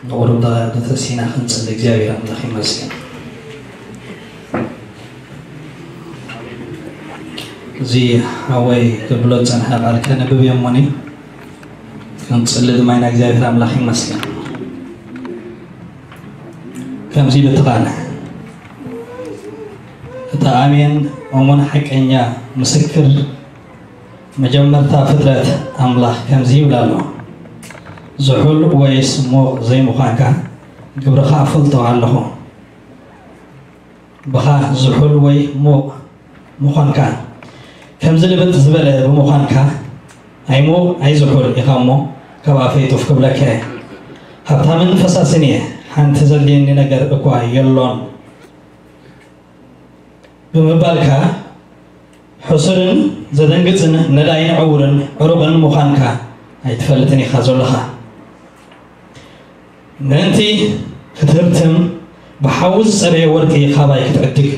ንቑሩብ ደቂቕ ተሲእና ክንጽሊ። እግዚኣብሔር ኣምላኽ ይመስገን። እዚ ሓወይ ክብሎ ዝጸንሐ ቃል ከነብብ እየ እሞኒ፣ ክንጽሊ ድማ ኢና። እግዚኣብሔር ኣምላኽ ይመስገን። ከምዚ ኢሉ እቲ ቃል፣ እቲ ኣሜን እሙን ሓቀኛ ምስክር፣ መጀመርታ ፍጥረት ኣምላኽ ከምዚ ይብል ኣሎ፣ ዝሑል ወይስ ሙቕ ዘይምዃንካ ግብርኻ እፈልጦ ኣለኹ። ብኻ ዝሑል ወይ ሙቕ ምዃንካ፣ ከምዚ ልብጥ ዝበለ ብምዃንካ፣ ኣይሙቕ ኣይዝሑል ኢኻ እሞ፣ ካብ ኣፈይ ጡፍ ክብለካ እየ። ሃብታምን ፈሳስን እየ፣ ሓንቲ ዘድልየኒ ነገር እኳ የሎን ብምባልካ፣ ሕሱርን ዘደንግጽን ነዳይን ዕውርን ዕሩቕን ምዃንካ ኣይትፈልጥን ኢኻ ዘለኻ። ምእንቲ ክትህብትም ብሓዊ ዝጸረየ ወርቂ ካባይ ክትዕድግ፣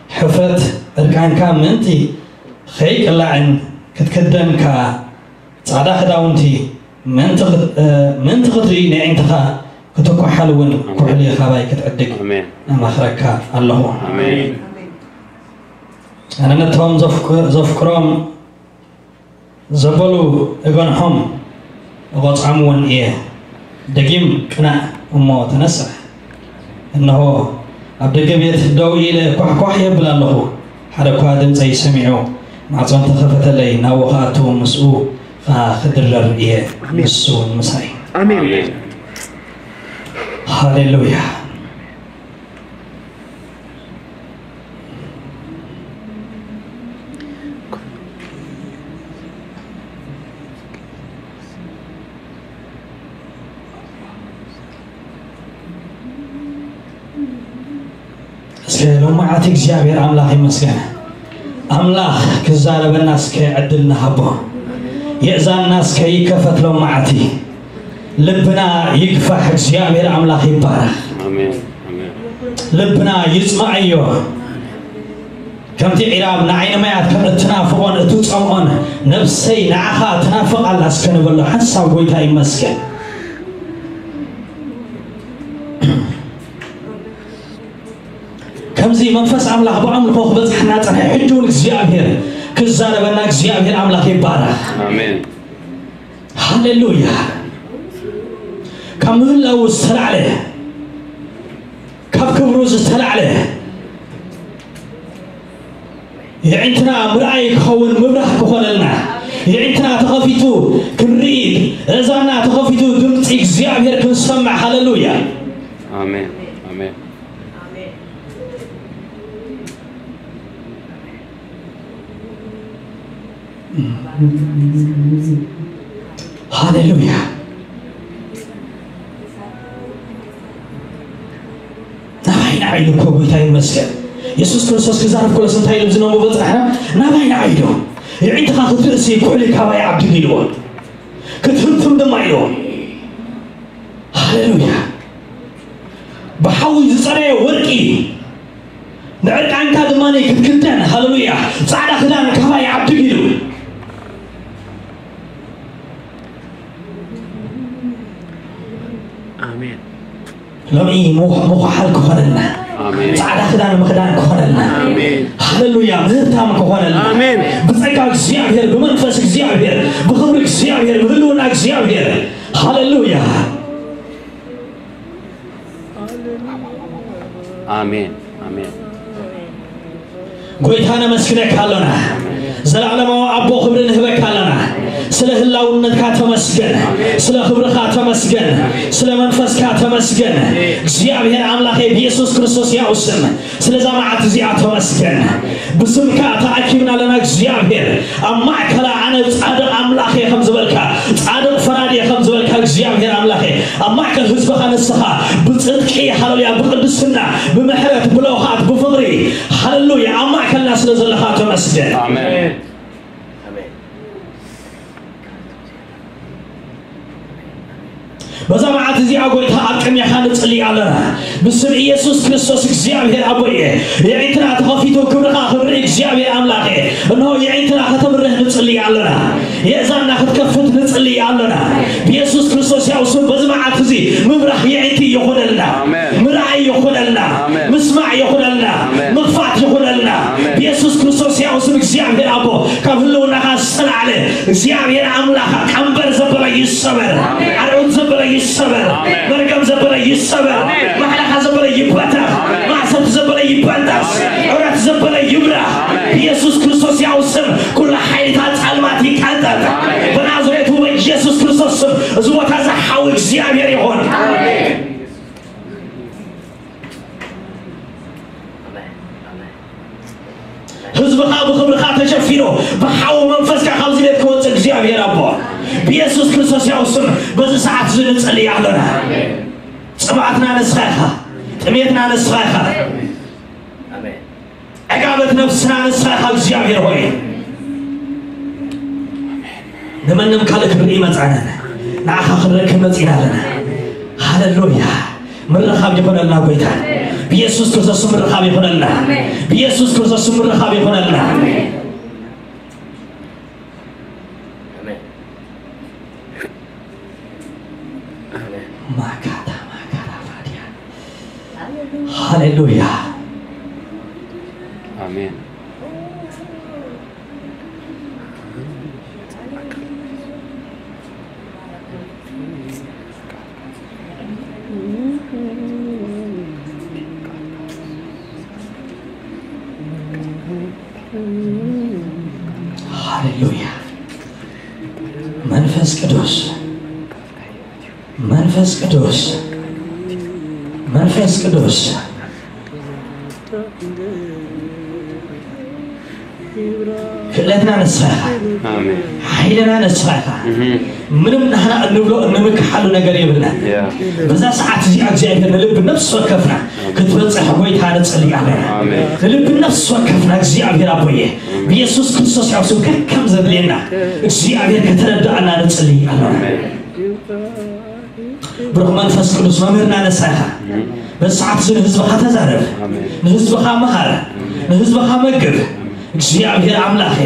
ሕፍረት ዕርቃንካ ምእንቲ ኸይቅላዕን ክትክደን ከኣ ጻዕዳ ክዳውንቲ ምእንቲ ክት-፣ እ፣ ምእንቲ ክትርኢ ነዒንትኻ ክትኳሓል እውን ኩሕሊ ካባይ ክትዕድግ ኣሜን። እመኽረካ ኣለኹ። ኣሜን። ኣነ ነቶም ዘፍቅ-፣ ዘፍቅሮም ዘበሉ እገንሖም እቖጽዖም እውን እየ። ደጊም ቅናእ እሞ ተነስሕ። እንሆ፣ ኣብ ደገ ቤት ደው ኢለ ኳሕኳሕ የብል ኣለኹ። ሓደ እኳ ድምፀይ ሰሚዑ ማዕጾ እንተኸፈተለይ፣ ናብኡ ክኣቱ ምስኡ ኸዓ ክድረር እየ፣ ኣሜን። ንሱ እውን ምሳይ። ኣሜን። ኣሜን። ሃሌሉያ። እስከ ሎማዓቲ እግዚኣብሔር ኣምላኽ ይመስገን። ኣምላኽ ክዛረበና እስከ ዕድል ንሃቦ። የእዛንና እስከ ይከፈት ሎማዓቲ። ልብና ይግፋሕ። እግዚኣብሔር ኣምላኽ ይባረኽ። ኣሜን። ኣሜን። ልብና ይጽማዓዮ። ከምቲ ዒራብ ንዓይኒ ማያት ከም እትናፍቖን እትጸምኦን፣ ነፍሰይ ንዓኻ ትናፍቕ ኣላ እስከ ንበሎ። ሓንሳብ ጎይታ ይመስገን። ከምዚ መንፈስ ኣምላኽ ብኣምልኾ ክበጽሓና ጸንሐ። ሕጂ እውን እግዚኣብሔር ክዛረበና፣ እግዚኣብሔር ኣምላኽ ይባረኽ። ኣሜን። ሃሌሉያ። ካብ ምህላው ዝተላዕለ፣ ካብ ክብሩ ዝተላዕለ፣ የዒንትና ምርኣይ ክኸውን ምብራህ ክኾነልና፣ የዒንትና ተኸፊቱ ክንርኢ፣ እዛና ተኸፊቱ ድምፂ እግዚኣብሔር ክንሰምዕ። ሃሌሉያ። ኣሜን። ኣሜን። ሃሌሉያ። ናባይ ንዓይ ኢሉ እኮ ጎይታ ይመስገን። የሱስ ክርስቶስ ክዛረብ ከሎስ እንታይ ኢሉ ዝነብቦ በጽሕና? ናባይ ንዓይ ኢሉ። የዒንትኻ ክትርእሲ ኩሕሊ ካባይ ዓብድግ ኢልዎ። ክትህብትም ድማ ኢልዎ። ሃሌሉያ። ብሓዊ ዝጸረየ ወርቂ ንዕርቃንካ ድማ ክትክደን፣ ሃሌሉያ፣ ጻዕዳ ክዳን ካባይ ዓብድግ ኢሉ። ኣሜን። ሎሚ ምኽ-፣ ምኹሓል ክኾነልና፣ ኣሜን። ጻዕዳ ክዳን ምኽዳን ክኾነልና። ኣሜን። ሃሌሉያ፣ ምህብታም ክኾነልና። ኣሜን። ብጸጋ እግዚኣብሔር፣ ብመንፈስ እግዚኣብሔር፣ ብኽብሪ እግዚኣብሔር፣ ብህልውና እግዚኣብሔር። ሃሌሉያ። ኣሜን። ኣሜን። ጎይታ ነመስግነካ ኣሎና። ዘለዓለማዊ ኣቦ ክብሪ ንህበካ ኣሎና። ስለ ህላውነትካ ተመስገን። ስለ ክብርኻ ተመስገን። ስለ መንፈስካ ተመስገን። እግዚኣብሔር ኣምላኸ ብየሱስ ክርስቶስ ያው ስም ስለዛ መዓት እዚኣ ተመስገን። ብስምካ ተኣኪብና ኣለና እግዚኣብሔር። ኣብ ማእከላ ኣነ ጻድቕ ኣምላኽ እየ ከም ዝበልካ፣ ጻድቕ ፈራዲ እየ ከም ዝበልካ እግዚኣብሔር ኣምላኽ እየ። ኣብ ማእከል ህዝብኻ ንስኻ ብጽድቂ፣ ሃሌሉያ፣ ብቅድስና፣ ብምሕረት፣ ብለውሃት፣ ብፍቕሪ፣ ሃሌሉያ፣ ኣብ ማእከልና ስለ ዘለኻ ተመስገን። ኣሜን። በዛ መዓት እዚኣ ጎይታ ኣብ ቅድሜኻ ንጽሊ ኣለና። ብስም ኢየሱስ ክርስቶስ እግዚኣብሔር ኣቦ እየ። የዒንትና ተኸፊቱ ክብርኻ ክንርኢ እግዚኣብሔር ኣምላኽ እየ። እንሆ የዒንትና ከተብርህ ንጽሊ ኣለና። የእዛንና ክትከፍት ንጽሊ ኣለና። ብየሱስ ክርስቶስ ያው ስም በዚ መዓት እዚ ምብራህ እግዚኣብሔር ኣምላኽ ቀንበር ዘበለ ይሰበር፣ ኣርዑት ዘበለ ይሰበር፣ መርገም ዘበለ ይሰበር፣ ማሕለኻ ዘበለ ይበተኽ፣ ማእሰርቲ ዘበለ ይበጠስ፣ ዑረት ዘበለ ይብራህ። ብኢየሱስ ክርስቶስ ያው ስም ኩሉ ሓይልታት ጸልማት ይቀንጠጥ። በናዝሬቱ በኢየሱስ ክርስቶስ ስም እዚ ቦታ እዚ ሓዊ እግዚኣብሔር ይኹን። ህዝብኻ ብኽብርኻ ተሸፊኑ ብሓዊ መንፈስካ ካብዚ ቤት ክወፅእ እግዚኣብሔር ኣቦ ብኢየሱስ ክርስቶስ ያው ስም በዚ ሰዓት እዚ ንጽልይ ኣለና። ጽምኣትና ንስኻ ኢኻ፣ ጥሜትና ንስኻ ኢኻ፣ ዕጋበት ነፍስና ንስኻ ኢኻ እግዚኣብሔር ሆይ። ንመንም ካልእ ክርኢ መጻና ንዓኻ ክንረክብ መጺና ኣለና። ሃሌሉያ። ምርኻብ ይኹነልና ጎይታ። ብኢየሱስ ክርስቶስ ምርኻብ ይኹነልና። ብኢየሱስ ክርስቶስ ምርኻብ ይኹነልና። ማካታ ማካታ ፋዲያ። ሃሌሉያ። ኣሜን። ሃሌሉያ። መንፈስ ቅዱስ፣ መንፈስ ቅዱስ፣ መንፈስ ቅዱስ። ክእለትና ንስኻ ኢኻ። ኣሜን። ሓይልና ንስኻ ኢኻ። እህ። ምንም ንሕና እንብሎ እንምክሓሉ ነገር የብልና። ያ። በዛ ሰዓት እዚኣ እግዚኣብሔር ንልቢ ነፍሲ ወከፍና ክትበጽሕ ጎይታ ንጽሊ ኣለና። ኣሜን። ንልቢ ነፍሲ ወከፍና እግዚኣብሔር ኣቦየ ብኢየሱስ ክርስቶስ ያው ስም ከከም ዘድልየና እግዚኣብሔር ከተረዳእና ንጽሊ ኣለና። ብሩኽ መንፈስ ቅዱስ መምህርና ንስኻ ኢኻ። በዚ ሰዓት እዚ ንህዝብኻ ተዛረብ፣ ኣሜን። ንህዝብኻ መሃር፣ ንህዝብኻ መግብ። እግዚኣብሔር ኣምላኸ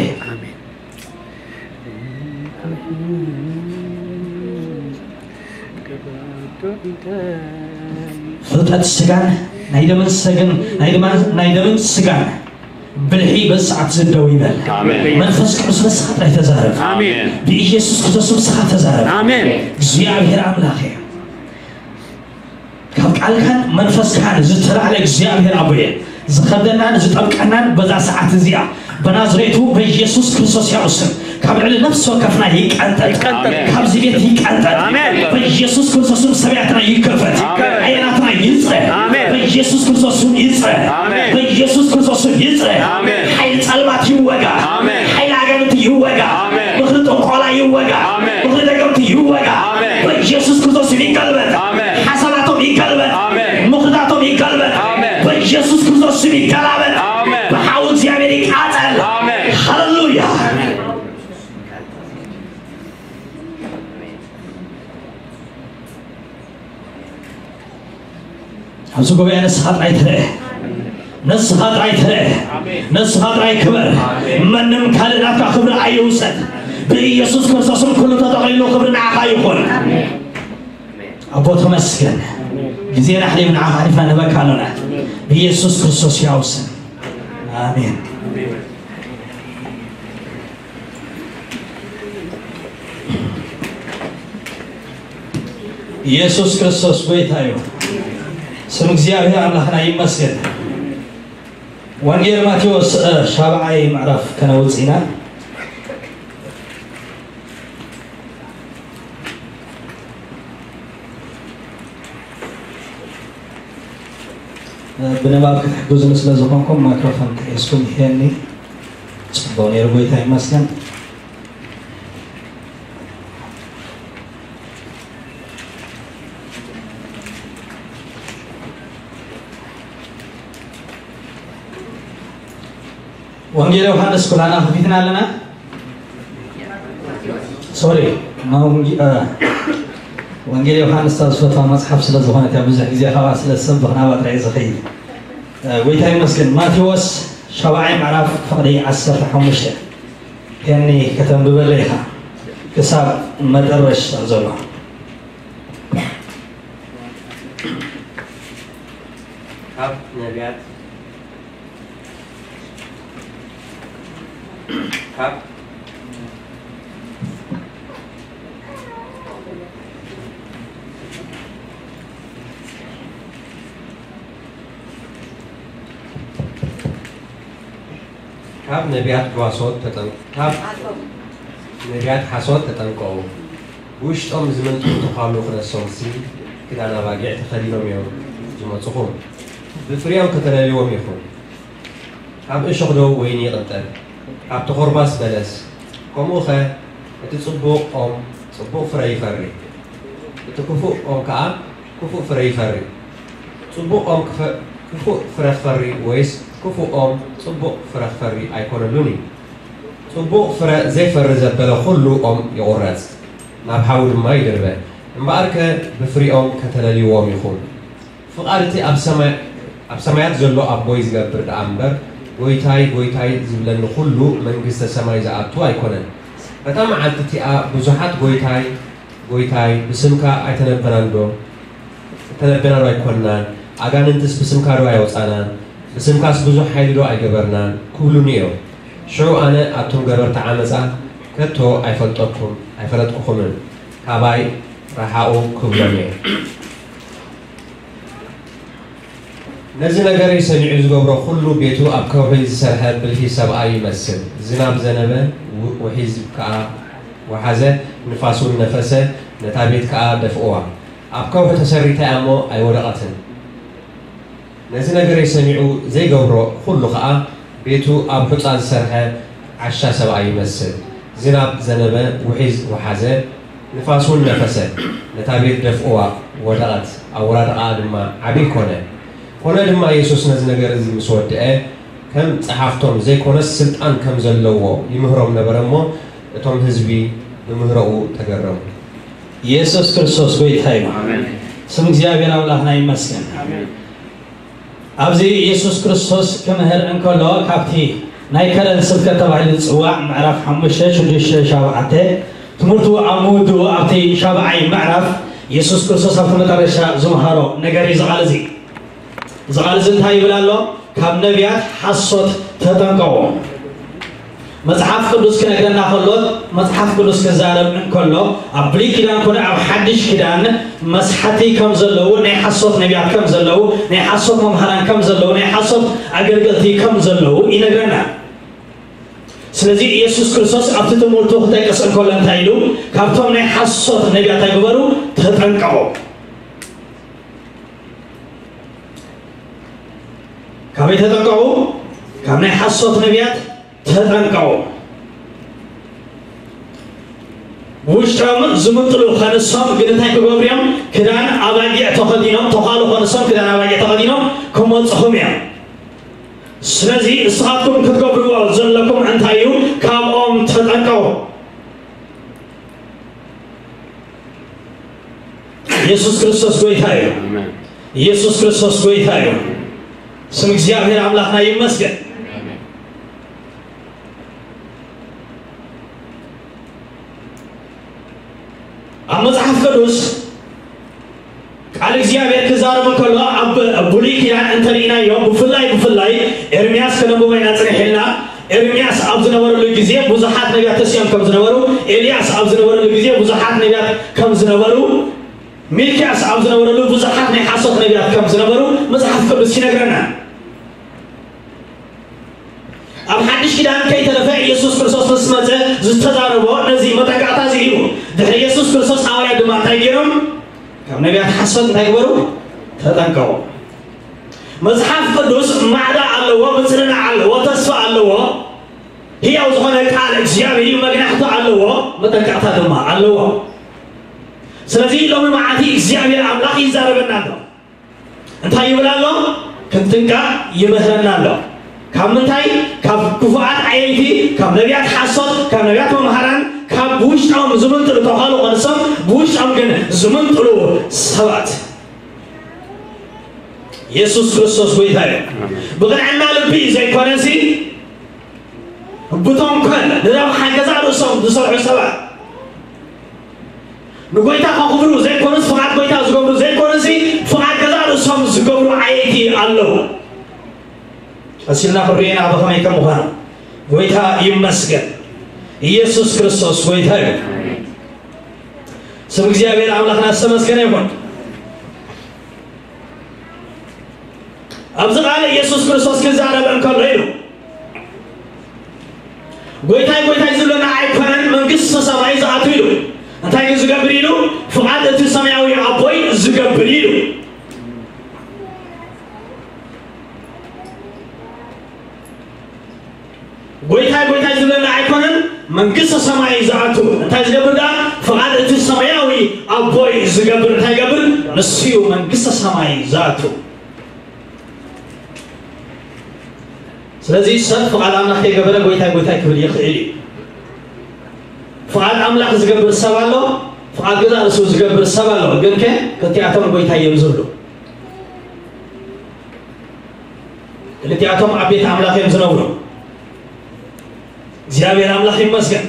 ፍልጠት ስጋን ናይ ደምን ሰግን ናይ ድማ ናይ ደምን ስጋን ብልሒ በዚ ሰዓት እዚ ደው ይበል። ኣሜን። መንፈስ ቅዱስ ንስኻ ጥራይ ተዛረብ። ኣሜን። ብኢየሱስ ክርስቶስ ስም ንስኻ ተዛረብ። ኣሜን። እግዚኣብሔር ኣምላኸ ካብ ቃልካን መንፈስካን ዝተላዕለ እግዚኣብሔር ኣቦየ ዝኸብደናን ዝጠብቀናን በዛ ሰዓት እዚኣ በናዝሬቱ በኢየሱስ ክርስቶስ ያው ስም ካብ ልዕሊ ነፍሲ ወከፍና ይቀንጠጥ። ይቀንጠጥ። ካብዚ ቤት ይቀንጠጥ። ኣሜን። በኢየሱስ ክርስቶስ ስም ሰብያትና ይከፈት። ኣሜን። ዓይናትና ይጽረ። ኣሜን። በኢየሱስ ክርስቶስ ስም ይጽረ። ኣሜን። በኢየሱስ ክርስቶስ ስም ይጽረ። ኣሜን። ሓይሊ ጸልማት ይወጋ። ኣሜን። ሓይሊ ኣጋንንቲ ይወጋ። ኣሜን። ምኽሪ ጥንቆላ ይወጋ። ኣሜን። ምኽሪ ደገምቲ ይወጋ። ኣሜን። በኢየሱስ ክርስቶስ ስም ይገልበጥ። ኣሜን። ሓሳባቶም ይገልበጥ። ኣሜን። ምኽርታቶም ይገልበጥ። ኣሜን። በኢየሱስ ክርስቶስ ስም ይገላበጥ። ኣሜን። ብሓዊ እግዚኣብሔር ይቃጸል። ኣሜን። ሃሌሉያ። ኣብዚ ጉባኤ ንስኻ ጥራይ ትረአ፣ ንስኻ ጥራይ ትረአ፣ ንስኻ ጥራይ ክበር። መንም ካልእ ናትካ ክብሪ ኣይውሰድ። ብኢየሱስ ክርስቶስም ኩሉ ተጠቕሊሉ ክብሪ ንዓኻ ይኹን። ኣቦ ተመስገን። ግዜና ኣሕሊፍ ንዓኻ ኣሕሊፍና ንህበካ ኣሎና። ብኢየሱስ ክርስቶስ ያው ስም ኣሜን። ኢየሱስ ክርስቶስ ጎይታ እዩ። ስም እግዚኣብሔር ኣምላኽና ይመስገን። ወንጌል ማቴዎስ እ፣ ሻብዓይ ምዕራፍ ከነውጽእ ኢና። እ፣ ብንባብ ክትሕግዙኒ ስለ ዝኾንኩም ማይክሮፎን ጥሒስኩም ይሄኒ ጽቡቕ ነይሩ። ጎይታ ይመስገን። ወንጌል ዮሃንስ ኩላና ከፊትና ኣለና። ሶሪ፣ ማ ወንጌ-፣ እ፣ ወንጌል ዮሃንስ እታ ዝፈትዋ መጽሓፍ ስለ ዝኾነት እያ ብዙሕ ግዜ ካብኣ ስለ ዝሰብኽ ናብኣ ጥራይ ዝኸይድ። እ፣ ጎይታ ይመስገን። ማቴዎስ ሻብዓይ ምዕራፍ ፍቕዲ ዓሰርተ ሓሙሽተ ሄኒ ከተንብበለይ ኢኻ ክሳብ መጠረሽ ዘሎ። ካብ ነቢያት ካብ ካብ ነቢያት ጓሶት ተጠን ካብ ነቢያት ሓሶት ተጠንቀቑ። ብውሽጦም ዝመንጥሉ ተዃሉ ክነሶምሲ ክዳን ኣባጊዕ ተኸዲኖም እዮም ዝመጹኹም። ብፍሪኦም ከተለልዎም ኢኹም። ካብ እሾኽ ዶ ወይኒ ይቕንጠብ? ካብ ተኾርባስ በለስ? ከምኡኸ እቲ ጽቡቕ ኦም ጽቡቕ ፍረ ይፈሪ፣ እቲ ክፉእ ኦም ከኣ ክፉእ ፍረ ይፈሪ። ጽቡቕ ኦም ክፉእ ፍረ ክፈሪ ወይስ ክፉእ ኦም ጽቡቕ ፍረ ክፈሪ ኣይኮነሉን እዩ። ጽቡቕ ፍረ ዘይፈሪ ዘበለ ኹሉ ኦም ይቑረጽ፣ ናብ ሓዊ ድማ ይድርበ። እምበኣርከ ብፍሪኦም ከተለልይዎም ኢኹም። ፍቓድ እቲ ኣብ ሰማያት ዘሎ ኣቦይ ዝገብር ደኣ እምበር፣ ጐይታይ፣ ጐይታይ ዝብለኒ ኹሉ መንግስተ ሰማይ ዝኣቱ ኣይኮነን። በታ መዓልቲ እቲኣ ብዙሓት ጐይታይ፣ ጐይታይ፣ ብስምካ ኣይተነበናን ዶ? እተነበና ዶ ኣይኮንናን? ኣጋንንትስ ብስምካ ዶ ኣየውጻናን? ብስምካስ ብዙሕ ሓይሊ ዶ ኣይገበርናን? ክብሉኒ እዮም። ሽዑ ኣነ ኣቱም ገበርቲ ዓመጻ ከቶ ኣይፈልጠኩም ኣይፈለጥኩኹምን፣ ካባይ ረሓቑ ክብሎም እየ። ነዚ ነገረይ ሰሚዑ ዝገብሮ ኹሉ ቤቱ ኣብ ከውሒ ዝሰርሐ ብልሂ ሰብኣይ ይመስል። ዝናብ ዘነበ፣ ውሒዝ ከኣ ወሓዘ፣ ንፋስ እውን ነፈሰ፣ ነታ ቤት ከኣ ደፍእዋ። ኣብ ከውሒ ተሰሪታ እያ እሞ ኣይወደቐትን። ነዚ ነገረይ ሰሚዑ ዘይገብሮ ኹሉ ኸኣ ቤቱ ኣብ ሑጻ ዝሰርሐ ዓሻ ሰብኣይ ይመስል። ዝናብ ዘነበ፣ ውሒዝ ወሓዘ፣ ንፋስ እውን ነፈሰ፣ ነታ ቤት ደፍእዋ፣ ወደቐት፣ ኣወዳድቓኣ ድማ ዓብዪ ኮነ። ኮነ ድማ የሱስ ነዚ ነገር እዚ ምስ ወድአ፣ ከም ጸሓፍቶም ዘይኮነስ ስልጣን ከም ዘለዎ ይምህሮም ነበረ እሞ፣ እቶም ህዝቢ ብምህሮኡ ተገረሙ። ኢየሱስ ክርስቶስ ጎይታ እዩ። ኣሜን። ስም እግዚኣብሔር ኣምላኽና ይመስገን። ኣሜን። ኣብዚ ኢየሱስ ክርስቶስ ክምህር እንከሎ ካብቲ ናይ ከረን ስብከት ተባሂሉ ዝጽዋዕ ምዕራፍ ሓሙሽተ፣ ሽዱሽተ፣ ሸውዓተ ትምህርቱ ኣብ ምውድኡ ኣብቲ ሻብዓይ ምዕራፍ ኢየሱስ ክርስቶስ ኣብቲ መጠረሻ ዝመሃሮ ነገር እዩ ዝቓል እዚ። ዝቓል እዚ እንታይ ይብል ኣሎ? ካብ ነቢያት ሓሶት ተጠንቀቑ። መጽሓፍ ቅዱስ ክነግረና ከሎ፣ መጽሓፍ ቅዱስ ክዛረብ እንከሎ፣ ኣብ ብሉይ ኪዳን ኮነ ኣብ ሓድሽ ኪዳን መስሓቲ ከም ዘለዉ፣ ናይ ሓሶት ነቢያት ከም ዘለዉ፣ ናይ ሓሶት መምሃራን ከም ዘለዉ፣ ናይ ሓሶት ኣገልገልቲ ከም ዘለዉ ይነግረና። ስለዚ ኢየሱስ ክርስቶስ ኣብቲ ትምህርቱ ክጠቅስ እንከሎ እንታይ ኢሉ? ካብቶም ናይ ሓሶት ነቢያት እንታይ ግበሩ? ተጠንቀቑ። ካበይ ተጠንቀቑ? ካብ ናይ ሓሶት ነቢያት ተጠንቀቑ። ውሽጦም ዝምንጥሉ ከንሶም ግን እንታይ ክገብሩ እዮም? ክዳን ኣባጊዕ ተኸዲኖም፣ ተዃሉ ከንሶም ክዳን ኣባጊዕ ተኸዲኖም ክመጽኹም እዮም። ስለዚ ንስኻትኩም ክትገብርዎ ዘለኩም እንታይ እዩ? ካብኦም ተጠንቀቑ። ኢየሱስ ክርስቶስ ጎይታ እዩ። ኣሜን። ኢየሱስ ክርስቶስ ጎይታ እዩ። ስም እግዚኣብሔር ኣምላኽና ይመስገን። ኣሜን። ኣብ መጽሓፍ ቅዱስ ቃል እግዚኣብሔር ክዛረብ እንከሎ ኣብ ብሉይ ኪዳን እንተርኢናዮ፣ ብፍላይ ብፍላይ ኤርምያስ ከነንብቦ ኢና ጽኒሕ ኢልና። ኤርምያስ ኣብ ዝነበረሉ ግዜ ብዙሓት ነቢያት ተሲኦም ከም ዝነበሩ፣ ኤልያስ ኣብ ዝነበረሉ ግዜ ብዙሓት ነቢያት ከም ዝነበሩ፣ ሚልክያስ ኣብ ዝነበረሉ ብዙሓት ናይ ሓሶት ነቢያት ከም ዝነበሩ መጽሓፍ ቅዱስ ይነግረና። ኣብ ሓድሽ ኪዳን ከይተረፈ ኢየሱስ ክርስቶስ ምስ መጸ ዝተዛረቦ ነዚ መጠንቀቕታ እዚ እዩ። ድሕሪ ኢየሱስ ክርስቶስ ሃዋርያት ድማ እንታይ ገይሮም? ካብ ነቢያት ሓሶት እንታይ ግበሩ? ተጠንቀቑ። መጽሓፍ ቅዱስ ማዕዳ ኣለዎ፣ ምጽንናዕ ኣለዎ፣ ተስፋ ኣለዎ። ህያው ዝኾነ ቃል እግዚኣብሔር እዩ፣ መግናሕቶ ኣለዎ፣ መጠንቀቕታ ድማ ኣለዎ። ስለዚ ሎሚ መዓልቲ እግዚኣብሔር ኣምላኽ ይዛረበና ኣሎ። እንታይ ይብል ኣሎ? ክንጥንቀቕ ይምህረና ኣሎ። ካብ ምንታይ? ካብ ክፉኣት ዓየይቲ፣ ካብ ነቢያት ሓሶት፣ ካብ ነቢያት መምሃራን፣ ካብ ብውሽጦም ዝምንጥሉ ተዃሉ ቐንሶም፣ ብውሽጦም ግን ዝምንጥሉ ሰባት። ኢየሱስ ክርስቶስ ጎይታ እዩ። ብቕንዕና ልቢ ዘይኮነሲ፣ ብተንኮል ንረብሓ ገዛእ ርእሶም ዝሰርሑ ሰባት፣ ንጎይታ ከኽብሩ ዘይኮኑስ፣ ፍቓድ ጎይታ ዝገብሩ ዘይኮኑሲ፣ ፍቓድ ገዛእ ርእሶም ዝገብሩ ዓየይቲ ኣለዉ። ቀሲልና ክንሪኤና ብኸመይ ከም ምዃኑ። ጎይታ ይመስገን። ኢየሱስ ክርስቶስ ጎይታ እዩ። ስም እግዚኣብሔር ኣምላኽና ዝተመስገነ ይኹን። ኣብዚ ቃል ኢየሱስ ክርስቶስ ክዛረብ እንከሎ ኢሉ፣ ጎይታይ ጎይታይ ዝብለና ኣይኮነን መንግስተ ሰማይ ዝኣቱ ኢሉ። እንታይ ግን ዝገብር ኢሉ? ፍቓድ እቲ ሰማያዊ ኣቦይ ዝገብር ኢሉ። ጎይታይ ጎይታይ ዝብለና ኣይኮነን መንግስተ ሰማይ ዝኣቱ። እንታይ ዝገብር ደኣ? ፍቓድ እቲ ሰማያዊ ኣቦይ ዝገብር። እንታይ ይገብር? ንሱ እዩ መንግስተ ሰማይ ዝኣቱ። ስለዚ ሰብ ፍቓድ ኣምላኽ ከይገበረ ጎይታይ ጎይታይ ክብል ይኽእል እዩ። ፍቓድ ኣምላኽ ዝገብር ሰብ ኣሎ፣ ፍቓድ ገዛእ ርእሱ ዝገብር ሰብ ኣሎ። ግን ከ ክልቲኣቶም ጎይታይ እዮም ዝብሉ። ክልቲኣቶም ኣብ ቤት ኣምላኽ እዮም ዝነብሩ። እግዚኣብሔር ኣምላኽ ይመስገን።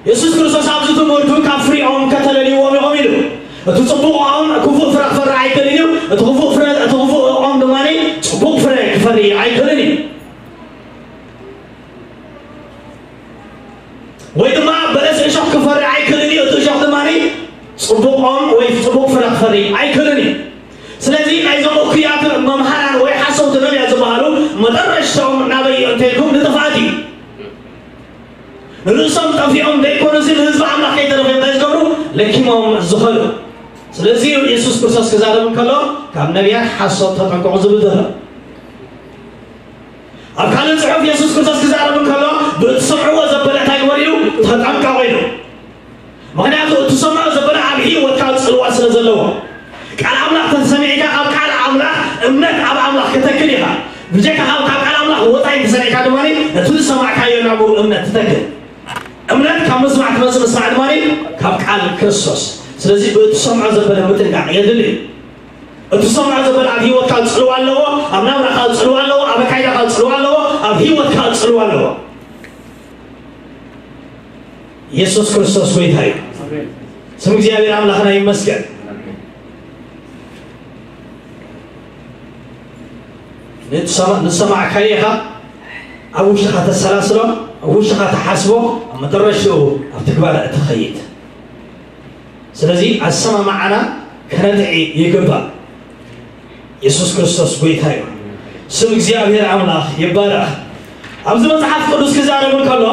የሱስ ክርስቶስ ኣብዚ ትምህርቱ ካብ ፍሪኦም ከተለልይዎም ኢኹም ኢሉ። እቲ ጽቡቕ ኦም ክፉእ ፍረ ክፈሪ ኣይክእልን እዩ። እቲ ክፉእ ፍረ እቲ ክፉእ ኦም ድማ ጽቡቕ ፍረ ክፈሪ ኣይክእልን እዩ። ወይ ድማ በለስ እሾኽ ክፈሪ ኣይክእልን እዩ። እቲ እሾኽ ድማ ጽቡቕ ኦም ወይ ጽቡቕ ፍረ ክፈሪ ኣይክእልን እዩ። ስለዚ ናይዞም እኩያት መምሃራን ወይ ሓሰውቲ ነቢያት ዝበሃሉ መጠረሽቶም ናበይ እዩ እንተልኩም ንጥፍኣት እዩ። ንርእሶም ጠፊኦም ዘይኮኑሲ ንህዝቢ ኣምላኽ ከይተረፈ እንታይ ዝገብሩ ለኪሞም ዝኸዱ። ስለዚ የሱስ ክርስቶስ ክዛረብ እንከሎ ካብ ነቢያት ሓሶት ተጠንቀቑ ዝብል ዘሎ። ኣብ ካልእ ጽሑፍ የሱስ ክርስቶስ ክዛረብ እንከሎ ብእትሰምዕዎ ዘበለ እንታይ ግበሩ ኢሉ? ተጠንቀቑ ኢሉ። ምኽንያቱ እትሰምዖ ዘበለ ኣብ ህይወትካ ጽልዋ ስለ ዘለዎ። ቃል ኣምላኽ ተሰሚዕካ ካብ ቃል ኣምላኽ እምነት ኣብ ኣምላኽ ከተክል ኢኻ። ብጀካ ካብ ካብ ቃል ኣምላኽ ወጻኢ እንተሰሚዕካ ድማ ነቲ ዝሰማዕካዮ ናብኡ እምነት ትተክል። እምነት ካብ ምስማዕ ትመጽእ፣ ምስማዕ ድማ ካብ ቃል ክርስቶስ። ስለዚ ብእትሰምዖ ዘበለ ምጥንቃቕ የድሊ። እትሰምዖ ዘበለ ኣብ ህይወትካ ጽልዋ ኣለዎ፣ ኣብ ናብራኻ ጽልዋ ኣለዎ፣ ኣብ ኣካይዳኻ ጽልዋ ኣለዎ፣ ኣብ ህይወትካ ጽልዋ ኣለዎ። የሱስ ክርስቶስ ጎይታ እዩ። ስም እግዚኣብሔር ኣምላኽና ይመስገን። ንትሰማ- ንሰማዕካዮ ኢኻ ኣብ ውሽጥኻ ተሰላስሎ፣ ኣብ ውሽጥኻ ተሓስቦ፣ ኣብ መጠረሽትኡ ኣብ ትግባረ እትኸይድ። ስለዚ ኣሰማማዓና ከነጥዒ ይግባእ። የሱስ ክርስቶስ ጎይታ እዩ። ስም እግዚኣብሔር ኣምላኽ ይባረኽ። ኣብዚ መጽሓፍ ቅዱስ ክዛረብ እንከሎ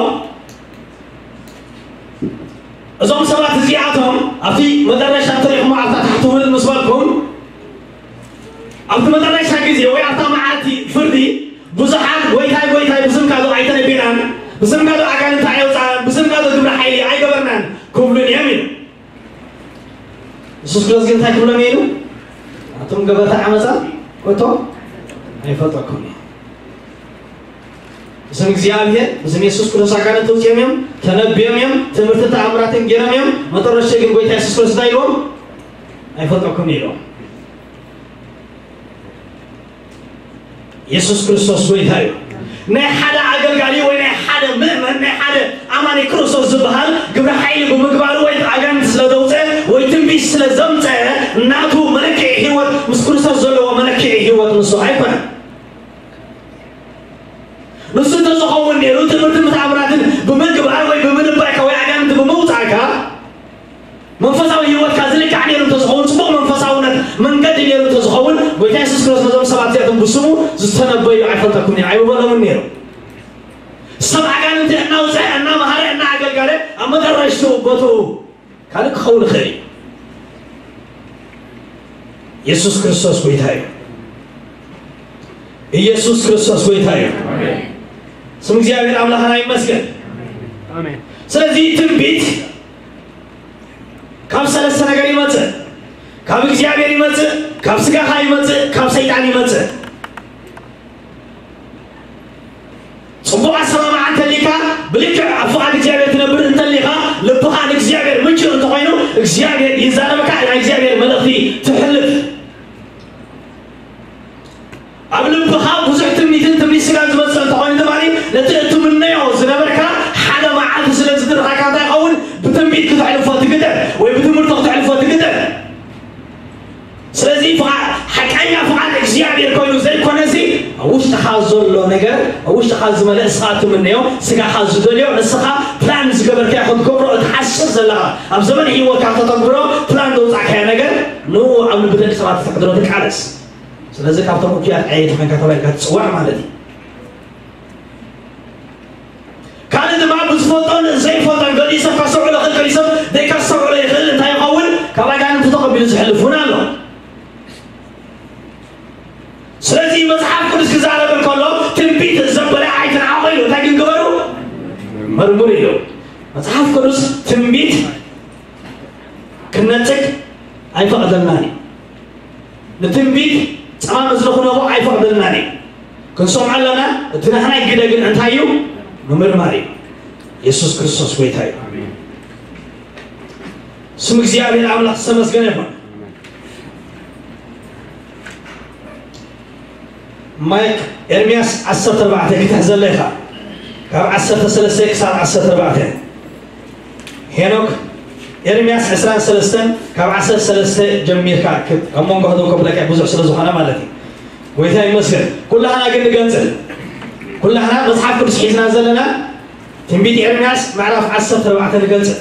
እዞም ሰባት እዚኣቶም ኣብቲ መጠረሻ ተሪኹም ኣብታ ታሕቲ ውርድ ምስ በልኩም ኣብቲ መጠረሻ ግዜ ወይ ኣብታ መዓልቲ ፍርዲ ብዙሓት ጎይታይ ጎይታይ ብስምካ ዶ ኣይተነቢናን፣ ብስምካ ዶ ኣጋንንቲ ኣየውፃእን፣ ብስምካ ዶ ግብረ ሓይሊ ኣይገበርናን ክብሉን እዮም ኢሉ። የሱስ ክርስቶስ ግን እንታይ ክብሎም እዩ ኢሉ? ኣቱም ገበርቲ ዓመፃ ኮቶ ኣይፈልጠኩም እዩ። ብስም እግዚኣብሔር ብስም የሱስ ክርስቶስ ኣጋንንቲ ውፅኦም እዮም፣ ተነቢዮም እዮም፣ ትምህርትን ተኣምራትን ገይሮም እዮም። መጠረሽተ ግን ጎይታ የሱስ ክርስቶስ እንታይ ኢልዎም? ኣይፈልጠኩም ኢልዎም። የሱስ ክርስቶስ ጎይታ እዩ። ናይ ሓደ ኣገልጋሊ ወይ ናይ ሓደ ምእመን ናይ ሓደ ኣማኒ ክርስቶስ ዝበሃል ግብረ ሓይሊ ብምግባሩ ወይ ኣጋንንቲ ስለ ዘውፀ ወይ ትንቢት ስለ ዘምፀ ናቱ መለክዒ ህይወት ምስ ክርስቶስ ዘለዎ መለክዒ ህይወት ንሱ ኣይኮነን። ንሱ እንተዝኸውን ነይሩ ትምህርትን ተኣምራትን ብምግባር ወይ ብምንባይካ ወይ ኣጋንንቲ ብምውፃእካ መንፈሳዊ ህይወትካ ዝልካዕ ነይሩ እንተዝኸውን፣ ፅቡቕ መንፈሳውነት መንገዲ ነይሩ እንተዝኸውን፣ ጎይታ የሱስ ክርስቶስ ነዞም ሰባት እዚኣቶም ብስሙ ዝተነበዩ ኣይፈልጠኩም እየ ኣይበሎምን ነይሩ። ሰብ ኣጋንንቲ እናውፅአ እናመሃረ እናኣገልጋለ ኣብ መጠረሽትኡ ቦትኡ ካልእ ክኸውን ይኽእል እዩ። የሱስ ክርስቶስ ጎይታ እዩ። ኢየሱስ ክርስቶስ ጎይታ እዩ። ስም እግዚኣብሔር ኣምላኽና ይመስገን። ኣሜን። ስለዚ ትንቢት ካብ ሰለስተ ነገር ይመጽእ። ካብ እግዚኣብሔር ይመጽእ፣ ካብ ስጋኻ ይመጽእ፣ ካብ ሰይጣን ይመጽእ። ጽቡቕ ኣሰማምዓ እንተሊካ ብልክዕ ኣብ ፍቓድ እግዚኣብሔር ትነብር እንተሊኻ ልብኻ ንእግዚኣብሔር ምቹእ እንተኾይኑ እግዚኣብሔር ይዛረበካ፣ ናይ እግዚኣብሔር መልእኽቲ ትሕልፍ። ኣብ ልብኻ ብዙሕ ትምኒትን ትምኒት ስጋን ዝመጽእ እንተኾይኑ ድማ ነቲ እትምነዮ ዝነበርካ ሓደ መዓልቲ ስለ ዝድርኻካ እንታይ ይኸውን? ብትንቢት ክትሕልፎ ትግደድ ወይ ብትምህርቲ ክትሕልፎ ትግደድ። ስለዚ ፍቓድ ሓቀኛ ፍቓድ እግዚኣብሔር ኮይኑ ዘይኮነሲ ኣብ ውሽጥኻ ዘሎ ነገር ኣብ ውሽጥኻ ዝመለእ ንስኻ እትምነዮ ስጋኻ ዝደልዮ ንስኻ ፕላን ዝገበርካዮ ክትገብሮ እትሓስብ ዘለኻ ኣብ ዘመን ህይወትካ ከተተግብሮ ፕላን ዘውፃእካዮ ነገር ንኡ ኣብ ልቢ ደቂ ሰባት ተሕድሮ ትቃለስ። ስለዚ ካብቶም እኩያት ዓየይቲ ኮንካ ተባሂልካ ትፅዋዕ ማለት እዩ። የሕልፉን ኣሎ። ስለዚ መጽሓፍ ቅዱስ ክዛረብ እንከሎ ትንቢት ዘበለ ኣይትንዓቑ ኢሉ። እንታይ ግን ግበሩ? መርምሩ ኢሉ። መጽሓፍ ቅዱስ ትንቢት ክነጽግ ኣይፈቕደልናን እዩ። ንትንቢት ጸማም እዝኒ ክነቦ ኣይፈቕደልናን እዩ። ክንሰምዖ ኣለና። እቲ ናህናይ ግደ ግን እንታይ እዩ? ምምርማር እዩ። የሱስ ክርስቶስ ጎይታ እዩ። ስም እግዚኣብሔር ኣምላኽ ዝተመስገነ ይኹን። ማይክ ኤርምያስ ዓሰርተ ኣርባዕተ ክትሕዘለ ኢኻ። ካብ ዓሰርተ ሰለስተ ክሳብ ዓሰርተ ኣርባዕተ። ሄኖክ ኤርምያስ ዕስራን ሰለስተን ካብ ዓሰርተ ሰለስተ ጀሚርካ ክብ-፣ ኣብ መንጎ ህደው ከብለካ ብዙሕ ስለ ዝኾነ ማለት እዩ። ጎይታ ይመስገን። ኩላህና ግን ንገንጽል። ኩላህና መጽሓፍ ቅዱስ ሒዝና ዘለና ትንቢት ኤርምያስ ምዕራፍ ዓሰርተ ኣርባዕተ ንገንጽል።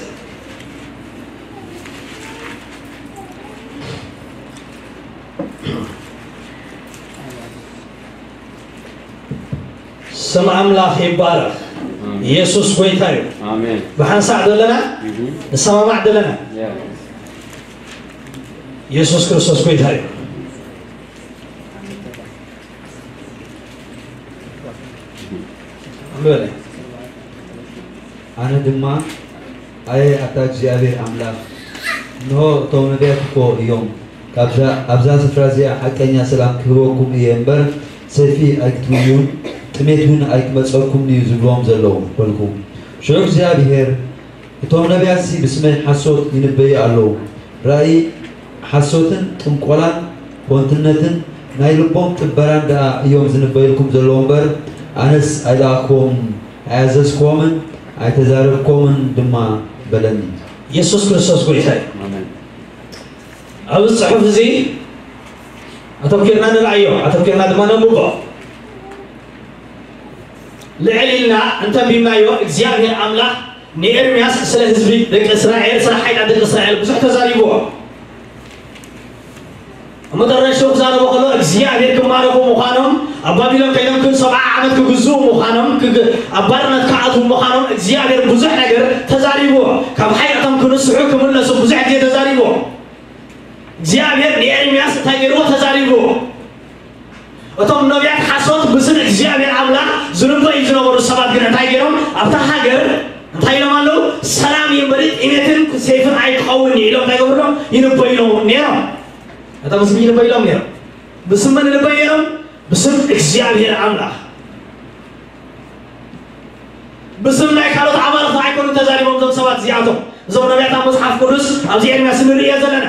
ስም ኣምላኽ ይባረኽ። ኣሜን። ኢየሱስ ጎይታ እዩ። ኣሜን። ብሓንሳእ ዘለና እህ። ንሰማማዕ ዘለና ያ። ኢየሱስ ክርስቶስ ጎይታ እዩ። ኣንብበለይ። ኣነ ድማ፣ ኣየ ኣታ እግዚኣብሔር ኣምላኽ፣ እንሆ እቶም ነቢያት እኮ እዮም፣ ካብዛ፣ ኣብዛ ስፍራ እዚኣ ሓቀኛ ሰላም ክህበኩም እየ እምበር፣ ሰይፊ ኣይክትርእዩን ጥሜት እውን ኣይክመጸኩምን እዩ ዝብልዎም ዘለዉ፣ በልኩ። ሽዑ እግዚኣብሔር፣ እቶም ነቢያትሲ ብስመይ ሓሶት ይንበዩ ኣለዉ። ራእይ ሓሶትን ጥንቆላን ኮንትነትን ናይ ልቦም ጥበራን ደኣ እዮም ዝንበዩልኩም ዘለዉ እምበር፣ ኣነስ ኣይለኣኽክዎምን ኣይኣዘዝክዎምን ኣይተዛረብክዎምን ድማ በለኒ። የሱስ ክርስቶስ ጎይታ እዩ። ኣሜን። ኣብዚ ጽሑፍ እዚ ኣተኲርና ንርኣዮ፣ ኣተኲርና ድማ ነንብቦ። ልዕል ኢልና እንተንቢብናዮ እግዚኣብሔር ኣምላኽ ንኤርምያስ ስለ ህዝቢ ደቂ እስራኤል፣ ስለ ሓይላት ደቂ እስራኤል ብዙሕ ተዛሪብዎ። ኣብ መጠረሽተኡ ክዛረቦ ከሎ እግዚኣብሔር ክማረኹ ምዃኖም፣ ኣብ ባቢሎን ከይዶም ክን ሰብዓ ዓመት ክግዝኡ ምዃኖም፣ ክግ-፣ ኣብ ባርነት ክኣትዉ ምዃኖም እግዚኣብሔር ብዙሕ ነገር ተዛሪብዎ። ካብ ሓይላቶም ክንስሑ ክምለሱ ብዙሕ ግዜ ተዛሪብዎ። እግዚኣብሔር ንኤርምያስ እንታይ ገይርዎ? ተዛሪብዎ። እቶም ነቢያት ሓሶት ብስም እግዚኣብሔር ኣምላኽ ዝንበዩ ዝነበሩ ሰባት ግን እንታይ ገይሮም? ኣብታ ሃገር እንታይ ኢሎም ኣለዉ? ሰላም እዩ እምበሪ ጥሜትን ሴፍን ኣይክኸውን እዩ ኢሎም እንታይ ገብርሎም? ይንበዩሎም ነይሮም። እቶም ብስም ይንበዩሎም ነይሮም። ብስም መን ይንበዩ ነይሮም? ብስም እግዚኣብሔር ኣምላኽ። ብስም ናይ ካልኦት ኣማልኽቲ ኣይኮኑን ተዛሪቦም እዞም ሰባት እዚኣቶም። እዞም ነቢያት ኣብ መጽሓፍ ቅዱስ ኣብዚ ኤርምያስ ንርእዮ ዘለና።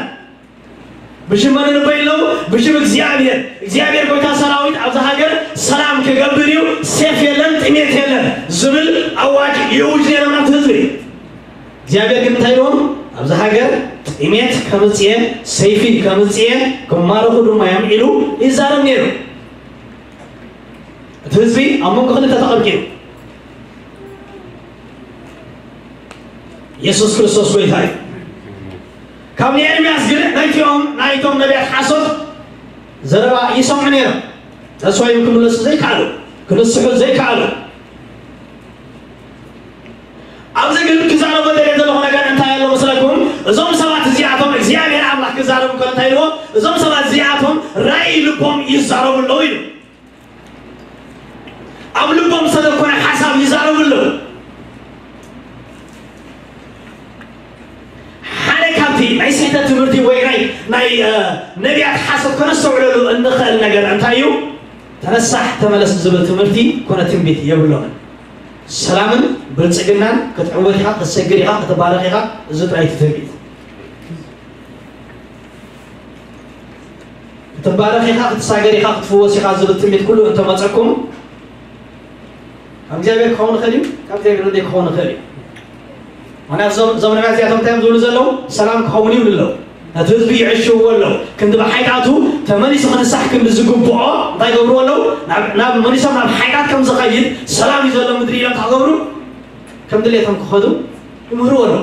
ብሽም መን ይንበዩ ኣለዉ? ብሽም እግዚኣብሔር። እግዚኣብሔር ጎይታ ሰራዊት ኣብዛ ሃገር ሰላም ክገብር እዩ፣ ሴፍ የለን፣ ጥሜት የለን ዝብል ኣዋጅ ይእውጅ ነይሮም ናብቲ ህዝቢ። እግዚኣብሔር ግን እንታይ ኢልዎም? ኣብዛ ሃገር ጥሜት ከምጽእ እየ፣ ሰይፊ ከምጽእ እየ፣ ክማረኹ ድማ እዮም ኢሉ ይዛረብ ነይሩ። እቲ ህዝቢ ኣብ መንጎ ክልተ ተቐርቂሩ። የሱስ ክርስቶስ ጎይታ እዩ። ካብ ንኤርምያስ ግን ናይቲኦም፣ ናይቶም ነቢያት ሓሶት ዘረባ ይሰምዑ ነይሮም። ተስፋ እዮም ክምለሱ ዘይከኣሉ፣ ክንስሑ ዘይከኣሉ። ኣብዚ ግን ክዛረቦ ደልየ ዘለኹ ነገር እንታይ ኣሎ መስለኩም? እዞም ሰባት እዚኣቶም እግዚኣብሔር ኣምላኽ ክዛረቡ ከሎ እንታይ ኢልዎ? እዞም ሰባት እዚኣቶም ራእይ ልቦም ይዛረቡ ኣለዉ ኢሉ። ኣብ ልቦም ዝተደኮነ ሓሳብ ይዛረቡ ኣለዉ። ሓደ ካብቲ ናይ ስሕተት ትምህርቲ ወይ ናይ፣ ናይ፣ እ፣ ነቢያት ሓሶት ከነስተውዕለሉ እንኽእል ነገር እንታይ እዩ? ተነሳሕ፣ ተመለስ ዝብል ትምህርቲ ኮነ ትንቢት የብሎምን። ሰላምን ብልጽግናን ክትዕወት ኢኻ፣ ክትሰግር ኢኻ፣ ክትባረኽ ኢኻ፣ እዚ ጥራይ እቲ ትንቢት። ክትባረኽ ኢኻ፣ ክትሳገር ኢኻ፣ ክትፍወስ ኢኻ ዝብል ትንቢት ኩሉ እንተመጸኩም፣ ካብ እግዚኣብሔር ክኸውን ይኽእል እዩ፣ ካብ እግዚኣብሔር ዘይክኸውን ይኽእል እዩ። ምኽንያቱ እዞም፣ እዞም ነቢያት እዚኣቶም እንታይ እዮም ዝብሉ ዘለዉ? ሰላም ክኸውን እዩ ይብሉ ኣለዉ። ነቲ ህዝቢ ይዕሽውዎ ኣለዉ። ክንዲ ብሓይጣቱ ተመሊሱ ክንሳሕ ክንዲ ዝግብኦ እንታይ ይገብርዎ ኣለዉ? ናብ፣ ናብ መሊሶም ናብ ሓይጣት ከም ዝኸይድ፣ ሰላም እዩ ዘሎ ምድሪ ኢሎም እንታይ ክገብሩ? ከም ድሌቶም ክኸዱ ይምህርዎ ኣለዉ።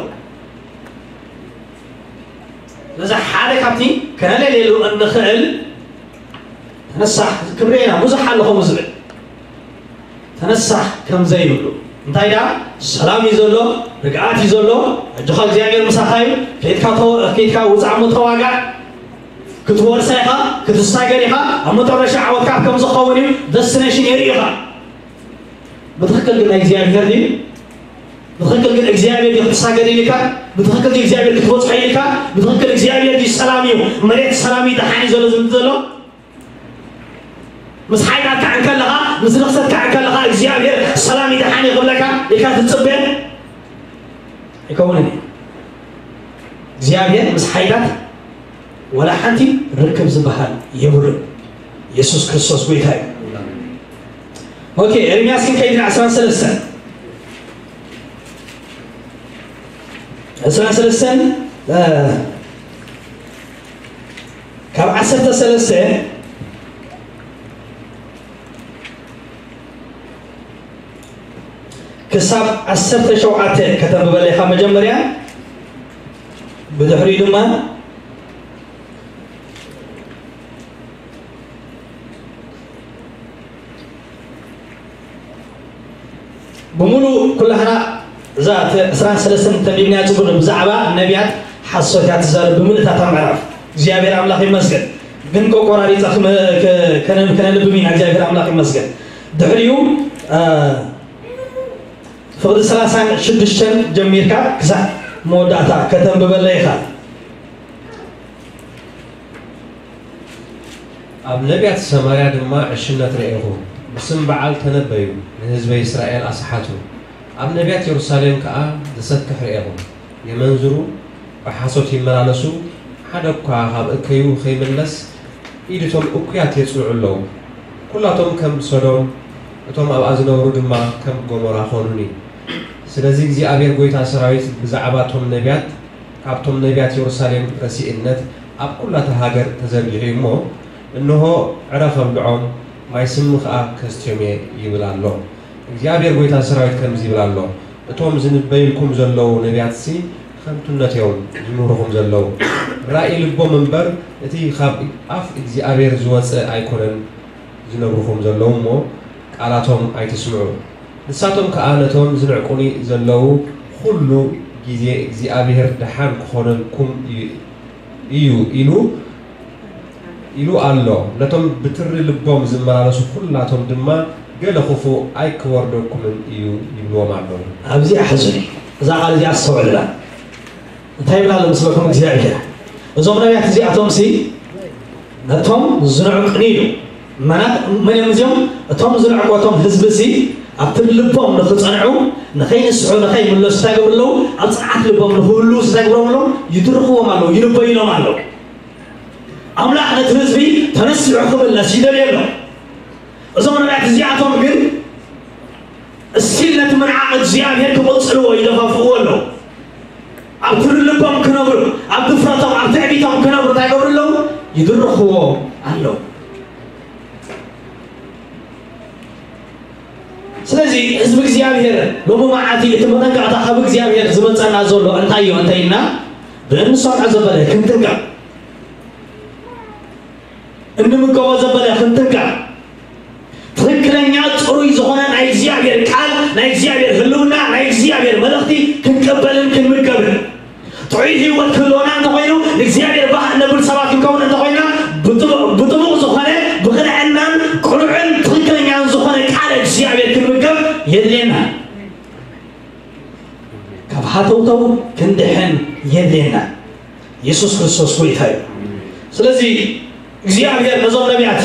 ስለዚ ሓደ ካብቲ ከነለልየሉ እንኽእል፣ ተነሳሕ፣ ክብሪ ኢና፣ ብዙሕ ኣሎ ከምኡ ዝብል። ተነሳሕ ከም ዘይብሉ። እንታይ ደኣ? ሰላም እዩ ዘሎ፣ ርግኣት እዩ ዘሎ፣ ኣጆኻ እግዚኣብሔር ምሳኻ እዩ፣ ከይድካ ተ-፣ ከይድካ ውጻእ እሞ ተዋጋእ፣ ክትወርሳ ኢኻ፣ ክትሳገር ኢኻ። ኣብ መጨረሻ ዓወትካ ከም ዝኸውን እዩ። ደስቲኔሽን የርኢ ኢኻ። ብትኽክል ግን ናይ እግዚኣብሔር ድዩ? ብትኽክል ግን እግዚኣብሔር ድዩ ክትሳገር ኢልካ? ብትኽክል ድዩ እግዚኣብሔር ክትበጽሖ ኢልካ? ብትኽክል እግዚኣብሔር ድዩ ሰላም እዩ፣ መሬት ሰላም እዩ፣ ደሓን እዩ ዘሎ ዝብል ዘሎ? ምስ ሓይላትካ እንከለኻ፣ ምስ ርኽሰትካ እንከለኻ እግዚኣብሔር ሰላም እዩ፣ ደሓን እዩ ክብለካ ኢልካ ትጽበ? ኣይከውንን እዩ። እግዚኣብሔር ምስ ሓይላት ወላ ሓንቲ ርክብ ዝበሃል የብሉን። የሱስ ክርስቶስ ጎይታ እዩ። ኦኬ፣ ኤርምያስ ክንከይድ ኢና ዕስራን ሰለስተን። ዕስራን ሰለስተን፣ እ፣ ካብ ዓሰርተ ሰለስተ ክሳብ ዓሰርተ ሸውዓተ ከተንብበለይ ኢኻ መጀመርያ፣ ብድሕሪኡ ድማ ብምሉእ ኩላህና እዛ እተ ዕስራን ሰለስተን ተንቢብናያ ጽቡቕ፣ ብዛዕባ ነቢያት ሓሶት እያ ትዛረብ ብምልእታታ ምዕራፍ። እግዚኣብሔር ኣምላኽ ይመስገን። ግን ቆቆራሪጻ ክመ-፣ ከ-፣ ከነ-፣ ከነንብብ ኢና። እግዚኣብሔር ኣምላኽ ይመስገን። ድሕሪኡ፣ እ፣ ፍቕዲ ሰላሳን ሽዱሽተን ጀሚርካ ክሳዕ መወዳእታ ከተንብበለይ ኢኻ። ኣብ ነቢያት ሰማርያ ድማ ዕሽነት ረኤኹ። ብስም በዓል ተነበዩ፣ ንህዝበይ እስራኤል ኣስሓቱ። ኣብ ነቢያት የሩሳሌም ከኣ ዘሰክሕ ረኤኹ። የመንዝሩ፣ ብሓሶት ይመላለሱ፣ ሓደ እኳ ካብ እከዩ ኸይምለስ፣ ኢድ እቶም እኩያት የጽንዑ ኣለዉ። ኵላቶም ከም ሰዶም፣ እቶም ኣብኣ ዝነብሩ ድማ ከም ጎሞራ ኾኑኒ። ስለዚ እግዚኣብሔር ጐይታ ሰራዊት ብዛዕባ እቶም ነቢያት፣ ካብቶም ነቢያት የሩሳሌም ረሲእነት ኣብ ኵላ እታ ሃገር ተዘርጊሑ እዩ እሞ፣ እንሆ፣ ዕረ ኸብልዖም፣ ማይ ስሚ ኸኣ ከስትዮም እየ ይብል ኣሎ። እግዚኣብሔር ጐይታ ሰራዊት ከምዚ ይብል ኣሎ፣ እቶም ዝንበዩልኩም ዘለዉ ነቢያትሲ ኸንቱነት እዮም ዝምህሩኹም ዘለዉ። ራእይ ልቦም እምበር፣ እቲ ኻብ ኣፍ እግዚኣብሔር ዝወጸ ኣይኮነን ዝነግሩኹም ዘለዉ እሞ፣ ቃላቶም ኣይትስምዑ። ንሳቶም ከኣ ነቶም ዝንዕቁኒ ዘለዉ ኹሉ ግዜ፣ እግዚኣብሔር ደሓን ክኾነልኩም እዩ፣ እዩ ኢሉ፣ ኢሉ ኣሎ። ነቶም ብትሪ ልቦም ዝመላለሱ ኹላቶም ድማ፣ ገለ ኽፉእ ኣይክወርደኩምን እዩ ይብልዎም ኣሎ። ኣብዚ ኣሕዙኒ፣ እዛ ቃል እዚኣ ኣስተውዕልላ። እንታይ ይብላ ኣሎ መስለኩም እግዚኣብሔር? እዞም ነቢያት እዚኣቶምሲ ነቶም ዝንዕቁኒ ኢሉ። መናት መን እዮም እዚኦም? እቶም ዝንዕቁ፣ እቶም ህዝቢ ሲ ኣብቲ ልቦም ንኽጸንዑ፣ ንኸይንስሑ፣ ንኸይምለሱ እንታይ ይገብሩ ኣለዉ? ኣብ ጽንዓት ልቦም ንኽህልዉ እንታይ ይገብሮም ኣለዉ? ይድርኽዎም ኣለዉ፣ ይንበዩሎም ኣለዉ። ኣምላኽ ነቲ ህዝቢ ተነሲሑ ክምለስ ይደልዩ ኣሎ። እዞም ነቢያት እዚኣቶም ግን እስቲል ነቲ ምንዓቕ እግዚኣብሔር ክቕጽልዎ ይደፋፍእዎ ኣለዉ። ኣብ ትሪ ልቦም ክነብሩ፣ ኣብ ድፍረቶም፣ ኣብ ትዕቢቶም ክነብሩ እንታይ ይገብሩ ኣለዉ? ይድርኽዎ ኣለዉ። ስለዚ ህዝቢ እግዚኣብሔር ሎሚ መዓልቲ እቲ መጠንቀቕታ ካብ እግዚኣብሔር ዝመጸና ዘሎ እንታይ እዩ እንተ ኢልና፣ ብእንሰምዖ ዘበለ ክንጥንቀቕ፣ እንምገቦ ዘበለ ክንጥንቀቕ፣ ትኽክለኛ ጽሩይ ዝኾነ ናይ እግዚኣብሔር ቃል፣ ናይ እግዚኣብሔር ህልውና፣ ናይ እግዚኣብሔር መልእኽቲ ክንቀበልን ክንምገብን፣ ጥዑይ ህይወት ክህልወና እንተኾይኑ፣ ንእግዚኣብሔር ባህ እነብል ሰባት ክንከውን እንተኾይና፣ ብጥቡ-፣ ብጥቡቕ ዝኾነ፣ ብቕንዕናን ቅኑዕን ትኽክለኛን ዝኾነ ቃል እግዚኣብሔር ክንምገብ የድልየና። ካብ ሃተውተው ክንድሕን የድልየና። የሱስ ክርስቶስ ጎይታ እዩ። ስለዚ እግዚኣብሔር ነዞም ነቢያት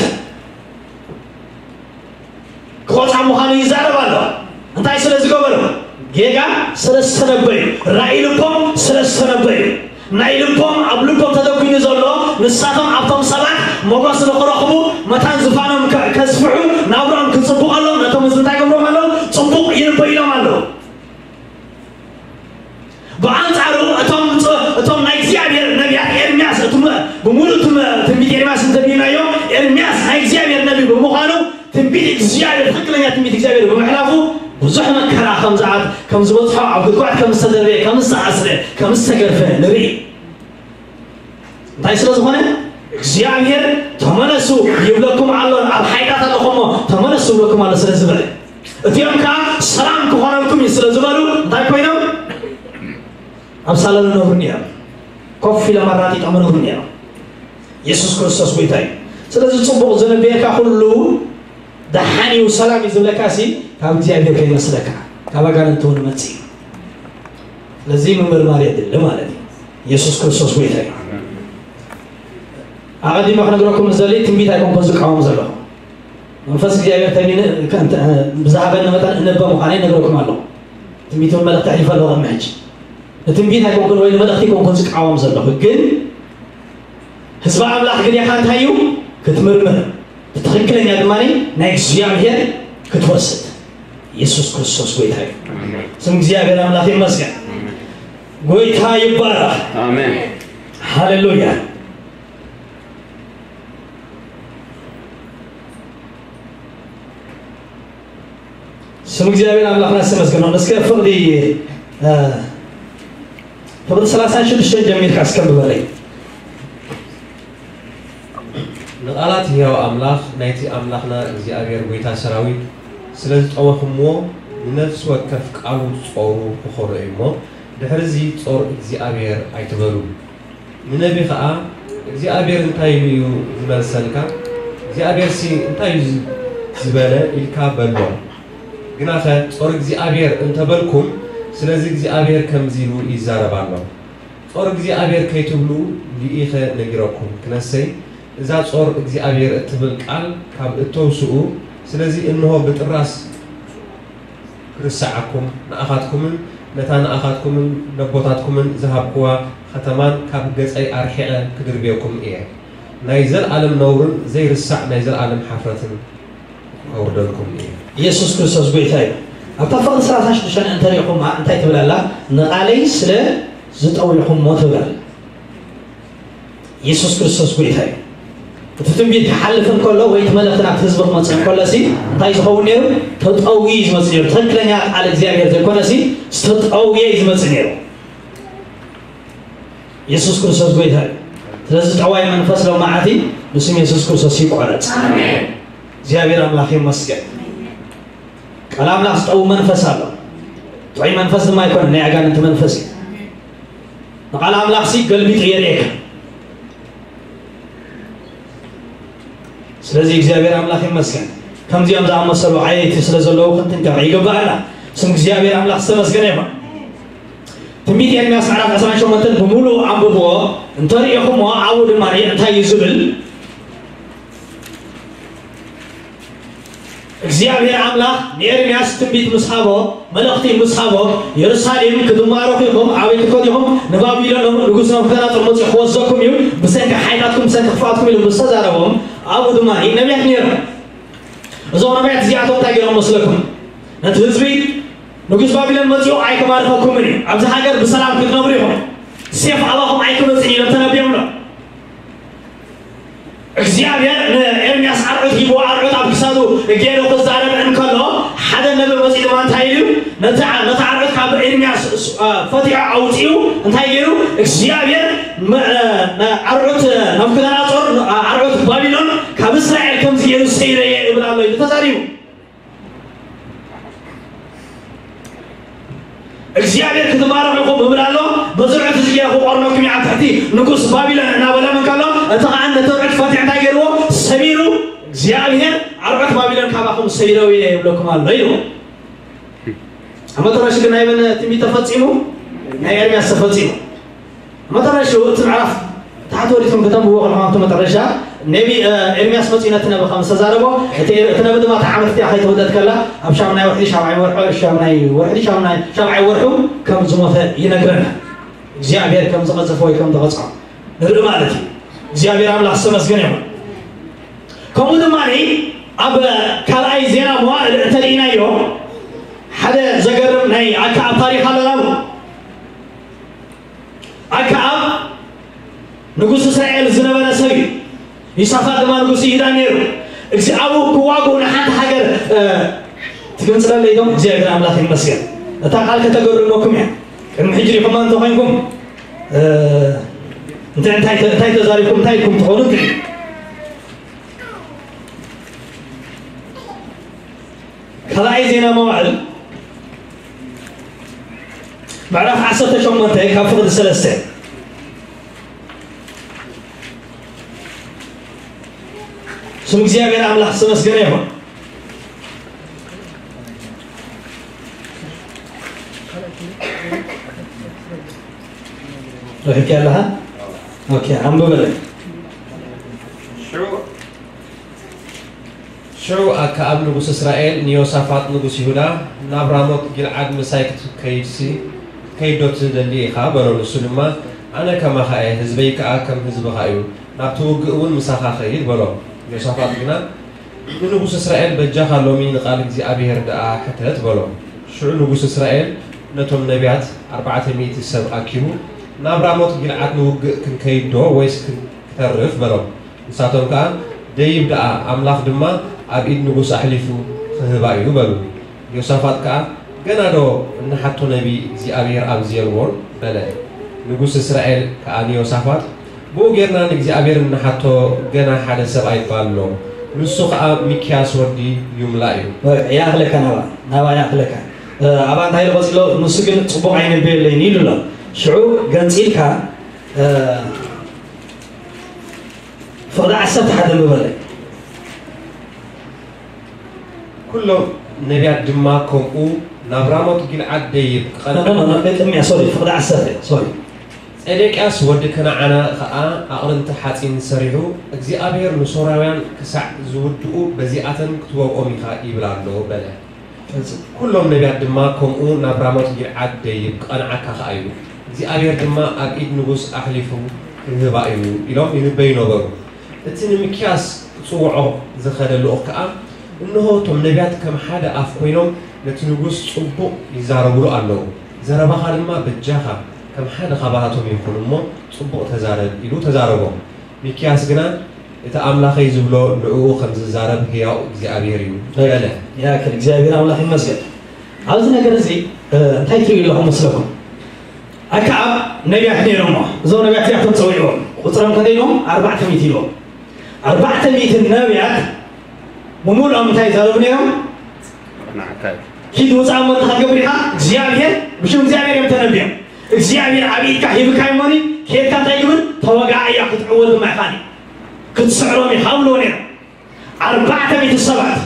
ክቖጻ ምዃኑ ይዛረብ ኣሎ። እንታይ ስለ ዝገበሩ? ጌጋ ስለ ዝተነበዩ፣ ራእይ ልቦም ስለ ዝተነበዩ፣ ናይ ልቦም፣ ኣብ ልቦም ተደጒኑ ዘሎ፣ ንሳቶም ኣብቶም ሰባት ሞገስ ንኽረኽቡ፣ መታን ዝፋኖም ከ-፣ ከስፍሑ፣ ናብርኦም ክጽቡቐሎም፣ ነቶም ህዝቢ እንታይ ገብሮም ኣለዉ? ጽቡቕ ይንበዩሎም ኣለዉ። ብኣንጻሩ እቶም ፅ-፣ እቶም ናይ እግዚኣብሔር ነቢያት ኤርምያስ እቲ መ-፣ ብምሉእ እቲ መ-፣ ትንቢት ኤርምያስ እንተቢናዮ፣ ኤርምያስ ናይ እግዚኣብሔር ነቢ ብምዃኑ ትንቢት እግዚኣብሔር፣ ትኽክለኛ ትንቢት እግዚኣብሔር ብምሕላፉ ብዙሕ መከራ ከም ዝኣት-፣ ከም ዝበጽሖ፣ ኣብ ጉድጓድ ከም ዝተደርበየ፣ ከም ዝተኣስረ፣ ከም ዝተገርፈ ንርኢ። እንታይ ስለ ዝኾነ? እግዚኣብሔር ተመለሱ ይብለኩም ኣሎ፣ ኣብ ሓይላት ኣለኹም እሞ ተመለሱ ይብለኩም ኣሎ ስለ ዝበለ፣ እቲኦም ከኣ ሰላም ክኾነልኩም እዩ ስለ ዝበሉ እንታይ ኮይኖም? ኣብ ሳሎን ይነብሩ ነይሮም። ኮፍ ኢሎም ኣራጢጦም ይነብሩ ነይሮም። የሱስ ክርስቶስ ጎይታ እዩ። ስለዚ ጽቡቕ ዝነበየካ ኩሉ ደሓን እዩ፣ ሰላም እዩ ዝብለካ ሲ ካብ እግዚኣብሔር ከይመስለካ ካብ ኣጋንንቲ እውን መጽእ እዩ። ስለዚ ምምርማር የድሊ ማለት እዩ። የሱስ ክርስቶስ ጎይታ እዩ። ኣቐዲመ ክነግረኩም ዝደሊ ትንቢት ኣይኮንኩን ዝቃወም ዘለኹ። መንፈስ እግዚኣብሔር ተሚነ ብዝሃበኒ መጠን እነበ ምዃነይ ነግረኩም ኣለኹ። ትንቢትን መልእኽቲ ኣሕሊፈ ኣለኹ። ቅድሚ ሕጂ ንትንቢት ኣይኮንኩን ወይ ንመልእኽቲ ኣይኮንኩን ዝቃወም ዘለኹ፣ ግን ህዝቢ ኣምላኽ ግዴኻ እንታይ እዩ ክትምርምር፣ እቲ ትኽክለኛ ድማ ናይ እግዚኣብሔር ክትወስድ። የሱስ ክርስቶስ ጎይታ እዩ። ስም እግዚኣብሔር ኣምላኽ ይመስገን። ጎይታ ይባረኽ። ኣሜን። ሃሌሉያ። ስም እግዚኣብሔር ኣምላኽና ዝተመስገነ። እስከ ፍቕዲ ፍቕዲ ሰላሳ ሽዱሽተ ጀሚርካ እስከ ብበለይ። ንቓላት ህያው ኣምላኽ ናይቲ ኣምላኽና እግዚኣብሔር ጐይታ ሰራዊት ስለ ዝጠወኹምዎ፣ ንነፍሲ ወከፍ ቃሉ ጾሩ ክኾኖ እዩ እሞ፣ ድሕርዚ ጾር እግዚኣብሔር ኣይትበሉ። ንነቢ ኸኣ እግዚኣብሔር እንታይ ኢሉ እዩ ዝመልሰልካ? እግዚኣብሔርሲ እንታይ እዩ ዝበለ? ኢልካ በሎ። ግናኸ ጾር እግዚኣብሔር እንተ በልኩም፣ ስለዚ እግዚኣብሔር ከምዚ ኢሉ ይዛረብ ኣሎ። ጾር እግዚኣብሔር ከይትብሉ ልኢኸ ነጊረኩም ክነሰይ፣ እዛ ጾር እግዚኣብሔር እትብል ቃል ካብ እተውስኡ፣ ስለዚ እንሆ ብጥራስ ክርስዓኩም፣ ንኣኻትኩምን ነታ ንኣኻትኩምን ነቦታትኩምን ዝሃብክዋ ኸተማን ካብ ገጸይ ኣርሒቐ ክድርብየኩም እየ። ናይ ዘለኣለም ነውርን ዘይርሳዕ ናይ ዘለኣለም ሓፍረትን ከውርደልኩም እየ። ኢየሱስ ክርስቶስ ጎይታ እዩ። ኣብታ ፍቕዲ ሰላሳ ሽዱሽተ እንተሪእኹማ እንታይ ትብል ኣላ? ንቓለይ ስለ ዝጠዊኹሞ ትብል ኣላ። ኢየሱስ ክርስቶስ ጎይታ እዩ። እቲ ትንቢት ክሓልፍ እንከሎ ወይ እቲ መልእኽቲ ናብቲ ህዝቢ ክመፅእ እንከሎ ሲ እንታይ ዝኸውን ነይሩ? ተጠውዩ እዩ ዝመፅእ ነይሩ። ትኽክለኛ ቃል እግዚኣብሔር ዘይኮነ ሲ ዝተጠውየ እዩ ዝመፅእ ነይሩ። ኢየሱስ ክርስቶስ ጎይታ እዩ። ስለዚ ጠዋይ መንፈስ ሎማዓቲ ብስም ኢየሱስ ክርስቶስ ይቆረፅ። እግዚኣብሔር ኣምላኽ ይመስገን። ቃል ኣምላኽ ዝጠዊ መንፈስ ኣሎ። ጥዑይ መንፈስ ድማ ኣይኮነን፣ ናይ ኣጋንንቲ መንፈስ እዩ። ንቃል ኣምላኽ ሲ ገልቢጡ የርእየካ። ስለዚ እግዚኣብሔር ኣምላኽ ይመስገን። ከምዚኦም ዝኣመሰሉ ዓየይቲ ስለ ዘለዉ ክንጥንቀቕ ይግባኣና። ስም እግዚኣብሔር ኣምላኽ ዝተመስገነ ይኹን። ትንቢት ኤርምያስ ምዕራፍ ዕስራን ሸሞንተን ብምሉእ ኣንብብዎ። እንተሪኢኹምዎ ኣብኡ ድማ እንታይ እዩ ዝብል? እግዚኣብሔር ኣምላኽ ንኤርምያስ ትንቢት ምስ ሃቦ፣ መልእኽቲ ምስ ሃቦ፣ የሩሳሌም ክትማረኹ ኢኹም፣ ኣበይ ክትከዱ ኢኹም? ንባቢሎን ንጉስ ናቡከደነፆር መፂኡ ክወስደኩም እዩ፣ ብሰንኪ ሓይላትኩም፣ ብሰንኪ ክፍኣትኩም ኢሉ ምስ ተዛረቦም፣ ኣብኡ ድማ ነቢያት ነይሮም። እዞም ነቢያት እዚኣቶም እንታይ ገይሮም መስለኩም? ነቲ ህዝቢ ንጉስ ባቢሎን መፂኡ ኣይክማርኸኩምን እዩ፣ ኣብዚ ሃገር ብሰላም ክትነብሩ ኢኹም፣ ሴፍ ኣባኹም ኣይክመፅን ኢሎም ተነቢዮምሎም። እግዚኣብሔር ንኤርምያስ ኣርዑት ሂብዎ፣ ኣርዑት ኣብ ክሳዱ ገይሩ ክዛረብ እንከሎ፣ ሓደ ነቢ መፂኡ ድማ እንታይ ኢሉ? ነቲ ዓ- ነቲ ኣርዑት ካብ ኤርምያስ ስ- አ፣ ፈቲሑ ኣውፂኡ እንታይ ገይሩ? እግዚኣብሔር መ- አ፣ ኣርዑት ናቡከደነፆር፣ አ- ኣርዑት ባቢሎን ካብ እስራኤል ከምዚ ገይሩ ሰይረየ እብል ኣሎ ኢሉ ተዛሪቡ። እግዚኣብሔር ክትባረኹ ኢኹም እብል ኣሎ። በዚ ርዑት እዚ ገይረ ክቆርነኩም እየ ኣብ ትሕቲ ንጉስ ባቢሎን እናበሎም እንከሎ፣ እቲ ኸዓ ነቲ ርዑት ፈቲሑ እንታይ ገይርዎ? ሰቢሩ፣ እግዚኣብሔር ኣርዑት ባቢሎን ካባኹም ሰይረው እየ ይብለኩም ኣሎ ኢልዎ። ኣብ መጠረሽ ግን ናይ መን ትንቢት ተፈጺሙ? ናይ ኤርምያስ ተፈጺሙ። መጠረሽኡ እቲ ምዕራፍ ታሕቲ ወዲኩም ከተንብብዎ ከለኹም ኣብቲ መጠረሻ ነቢ ኤርምያስ መጺኡ ነቲ ነቢ ከም ዝተዛረቦ፣ እቲ ነቢ ድማ እታ ዓመት እቲኣ ከይተወልደት ከላ ኣብ ሻምናይ ወርሒ ሻብዓይ ወርሑ ሻምናይ ወርሒ ሻምናይ ሻብዓይ ወርሑ ከም ዝሞተ ይነግረና። እግዚኣብሔር ከም ዝቐዘፎ ወይ ከም ዝቐጽዖ ንርኢ ማለት እዩ። እግዚኣብሔር ኣምላኽ ዝተመስገነ ይኹን። ከምኡ ድማ ኣብ ካልኣይ ዜና መዋዕል እንተርኢናዮ ሓደ ዘገርም ናይ ኣከኣብ ታሪኽ ኣለና። ኣከኣብ ንጉስ እስራኤል ዝነበረ ሰብ እዩ። ይሳፋጥ ድማ ንጉስ ይሁዳ ነይሩ። እዚ ኣብኡ ክዋግኡ ንሓንቲ ሃገር ትግንፅለለይ ዶም እግዚኣብሔር ኣምላኽ ይመስገን። እታ ቃል ከተገርመኩም እያ። ቅድሚ ሕጂ ሪኹማ እንተኮይንኩም እንታይ እንታይ እንታይ ተዛሪብኩም እንታይ ኢልኩም ትኾኑ? ካልኣይ ዜና መዋዕል ምዕራፍ ዓሰርተ ሸሞንተ ካብ ፍቕዲ ሰለስተ። ስም እግዚኣብሔር ኣምላኽ ዝተመስገነ ይኹን። ረኺብኪ ኣለኻ? ኦኬ፣ ኣንብበለይ። ሽዑ ኣከኣብ ንጉስ እስራኤል ንዮሳፋጥ ንጉስ ይሁዳ፣ ናብ ራሞት ጊልዓድ ምሳይ ክትከይድሲ ክትከይድ ዶ ትደሊ ኢኻ? በሎ። ንሱ ድማ፣ ኣነ ከማኻ እየ፣ ህዝበይ ከኣ ከም ህዝብኻ እዩ፣ ናብቲ ውግእ እውን ምሳኻ ኸይድ በሎ። ዮሳፋጥ ግና፣ ንንጉስ እስራኤል፣ በጃኻ ሎሚ ንቓል እግዚኣብሄር ደኣ ሕተት በሎ። ሽዑ ንጉስ እስራኤል ነቶም ነቢያት ኣርባዕተ ሚእቲ ሰብ ኣኪቡ፣ ናብ ራሞት ጊልዓድ ንውግእ ክንከይድ ዶ ወይስ ክን- ክተርፍ በሎም። ንሳቶም ከኣ፣ ደይብ ደኣ፣ ኣምላኽ ድማ ኣብ ኢድ ንጉስ ኣሕሊፉ ክህባ እዩ በሉ። ዮሳፋጥ ከኣ፣ ገና ዶ እንሓቶ ነቢ እግዚኣብሔር ኣብዚ የልቦን? በለ። ንጉስ እስራኤል ከኣ ንዮሳፋጥ፣ ብኡ ጌርና ንእግዚኣብሔር እንሓቶ ገና ሓደ ሰብኣይ እባ ኣሎ፣ ንሱ ኸኣ ሚክያስ ወዲ ዩምላ እዩ። ይኣኽለካ ናባ፣ ናባ ይኣኽለካ። እ፣ ኣባ እንታይ ኢሉ ቀጺሎ? ንሱ ግን ጽቡቕ ኣይንበየለይን ኢሉ ኣሎ። ሽዑ ገንጺልካ፣ እ፣ ፍቕዲ ዓሰርተ ሓደ ምበለ። ኩሎም ነቢያት ድማ ከምኡ ናብ ራሞት ጊልዓድ ደይብ ክቐንዓ። ቅድሚያ፣ ሶሪ፣ ፍቕዲ ዓሰርተ፣ ሶሪ። ጼዴቅያስ ወዲ ከነዓና ኸኣ ኣቕርንቲ ሓጺን ሰሪሑ፣ እግዚኣብሔር ንሶርያውያን ክሳዕ ዝውድኡ በዚኣተን ክትወቕኦም ኢኻ ይብል ኣሎ በለ። ፈጽም። ኩሎም ነቢያት ድማ ከምኡ ናብ ራሞት ጊልዓድ ደይብ ክቐንዓካ ኸኣ እዩ። እግዚኣብሔር ድማ ኣብ ኢድ ንጉስ ኣሕሊፉ ክህባ እዩ ኢሎም ይንበዩ ነበሩ። እቲ ንሚክያስ ክጽውዖ ዝኸደ ልኡኽ ከኣ፣ እንሆ፣ እቶም ነቢያት ከም ሓደ ኣፍ ኰይኖም ነቲ ንጉስ ጽቡቕ ይዛረቡሉ ኣለዉ። ዘረባኻ ድማ በጃኻ ከም ሓደ ኻባታቶም ይኹን እሞ፣ ጽቡቕ ተዛረብ፣ ኢሉ ተዛረቦም። ሚክያስ ግና፣ እቲ ኣምላኸይ ዝብሎ ንዕኡ ከም ዝዛረብ ህያው እግዚኣብሔር እዩ፣ በለ። ያክል እግዚኣብሔር ኣምላኽ ይመስገን። ኣብዚ ነገር እዚ፣ እ፣ እንታይ ትርእዩ ኣለኹም መስለኩም? ኣከኣብ ነቢያት ነይሮሞ። እዞም ነቢያት እዚኣቶም ጸዊዕዎም። ቁጽሮም ክንደይ ኢልዎም? ኣርባዕተ ሚእቲ ኢልዎም። ኣርባዕተ ሚእቲ ነቢያት ብምሉኦም እንታይ ይዛረቡ ነይሮም? ንዓካ እዩ። ኪድ ውጻእ እሞ እንታይ ክትገብር ኢኻ? እግዚኣብሔር፣ ብሽም እግዚኣብሔር እዮም ተነቢዮም። እግዚኣብሔር ኣብ ኢድካ ሂብካ እሞኒ፣ ኬድካ እንታይ ግብር? ተወጋኣ እያ ክትዕወት ድማ ኢኻ። ክትስዕሮም ኢኻ ብልዎ ነይሮም። ኣርባዕተ ሚእቲ ሰባት።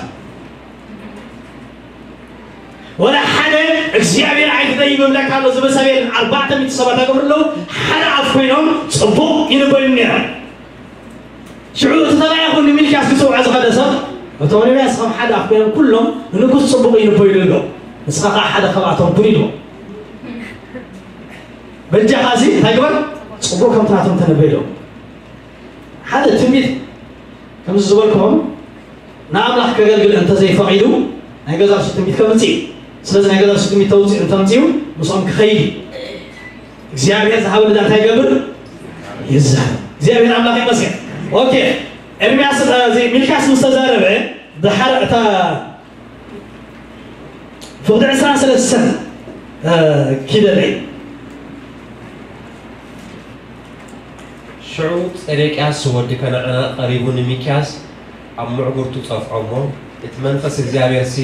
ወላ ሓደ እግዚኣብሔር ኣይትደይብ እብለካ ኣሎ ዝብል ሰብ የለን። ኣርባዕተ ሚእቲ ሰባት ኣገብሩ ኣለዉ። ሓደ ኣፍ ኮይኖም ጽቡቕ ይንበዩ ነይሮም። ሽዑ እቲ ተባኢኹ ንሚልክያስ ክጽውዖ ዝኸደ ሰብ፣ እቶም ነቢያት ከም ሓደ ኣፍ ኮይኖም ኩሎም ንንጉስ ጽቡቕ ይንበዩሉ ኣለዉ። ንስኻ ኸኣ ሓደ ካብኣቶም ኩን ኢልዎ። በጃኻ እዚ እንታይ ግበር? ጽቡቕ ከምቲ ናቶም ተነበይ ኢልዎ። ሓደ ትንቢት ከምዚ ዝበልኩኹም ንኣምላኽ ከገልግል እንተዘይፈቒዱ ናይ ገዛ ርእሱ ትንቢት ከምጽእ እዩ። ስለዚ ናይ ገዛ ርእሱ ትንቢት ተውጽእ እንተምጽኡ ምስኦም ክኸይድ እዩ። እግዚኣብሔር ዝሃበ ልዳ እንታይ ይገብር? ይዛረብ። እግዚኣብሔር ኣምላኽ ይመስገን። ኦኬ፣ ኤርምያስ፣ እ፣ እዚ ሚልክያስ ምስ ተዛረበ ድሓር እታ ፍቕዲ ዕስራን ሰለስተን፣ እ፣ ኪደለይ። ሽዑ ጼዴቅያስ ወዲ ከነዓና ቀሪቡ ንሚክያስ ኣብ ምዕጉርቱ ጸፍዖ እሞ፣ እቲ መንፈስ እግዚኣብሔርሲ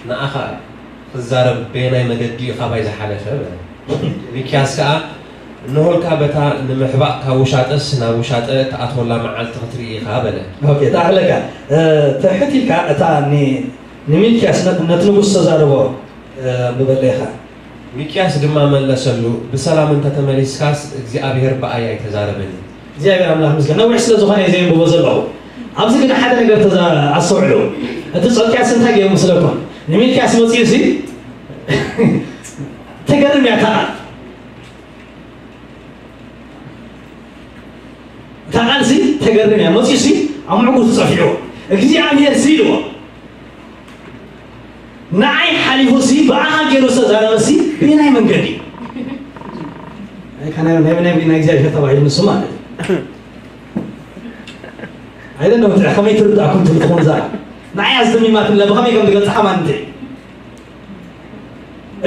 ንኣኻ ክዛረብ በየናይ መገዲ እዩ ካባይ ዝሓለፈ? በለ። ሚክያስ ከኣ፣ እንሆልካ በታ ንምሕባእ ካብ ውሻጠስ ናብ ውሻጠ እትኣትወላ መዓልቲ ክትርኢ ኢኻ፣ በለ። ኦኬ፣ ተኣኽለካ። እ፣ ትሕት ኢልካ እታ ኒ-፣ ንሚልክያስ ነ-፣ ነቲ ንጉስ ዝተዛረቦ፣ እ፣ ኣንብበለይ ኢኻ። ሚክያስ ድማ መለሰሉ፣ ብሰላም እንተ ተመሊስካስ እግዚኣብሔር ብኣይ ኣይተዛረበን እዩ። እግዚኣብሔር ኣምላኽ ምስጋና። ነዊሕ ስለ ዝኾነ እየ ዘየንብቦ ዘለኹ። ኣብዚ ግን ሓደ ነገር ተዛ-፣ ኣስተውዕሉ። እቲ ጸድቅያስ እንታይ ገይሩ ምስለኩም? ንሚልክያስ መጺኡ ሲ ተገርም እያ እታ ቃል። እታ ቃል ሲ ተገርም እያ። መጺኡ ሲ ኣብ ምዕጉርቱ ጸፊዕዎ። እግዚኣብሔር ሲ ኢልዎ። ንዓይ ሓሊፉ ሲ ብኣኻ ገይሩ ዝተዛረበ ሲ ብየናይ መንገዲ? ናይ ካና-፣ ናይ፣ ናይ፣ ናይ እግዚኣብሔር ተባሂሉ ንሱ ማለት እዩ። ኣይደለም፣ እንታይ ከመይ ትርዳእኩም ትብል ትኾን እዛ? ንዓይ ኣዝደሚማትኒ ብኸመይ ከም ትገልጽ ሓማን እንታይ?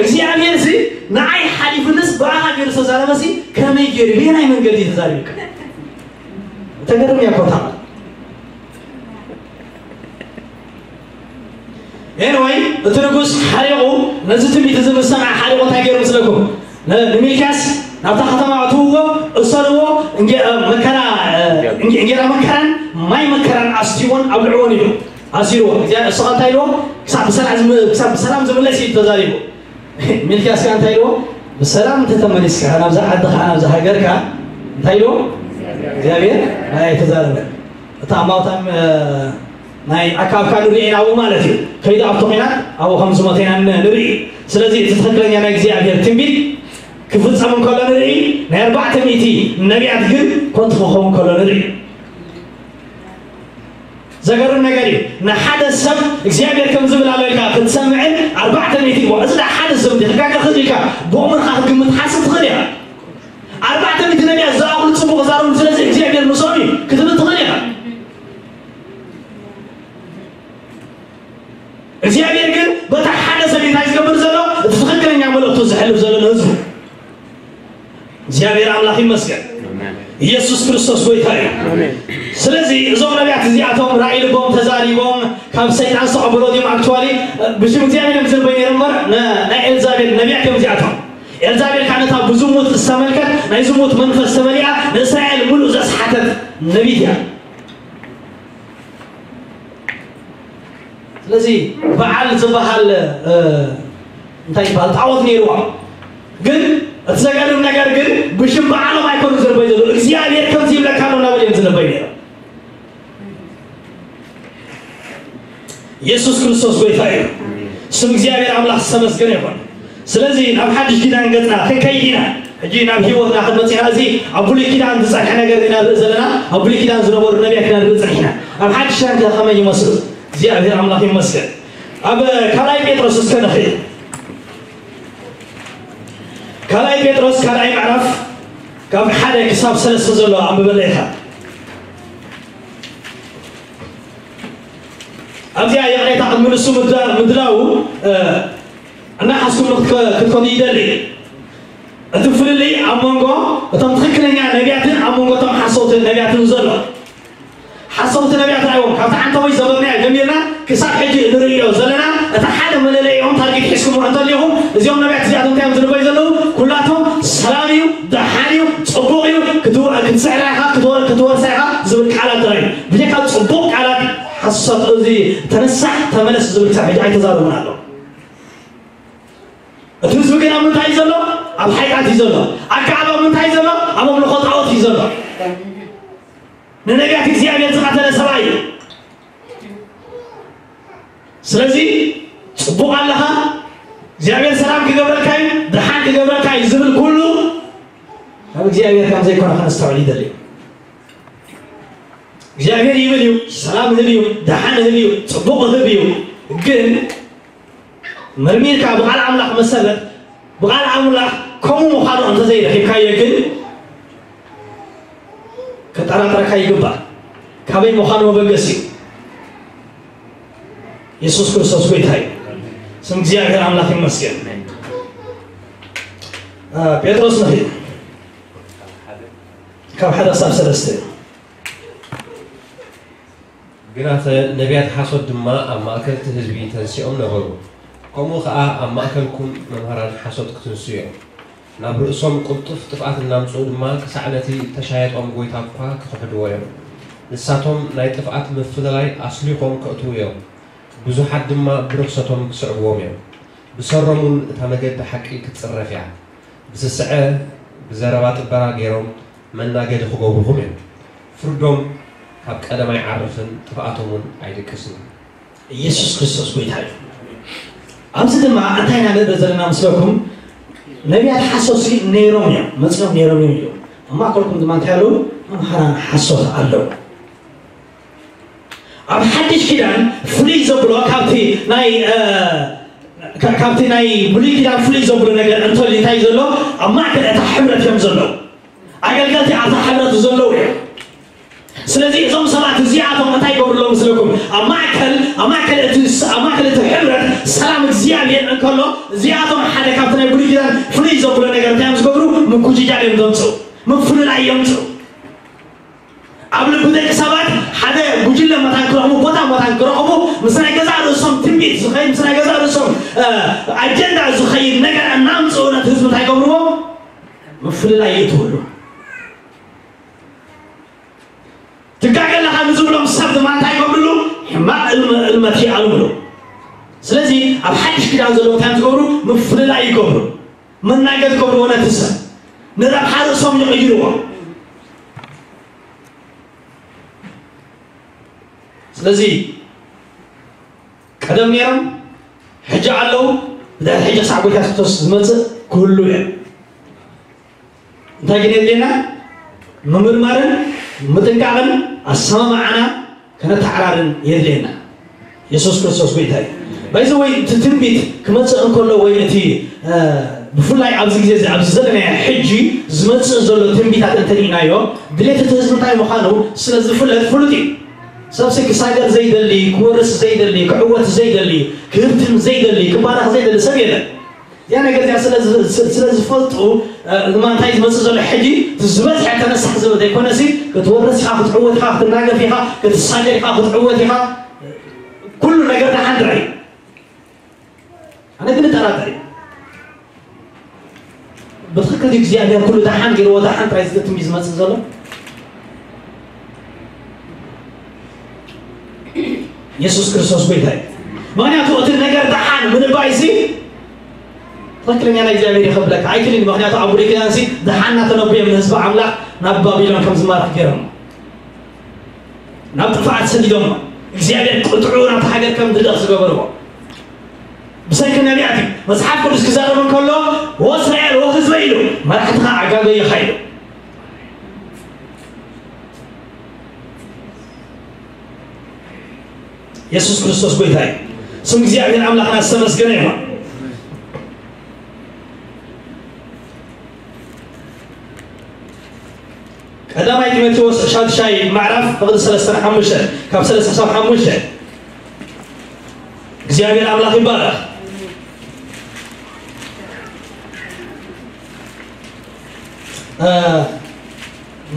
እግዚኣብሔር ሲ ንዓይ ሓሊፉ ንስ ብኣኻ ገይሩ ዝተዛረበ ሲ ከመይ ገይሩ ብየናይ መንገዲ እዩ ተዛሪቡካ? ተገርም እያ እኮ እታ ቃል። ኤንወይ፣ እቲ ንጉስ ሓሪቑ ነዚ ትንቢት እዚ ምስ ሰምዐ ሓሪቑ እንታይ ገይሩ ምስለኩም? ን-፣ ንሚልክያስ ናብታ ከተማ ኣእትውዎ፣ እሰርዎ፣ እንጌ-፣ እ፣ መከራ፣ እ፣ እንጌ-፣ እንጌራ መከራን ማይ መከራን ኣስትይዎን ኣብ ልዕዎን ኢሉ ኣሲርዎ። እግዚኣብሔር ንስኻ እንታይ ኢልዎ? ክሳብ ብሰላም ዝም- ክሳብ ብሰላም ዝምለስ እዩ ተዛሪቡ። ሚልክያስ ከኣ እንታይ ኢልዎ? ብሰላም እንተተመሊስካ ናብዛ ዓድኻ ናብዛ ሃገርካ እንታይ ኢልዎ? እግዚኣብሔር ናይ ተዛረበ። እታ ማውታም ናይ ኣካብካ ንርኢ ኢና ኣብኡ ማለት እዩ። ከይዱ ኣብቲ ኹናት ኣብኡ ከም ዝሞተ ኢና ን- ንርኢ። ስለዚ እቲ ትኽክለኛ ናይ እግዚኣብሔር ትንቢት ክፍጸም እንከሎ ንርኢ፣ ናይ ኣርባዕተ ሚእቲ ነቢያት ግን ኮንቱ ክኸውን ከሎ ንርኢ። ዘገርም ነገር እዩ። ንሓደ ሰብ እግዚኣብሔር ከም ዝብል ኣሎ ኢልካ ክትሰምዕን ኣርባዕተ ሚእቲ እሞ እዚ ዳ ሓደ ሰብ እንዲ ክጋገ ክእል ኢልካ ብእምርካ ክትግምት ሓስብ ትኽእል ኢኻ። ኣርባዕተ ሚእቲ ነቢያት ዝኣኽሉ ጽቡቕ ዛረቡ ስለዚ እግዚኣብሔር ምስኦም እዩ ክትብል ትኽእል ኢኻ። እግዚኣብሔር ግን በታ ሓደ ሰብ እንታይ ዝገብር ዘሎ እቲ ትኽክለኛ መልእክቱ ዝሕልፍ ዘሎ ንህዝቡ እግዚኣብሔር ኣምላኽ ይመስገን። ኢየሱስ ክርስቶስ ጎይታ እዩ። ስለዚ እዞም ነቢያት እዚኣቶም ራእይ ልቦም ተዛሪቦም ካብ ሰይጣን ዝተቐበሎ ድዮም ኣክቹዋሊ ብሽም እግዚኣብሔር እዮም ዝንበይ ነይሮም እምበር ነ- ናይ ኤልዛቤል ነቢያት እዮም እዚኣቶም። ኤልዛቤል ከዓ ነታ ብዝሙት ዝተመልከት ናይ ዝሙት መንፈስ ተመሊኣ ንእስራኤል ሙሉእ ዘስሓተት ነቢት እያ። ስለዚ በዓል ዝበሃል እንታይ ይበሃል ጣዖት ነይርዋ። ግን እቲ ዘገርም ነገር ግን ብሽም በዓሎም ኣይኮኑ ዝንበይ ዘሎ እግዚኣብሔር ከምዚ ይብለካ ኣሎ እናበል እዮም ዝንበይ ነይሮም። ኢየሱስ ክርስቶስ ጎይታ እዩ። ስም እግዚኣብሔር ኣምላኽ ዝተመስገነ ይኹን። ስለዚ ናብ ሓድሽ ኪዳን ገጽና ክንከይድ ኢና። ሕጂ ናብ ህይወትና ክንመጽ ኢና። እዚ ኣብ ብሉይ ኪዳን ዝጸንሐ ነገር ኢና ንርኢ ዘለና። ኣብ ብሉይ ኪዳን ዝነበሩ ነቢያት ኢና ንርኢ ጸኒሕና። ኣብ ሓድሽ ኪዳን ከ ከመይ ይመስሉ? እግዚኣብሔር ኣምላኽ ይመስገን። ኣብ ካልኣይ ጴጥሮስ እስከ ንኽእል። ካልኣይ ጴጥሮስ ካልኣይ ምዕራፍ ካብ ሓደ ክሳብ ሰለስተ ዘሎ ኣንብበለ ኢኻ። ኣብዚኣ ይቕሬታ ቅድሚ ንሱ ምድላው እናሓዝኩም ክትከዱ ይደሊ። እቲ ፍልልይ ኣብ መንጎ እቶም ትኽክለኛ ነቢያትን ኣብ መንጎ እቶም ሓሰውቲ ነቢያትን ዘሎ ሓሰውቲ ነቢያት ኣይዎም ካብቲ ዓንተቦይ ዘበብናዮ ጀሚርና ክሳብ ሕጂ ንርእዮ ዘለና እቲ ሓደ መለለይኦም ታርጌት ሒዝኩሞ እንተሊኹም እዚኦም ነቢያት እዚኣቶም እንታይ እዮም ዝንበዩ ዘለዉ ኩላቶም ሰላም እዩ ደሓን እዩ ጽቡቕ እዩ ክትስዕራ ኢኻ ክትወርሳ ኢኻ ዝብል ቃላት ጥራይ ብጀካ ጽቡቕ ቃላት ሓሶት እዚ ተነሳሕ ተመለስ ዝብል ክሳብ ሕጂ ኣይተዛረቡን ኣለዉ እቲ ህዝቢ ግን ኣብ ምንታይ እዩ ዘሎ ኣብ ሓጢኣት እዩ ዘሎ ኣከኣብ ኣብ ምንታይ እዩ ዘሎ ኣብ ኣምልኾ ጣዖት እዩ ዘሎ ንነቢያት እግዚኣብሔር ዝቐተለ ሰብኣይ እዩ ስለዚ ጽቡቕ ኣለኻ እግዚኣብሔር ሰላም ክገብረልካ እዩ ደሓን ክገብረልካ እዩ ዝብል ኩሉ ካብ እግዚኣብሔር ከም ዘይኮነ ከነስተውዕል ይደሊ እግዚኣብሔር ይብል እዩ ሰላም ህብ እዩ ደሓን ህብ እዩ ጽቡቕ ህብ እዩ ግን መርሚርካ ብቓል ኣምላኽ መሰረት ብቓል ኣምላኽ ከምኡ ምዃኑ እንተዘይረኺብካዮ ግን ከጠራጥረካ ይግባእ ካበይ ምዃኑ መበገሲ እዩ የሱስ ክርስቶስ ጎይታ እዩ ስም እግዚኣብሔር ኣምላኽ ይመስገን ጴጥሮስ ንኺድ ካብ ሓደ ክሳብ ሰለስተ ግናኸ ነቢያት ሓሶት ድማ ኣብ ማእከል እቲ ህዝቢ ተንሲኦም ነበሩ። ከምኡ ኸኣ ኣብ ማእከልኩም መምሃራን ሓሶት ክትንስኡ እዮም። ናብ ርእሶም ቅልጡፍ ጥፍኣት እናምጽኡ ድማ ክሳዕ ነቲ እተሻየጦም ጐይታ እኳ ክኽሕድዎ እዮም። ንሳቶም ናይ ጥፍኣት ምፍልላይ ኣስሊኾም ከእትዉ እዮም፣ ብዙሓት ድማ ብርኽሰቶም ክስዕብዎም እዮም። ብሰሮም እውን እታ መገዲ ሓቂ ክትጽረፍ እያ። ብስስዐ ብዘረባ ጥበራ ገይሮም መናገዲ ክገብሩኹም እዮም። ፍርዶም ካብ ቀደም ኣይዓርፍን፣ ጥፍኣቶም እውን ኣይድቅስን እዩ። ኢየሱስ ክርስቶስ ጎይታ እዩ። ኣብዚ ድማ እንታይ ኢና ንርኢ ዘለና ምስለኩም? ነቢያት ሓሶሲ ነይሮም እዮም፣ መፅኦም ነይሮም እዮም ኢሉ። ኣብ ማእከልኩም ድማ እንታይ ኣለዉ? መምሃራን ሓሶት ኣለዉ። ኣብ ሓድሽ ኪዳን ፍልይ ዘብሎ ካብቲ ናይ ካብቲ ናይ ብሉይ ኪዳን ፍልይ ዘብሎ ነገር እንተልዩ እንታይ ዘሎ ኣብ ማእከል እታ ሕብረት እዮም ዘለዉ ኣገልገልቲ ኣብታ ሕብረት ዘለዉ እዮም ስለዚ እዞም ሰባት እዚኣቶም እንታይ ይገብሩ ኣለዉ ምስለኩም ኣብ ማእከል ኣብ ማእከል እቲ ኣብ ማእከል እቲ ሕብረት ሰላም እግዚኣብሔር እንከሎ እዚኣቶም ሓደ ካብቲ ናይ ብሉይ ኪዳን ፍልይ ዘብሎ ነገር እንታይ እዮም ዝገብሩ ምጉጅጃል እዮም ዘምፅኡ ምፍልላይ እዮም ዘምፅኡ ኣብ ልቢ ደቂ ሰባት ሓደ ጉጅለ መታን ክረኽቡ ቦታ መታን ክረኽቡ ምስ ናይ ገዛእ ርእሶም ትንቢት ዝኸይድ ምስ ናይ ገዛእ ርእሶም ኣጀንዳ ዝኸይድ ነገር እናምፅኡ ነቲ ህዝቢ እንታይ ገብርዎ ምፍልላይ ይእትውሉ ትጋገ ኣለኻ ድማ እንታይ ይገብርሉ? ሕማቕ እልመ- እልመት ይኣልምሉ። ስለዚ ኣብ ሓድሽ ኪዳን ዘለዉ እንታይ እዮም ዝገብሩ? ምፍልላይ ይገብሩ። መናገድ ይገብርዎ ነቲ ሰብ። ንረብሓ ርእሶም ይቕይርዎ። ስለዚ ቀደም ነይሮም፣ ሕጂ ኣለዉ፣ ብድሕሪ ሕጂ ክሳዕ ጎይታ የሱስ ክርስቶስ ዝመጽእ ክህሉ እዮም። እንታይ ግን የድልየና? ምምርማርን ምጥንቃቕን ኣሰማምዓና ከነተዓራርን የድልየና። የሱስ ክርስቶስ ጎይታ እዩ። ባይዘ ወይ እቲ ትንቢት ክመጽእ እንከሎ ወይ እቲ ብፍላይ ኣብዚ ግዜ ኣብዚ ዘለናዮ ሕጂ ዝመጽእ ዘሎ ትንቢታት እንተሪእናዮ ድሌት እቲ ህዝቢ እንታይ ምዃኑ ስለ ዝፍለጥ ፍሉጥ እዩ። ሰብሲ ክሳገር ዘይደሊ፣ ክወርስ ዘይደሊ፣ ክዕወት ዘይደሊ፣ ክህብትም ዘይደሊ፣ ክባረኽ ዘይደሊ ሰብ የለን። እዚኣ ነገር እዚኣ ስለ ዝ- ስ- ስለ ዝፈልጡ ድማ እንታይ ዝመፅእ ዘሎ ሕጂ እቲ ዝበዝሐ ተነሳሕ ዝብል ዘይኮነሲ ክትወርስ ኢኻ፣ ክትዕወት ኢኻ፣ ክትናገፍ ኢኻ፣ ክትሳገር ኢኻ፣ ክትዕወት ኢኻ። ኩሉ ነገር ደሓን ጥራይ እዩ። ኣነ ግን እጠራጠር እዩ። ብትክክል እግዚኣብሔር ኩሉ ደሓን ገይርዎ ደሓን ጥራይ ዝትትም እዩ ዝመፅእ ዘሎ። የሱስ ክርስቶስ ጎይታ እዩ። ምክንያቱ እቲ ነገር ደሓን ምንባይ ሲ ትክክለኛ ናይ እግዚኣብሔር ይኸብለካ ኣይክልን። ምክንያቱ ኣብ ብሉይ ኪዳን ሲ ደሓን እናተነብዮም ንህዝቢ ኣምላኽ ናብ ባቢሎን ከም ዝማርኽ ገይሮም ናብ ጥፍኣት ሰዲዶሞ እግዚኣብሔር ቅጥዑ ናብቲ ሃገር ከም ዝልእኽ ዝገበርዎ ብሰንኪ ነቢያት እዩ። መፅሓፍ ቅዱስ ክዛረብ እንከሎ ወእስራኤል ወህዝበ ኢሉ መራሕትኻ ኣጋገይኻ ኢሉ። የሱስ ክርስቶስ ጎይታ እዩ። ስም እግዚኣብሔር ኣምላኽና ዝተመስገነ ይኹን። ቀዳማይ ጢሞቴዎስ ሻድሻይ ምዕራፍ ፍቕዲ ሰለስተን ሓሙሽተን ካብ ሰለስተ ክሳብ ሓሙሽተ እግዚኣብሔር ኣምላኽ ይባረኽ።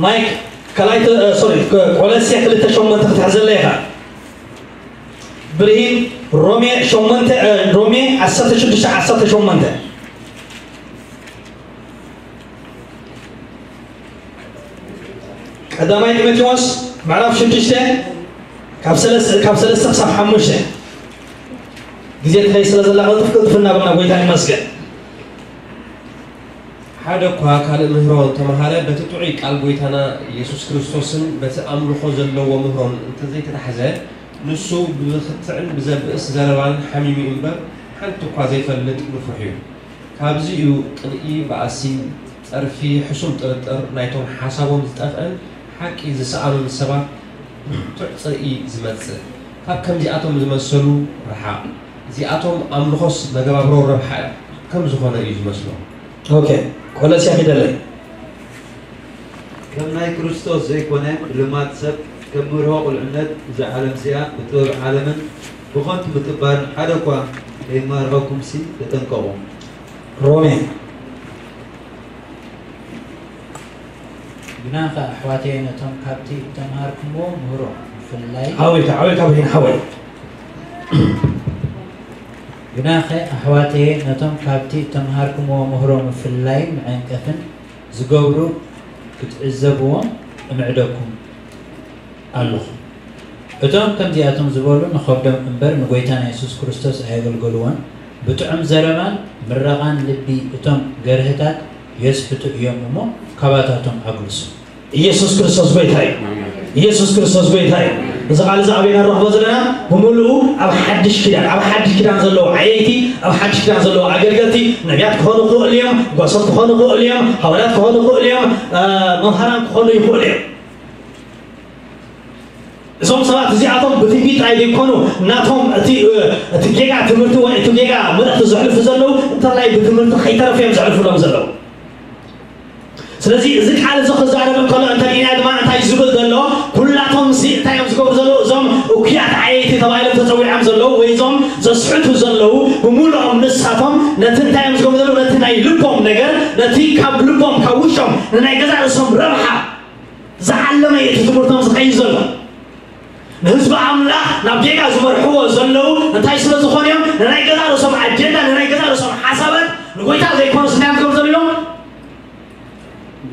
ማይክ ካልኣይ ሶሪ ቆለስየ ክልተ ሸሞንተ ክትሕዘለ ኢኻ። ብርሂን ሮሜ ሸሞንተ ሮሜ ዓሰርተ ሽዱሽተ ዓሰርተ ሸሞንተ ቀዳማይ ጢሞቴዎስ ምዕራፍ ሽዱሽተ ካብ ሰለስተ ካብ ሰለስተ ክሳብ ሓሙሽተ ግዜ ትኸይ ስለ ዘላ ቅልጥፍ ቅልጥፍ እናበልና ጎይታ ይመስገን። ሓደ እኳ ካልእ ምህሮ እንተመሃረ፣ በቲ ጥዑይ ቃል ጐይታና ኢየሱስ ክርስቶስን በቲ ኣምልኾ ዘለዎ ምህሮን እንተዘይተታሕዘ፣ ንሱ ብብኽትዕን ብዘብእስ ዘረባን ሓሚሙ እዩ እምበር፣ ሓንቲ እኳ ዘይፈልጥ ንፉሕ እዩ። ካብዚ እዩ ቅንኢ፣ ባእሲ፣ ጸርፊ፣ ሕሱም ጥርጥር፣ ናይቶም ሓሳቦም ዝጠፍአን ሓቂ ዝሰኣኑን ሰባት ብርቱዕ ጽልኢ ዝመጽእ። ካብ ከምዚኣቶም ዝመሰሉ ርሓቕ። እዚኣቶም ኣምልኾስ መገባብሮ ረብሓ ከም ዝኾነ እዩ ዝመስሎም። ኦኬ፣ ቆለስያ ፊደለይ። ከም ናይ ክርስቶስ ዘይኮነ ብልማድ ሰብ፣ ከም መርሆ ቁልዕነት፣ እዛ ዓለም እዚኣ ብጥበብ ዓለምን ብኸንቱ ምጥባርን ሓደ እኳ ከይማርኸኩምሲ ተጠንቀቑ። ሮሜ። ግናኸ ኣሕዋተየ ነቶም ካብቲ እተምሃርኩምዎ ምህሮ ምፍልላይ ዓዊልካ ዓዊልካ ብሂን ሓወይ። ግናኸ ኣሕዋተየ ነቶም ካብቲ እተምሃርኩምዎ ምህሮ ምፍልላይ ምዕንቀፍን ዝገብሩ ክትዕዘብዎም እምዕደኩም ኣለኹ። እቶም ከምዚኣቶም ዝበሉ ንኸብዶም እምበር ንጐይታና የሱስ ክርስቶስ ኣየገልገሉዎን። ብጥዑም ዘረባን ምረቓን ልቢ እቶም ገርህታት የስሕቱ እዮም እሞ ካባታቶም ኣግልሱ። ኢየሱስ ክርስቶስ ጐይታ እዩ። ኢየሱስ ክርስቶስ ጐይታ እዩ። እዚ ቃል እዚ ኣበይና ንረኽቦ ዘለና? ብምሉኡ ኣብ ሓድሽ ኪዳን፣ ኣብ ሓድሽ ኪዳን ዘለዉ ዓየይቲ፣ ኣብ ሓድሽ ኪዳን ዘለዉ ኣገልገልቲ፣ ነቢያት ክኾኑ ይኽእሉ እዮም፣ ጓሶት ክኾኑ ይኽእሉ እዮም፣ ሃዋርያት ክኾኑ ይኽእሉ እዮም፣ እ፣ መምሃራን ክኾኑ ይኽእሉ እዮም። እዞም ሰባት እዚኣቶም ብትንቢት ጥራይ ዘይኮኑ ናቶም እቲ እቲ ጌጋ ትምህርቲ ወይ እቲ ጌጋ መልእኽቲ ዘሕልፉ ዘለዉ እንተላይ ብትምህርቲ ከይተረፉ እዮም ዘሕልፉሎም ዘለዉ። ስለዚ እዚ ቃል እዚ ክዛረብ እንከሎ እንተሪእና ድማ እንታይ ዝብል ዘሎ? ኩላቶም ሲ እንታይ እዮም ዝገብሩ ዘለዉ? እዞም እኩያት ዓየይቲ ተባሂሎም ተፀዊዖም ዘለዉ ወይ እዞም ዘስሕቱ ዘለዉ ብምሉኦም ንሳቶም ነቲ እንታይ እዮም ዝገብሩ ዘለዉ? ነቲ ናይ ልቦም ነገር ነቲ ካብ ልቦም ካብ ውሽጦም ንናይ ገዛ ርእሶም ረብሓ ዝዓለመ እዩ እቲ ትምህርቶም ዝኸይድ ዘሎ። ንህዝቢ ኣምላኽ ናብ ጌጋ ዝመርሕዎ ዘለዉ እንታይ ስለ ዝኾኑ እዮም? ንናይ ገዛ ርእሶም ኣጀንዳ ንናይ ገዛ ርእሶም ሓሳባት ንጎይታ ዘይኮኑስ እንታይ እዮም ክገብሩ ዘለዉ?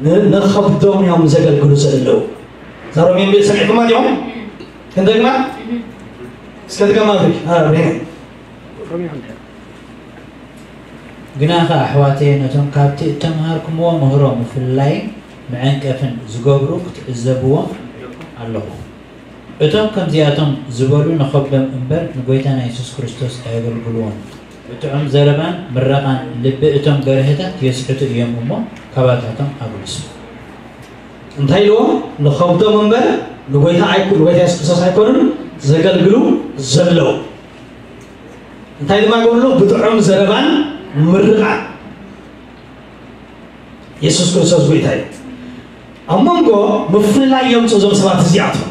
ን- ንኸብዶም እዮም ዘገልግሉ ዘለዉ። እዛ ሮሜ ንብል ሰሚዕኩማ ዲኹም? ክንደግማ እስከ ትገማቱ። ግናኸ ኣሕዋተየ፣ ነቶም ካብቲ እተምሃርኩምዎ ምህሮ ምፍልላይን ምዕንቀፍን ዝገብሩ ክትዕዘብዎም ኣለኹ። እቶም ከምዚኣቶም ዝበሉ ንኸብዶም እምበር ንጎይታና የሱስ ክርስቶስ ኣየገልግልዎን። ብጥዑም ዘረባን ምረቓን ልቢ እቶም ገርህታት የስሕቱ እዮም እሞ፣ ካባታቶም ኣግልሱ። እንታይ ኢልዎም? ንኸብዶም እምበር ንጎይታ ኣይኩ-፣ ንጎይታ የሱስ ክርስቶስ ኣይኮኑን ዘገልግሉ ዘለዉ። እንታይ ድማ ይገብሩ? ብጥዑም ዘረባን ምርቓን። የሱስ ክርስቶስ ጎይታ እዩ። ኣብ መንጎ ምፍልላይ የምፅኡ እዞም ሰባት እዚኣቶም።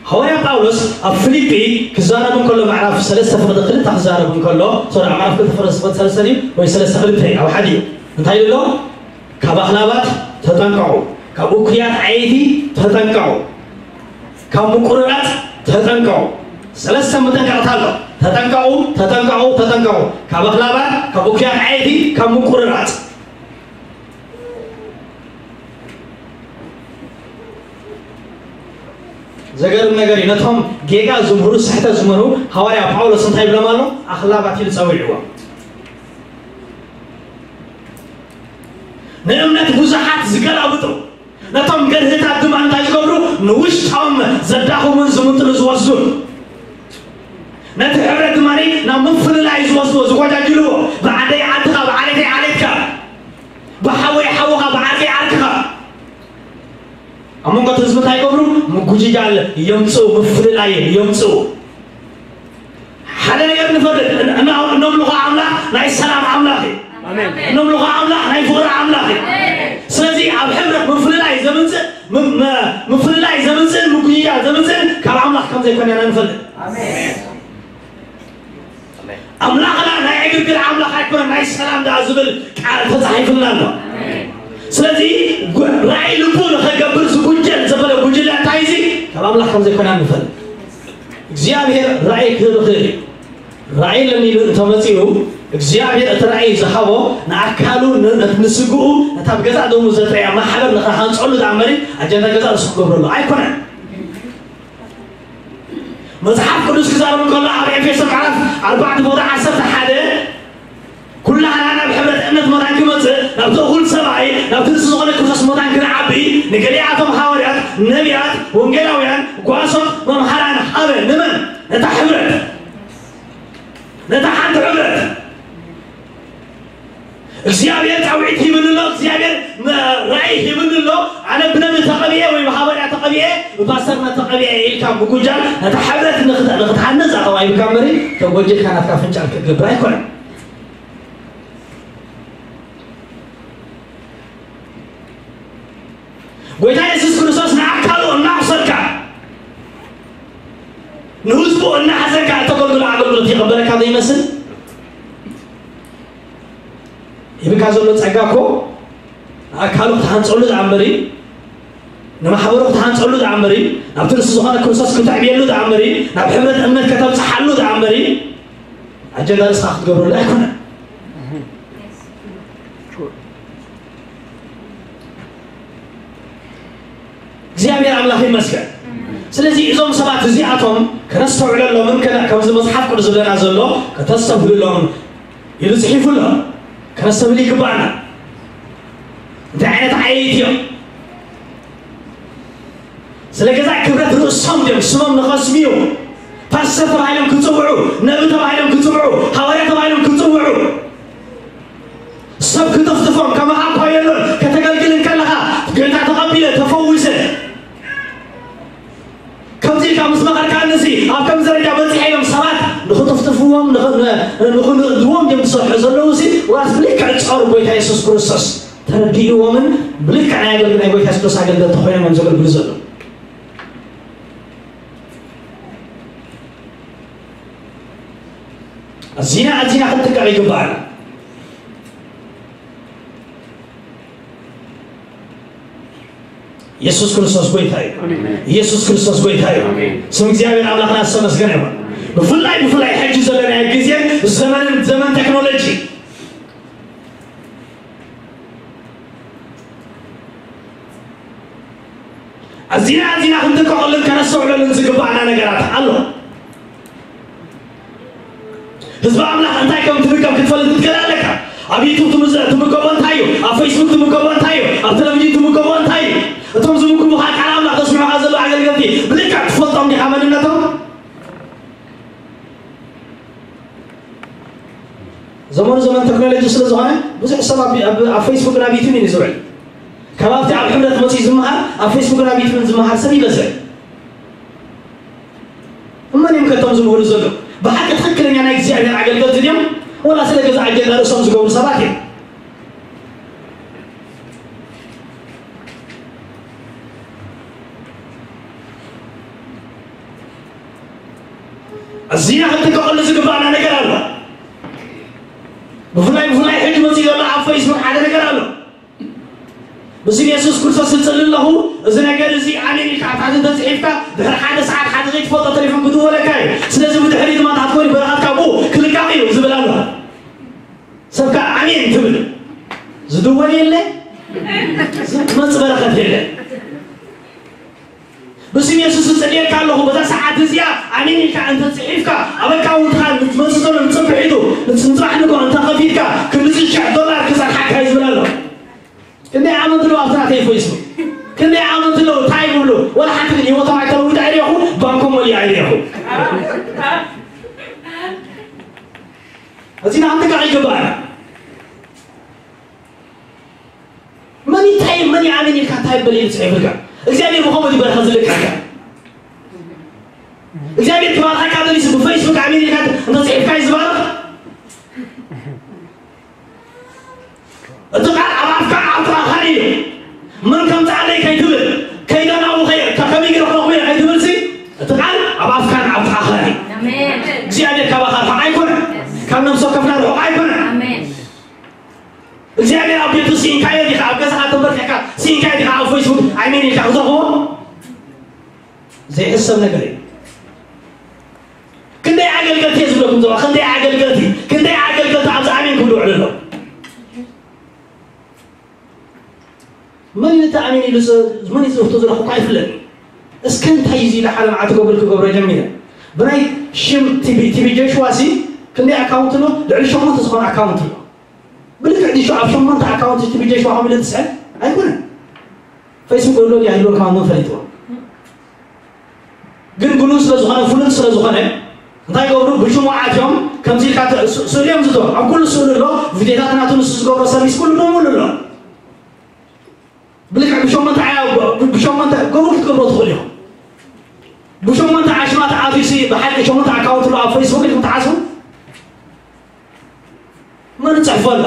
ሃዋርያ ጳውሎስ ኣብ ፊልጲ ክዛረብ እንከሎ፣ ምዕራፍ ሰለስተ ፍቕዲ ክልተ ክዛረብ እንከሎ፣ ሶሪ፣ ኣብ ምዕራፍ ክልተ ፍቕዲ ሰለስተ ድዩ ወይ ሰለስተ ክልተ እዩ፣ ኣብ ሓደ እዩ። እንታይ ኢሉ ኣሎ? ካብ ኣኽላባት ተጠንቀቑ፣ ካብ እኩያት ዓየይቲ ተጠንቀቑ፣ ካብ ምቁርራፅ ተጠንቀቑ። ሰለስተ መጠንቀቕታ ኣሎ። ተጠንቀቑ፣ ተጠንቀቑ፣ ተጠንቀቑ። ካብ ኣኽላባት፣ ካብ እኩያት ዓየይቲ፣ ካብ ምቁርራፅ። ዘገርም ነገር እዩ። ነቶም ጌጋ ዝምህሩ፣ ስሕተት ዝምህሩ ሃዋርያ ጳውሎስ እንታይ ይብሎም ኣሎ? ኣኽላባት ኢሉ ጸዊዕዎም። ንእምነት ብዙሓት ዝገላብጡ፣ ነቶም ገርህታት ድማ እንታይ ዝገብሩ? ንውሽጦም ዘዳኽሙን ዝምጥሉ ዝወስዱን፣ ነቲ ሕብረት ድማ ናብ ምፍልላይ ዝወስድዎ፣ ዝጎጃጅልዎ፣ ብዓደይ ዓድኻ፣ ብዓሌተይ ዓሌትካ፣ ብሓወይ ሓውኻ፣ ብዓርከይ ዓርክኻ። ኣብ መንጎ እቲ ህዝቢ እንታይ ይገብሩ? ምጉጅጃል የምፅኡ፣ ምፍልላይ የምፅኡ። ሓደ ነገር ንፈልጥ፣ እን-፣ እና-፣ እነምልኾ ኣምላኽ ናይ ሰላም ኣምላኽ እዩ። ኣሜን። እነምልኾ ኣምላኽ ናይ ፍቕሪ ኣምላኽ እዩ። ኣሜን። ስለዚ ኣብ ሕብረት ምፍልላይ ዘምፅእ፣ ም-፣ ም-፣ ምፍልላይ ዘምፅእን ምጉጅጃል ዘምፅእን ካብ ኣምላኽ ከም ዘይኮነ ኢና ንፈልጥ። ኣሜን። ኣምላኽና ናይ ዕግርግር ኣምላኽ ኣይኮነን፣ ናይ ሰላም ደኣ ዝብል ቃል ተጻሒፉልና ኣሎ። ስለዚ ጉ-፣ ራእይ ልቡ ንኸገብር ዝጉጀል ዘበለ ጉጅለ እንታይ እዚ? ካብ ኣምላኽ ከም ዘይኮነ ንፈልጥ። እግዚኣብሔር ራእይ ክህብ ይኽእል እዩ። ራእይ ኣለኒ ኢሉ እንተመጺኡ፣ እግዚኣብሔር እቲ ራእይ ዝሃቦ ንኣካሉ፣ ን-፣ ን-፣ ንስግኡ፣ ነታ ብገዛእ ደሙ ዘጥረያ ማሕበር ንኽሃንጸሉ ደኣ እምበሪ፣ ኣጀንዳ ገዛእ ርእሱ ክገብረሉ ኣይኮነን። መጽሓፍ ቅዱስ ክዛረብ እንከሎ ኣብ ኤፌሶ ምዕራፍ ኣርባዕተ ፍቕዲ ዓሰርተ ሓደ፣ ኩላህና ናብ ሕብረት እምነት መታን ክመጽእ፣ ናብቲ እኹል ሰብኣይ፣ ናብቲ ንሱ ዝኾነ ክርስቶስ መታን ክንዓቢ፣ ንገሊኣቶም ሃዋርያት፣ ነቢያት፣ ወንጌላውያን፣ ጓሶት፣ መምሃራን ሃበ። ንመን? ነታ ሕብረት። ነታ ሓንቲ ሕብረት። እግዚኣብሔር ጻውዒት ሂብኒ ኣሎ፣ እግዚኣብሔር መ-፣ ራእይ ሂብኒ ኣሎ። ኣነ ብነቢ ተቐቢኤ ወይ ብሃዋርያ ተቐቢኤ፣ ብፓስተርና ተቐቢኤ ኢልካ ምጉጃል፣ ነታ ሕብረት ንኽት-፣ ንኽትሃንጽ ኣተባሂብካ እምበሪ፣ ተጎጂልካ ናትካ ፍንጫል ክትገብር ኣይኮነን። ጎይታ የሱስ ክርስቶስ ንኣካሉ እናኣቑሰልካ፣ ንህዝቡ እናሓዘንካ እተገልግሎ ኣገልግሎት ይቕበለካ ዘይመስል? ሂብካ ዘሎ ጸጋ እኮ ንኣካሉ ክትሃንጸሉ ደኣ እምበሪ፣ ንማሕበሩ ክትሃንጸሉ ደኣ እምበሪ፣ ናብቲ ንሱ ዝኾነ ክርስቶስ ክትዕብየሉ ደኣ እምበሪ፣ ናብ ሕብረት እምነት ከተብጽሓሉ ደኣ እምበሪ፣ ኣጀንዳ ንስኻ ክትገብረሉ ኣይኮነን። እግዚኣብሔር ኣምላኽ ይመስገን። ስለዚ እዞም ሰባት እዚኣቶም ከነስተውዕለሎምን ከነ-፣ ከምዚ መጽሓፍ ቅዱስ ዝብለና ዘሎ ከተስተብህሉሎም ኢሉ ጽሒፉ ኣሎ። ከነስተብህል ይግባኣና። እንታይ ዓይነት ዓየይቲ እዮም? ስለ ገዛእ ክብረት ርእሶም ድዮም ስሞም ንኸስምዩ ፓስተር ተባሂሎም ክጽውዑ፣ ነቢ ተባሂሎም ክጽውዑ፣ ሃዋርያ ተባሂሎም ክጽውዑ፣ ሰብ ክጥፍጥፎም ከማኻ እኳ የሎን፣ ከተገልግል እንከለኻ ጌታ ተቐቢለ ተፈዊሰ ከምዚ ኢልካ ምስ መኸርካኒ እዚ ኣብ ከምዚ ደረጃ በጺሐ ኢሎም ሰባት ንኽጥፍጥፍዎም፣ ንኽ-፣ ን-፣ ንኽንእድዎም ድዮም ዝሰርሑ ዘለዉ እዚ ዋስ ብልክዕ ጾር ጎይታ የሱስ ክርስቶስ ተረዲእዎምን ብልክዕ ናይ ኣገልግል ናይ ጎይታ የሱስ ኣገልገልቲ ኮይኖም እዮም ዘገልግሉ ዘለዉ። ኣዚና ኣዚና ክንጥቀቕ ይግባኣና። የሱስ ክርስቶስ ጎይታ እዩ። ኣሜን። የሱስ ክርስቶስ ጎይታ እዩ። ኣሜን። ስም እግዚኣብሔር ኣምላኽና ዝተመስገነ ይኹን። ብፍላይ ብፍላይ ሕጂ ዘለናዮ ግዜን ዘመንን ዘመን ቴክኖሎጂ ኣዚና ኣዚና ክንጥቀቐሉን ከነስተውዕለሉን ዝግባእ ነገራት ኣሎ። ህዝቢ ኣምላኽ እንታይ ከም ትምገብ ክትፈልጥ ክትክእል ኣለካ። ኣብ ዩቱብ ትምዘ- ትምገቦ እንታይ እዩ? ኣብ ፌስቡክ ትምገቦ እንታይ እዩ? ኣብ ቴሌቪዥን ትምገቦ እንታይ እዩ? እቶም ዝምግቡኻ ቃል ኣምላኽ ዘስምዑኻ ዘለዉ ኣገልገልቲ ብልክዕ ትፈልጦም ዲኻ መንነቶም? ዘመኑ ዘመን ቴክኖሎጂ ስለ ዝኾነ ብዙሕ ሰብ ኣብ ኣብ- ኣብ ፌስቡክን ኣብ ዩቱብን እዩ ዝውዕል። ካብ ኣብቲ ኣብ ሕብረት መፂኡ ዝመሃር ኣብ ፌስቡክን ኣብ ዩቱብን ዝመሃር ሰብ ይበዝሕ። እመን እዮም ከቶም ዝምህሩ ዘለዉ? ብሓቂ ትኽክለኛ ናይ እግዚኣብሔር ኣገልገልቲ ድዮም? ወላ ስለ ገዛ ኣጀንዳ ርእሶም ዝገብሩ ሰባት እዮም? ኣዚና ክንጥቀቐሉ ዝግባእና ነገር ኣሎ። ብፍላይ ብፍላይ ሕጂ መፂኡ ዘሎ ኣብ ፌስቡክ ሓደ ነገር ኣሎ። ብስም የሱስ ክርስቶስ እጽሊ ኣለኹ፣ እዚ ነገር እዚ ኣሜን ኢልካ ኣብ ታሕቲ እንተጽሒፍካ፣ ድሕሪ ሓደ ሰዓት ሓደ ዘይትፈልጦ ቴሌፎን ክድወለካ እዩ። ስለዚ ብድሕሪ ድማ እንተትኮኒ በረኸትካ ብኡ ክልቃቕ እዩ ዝብል ኣሎ። ሰብ ከኣ ኣሜን ትብል። ዝድወል የለ፣ ዝመጽእ በረኸት የለ። ብስም የሱስ እጽልየካ ኣለኹ፣ በዛ ሰዓት እዚኣ ኣሜን ኢልካ እንተጽሒፍካ፣ ኣብ ኣካውንትኻ ንትመጽእ ዘሎ ንጽብሒቱ፣ ንጽባሕ ንግሆ እንተኸፊትካ፣ ክንድዚ ሽሕ ዶላር ክጸንሓካ እዩ ዝብል ኣሎ። ክንደይ ኣመንቲ ኣለዉ ኣብቲ ናተይ ፌስቡክ? ክንደይ ኣመንቲ ኣለዉ? እንታይ ይብሉ? ወላ ሓንቲ ግን ህይወቶም ኣይተለውጡ ኣይረኹ፣ ባንኮም ወልዩ ኣይረኹ። እዚና ክንጥንቀቕ ይግባኣና። መን እንታይ፣ መን ይኣምን ኢልካ እንታይ ይበል ኢሉ ጽሒፍልካ? እግዚኣብሔር ብኸምኡ ድዩ በረኸት ዝልክዓካ? እግዚኣብሔር ክባርኸካ ደሊሱ ብፌስቡክ ኣሜን ኢልካ እንተጽሒፍካ እዩ ዝባርኽ? እቲ ቃል ኣብ ኣፍካ ኣብ ጥቓኻን እዩ። መን ከምጽኣለይ ከይትብል፣ ከይደ ናብኡ ከይ-፣ ከ-፣ ከመይ ገይረ ክረኽቦ እየ ከይትብልሲ፣ እቲ ቃል ኣብ ኣፍካን ኣብ ጥቓኻን እዩ። ኣሜን። እግዚኣብሔር ካባኻ ርሑቕ ኣይኮነን። ካብ ነፍሲ ወከፍና ርሑቕ ኣይኮነን። ኣሜን። እግዚኣብሔር ኣብ ቤቱ ስኢንካዮ ዲኻ? ኣብ ገዛኻ ተንበርኪኽካ ስኢንካዮ ዲኻ? ኣብ ፌስቡክ ኣሜን ኢልካ ክትረኽቦ ዘይሕሰብ ነገር እዩ። ክንደይ ኣገልገልቲ እየ ዝብለኩም ዘለኹ፣ ክንደይ ኣገልገልቲ፣ ክንደይ ኣገልገልቲ ኣብዚ ኣሜን ክብሉ ውዕሉ ኣለዉ። መን እዩ ነቲ ኣሜን ኢሉ ዝ-፣ መን እዩ ዝወስዶ ዘሎ እኳ ኣይፍለጥን። እስከ እንታይ እዩ እዚ ኢለ ሓደ መዓልቲ ክገብር ክገብሮ ጀሚረ። ብናይ ሽም ቲቢ፣ ቲቢ ጆሽዋ ሲ ክንደይ ኣካውንት ኣሎ? ልዕሊ ሸሞንተ ዝኾነ ኣካውንት ኣሎ። ብልክዕ ድዩ ኣብ ሸሞንተ ኣካውንት ቲቢ ጆሽዋ ከምኡ ኢለ ዝስዕብ? ኣይኮነን። ፌስቡክ ኣሎ ድዩ ኣይህልዎን ከማን መን ፈሊጥዎ? ግን ግኑን ስለ ዝኾነ፣ ፍሉጥ ስለ ዝኾነ፣ እንታይ ይገብሩ? ብሽሙ ኣትዮም፣ ከምዚ ኢልካ ተ-፣ ስ-፣ ስእሉ እዮም ዝእትዎ። ኣብ ኩሉ ስእሉ ኣሎ፣ ቪድዮታት ናቱ ንሱ ዝገብሮ ሰርቪስ ኩሉ ብምሉእ ኣሎ። ብልክዕ ብሸሞንተ ኣያ-፣ ብ-፣ ብሸሞንተ ገብሩ ክትገብሮ ትኽእሉ ኢኹም። ብሸሞንተ ኣሽማት ኣትዩሲ ብሓቂ ሸሞንተ ኣካውንት ኣሎ ኣብ ፌስቡክ ኢልኩም ትሓስቡ? መን ይጽሕፎ ኣሎ?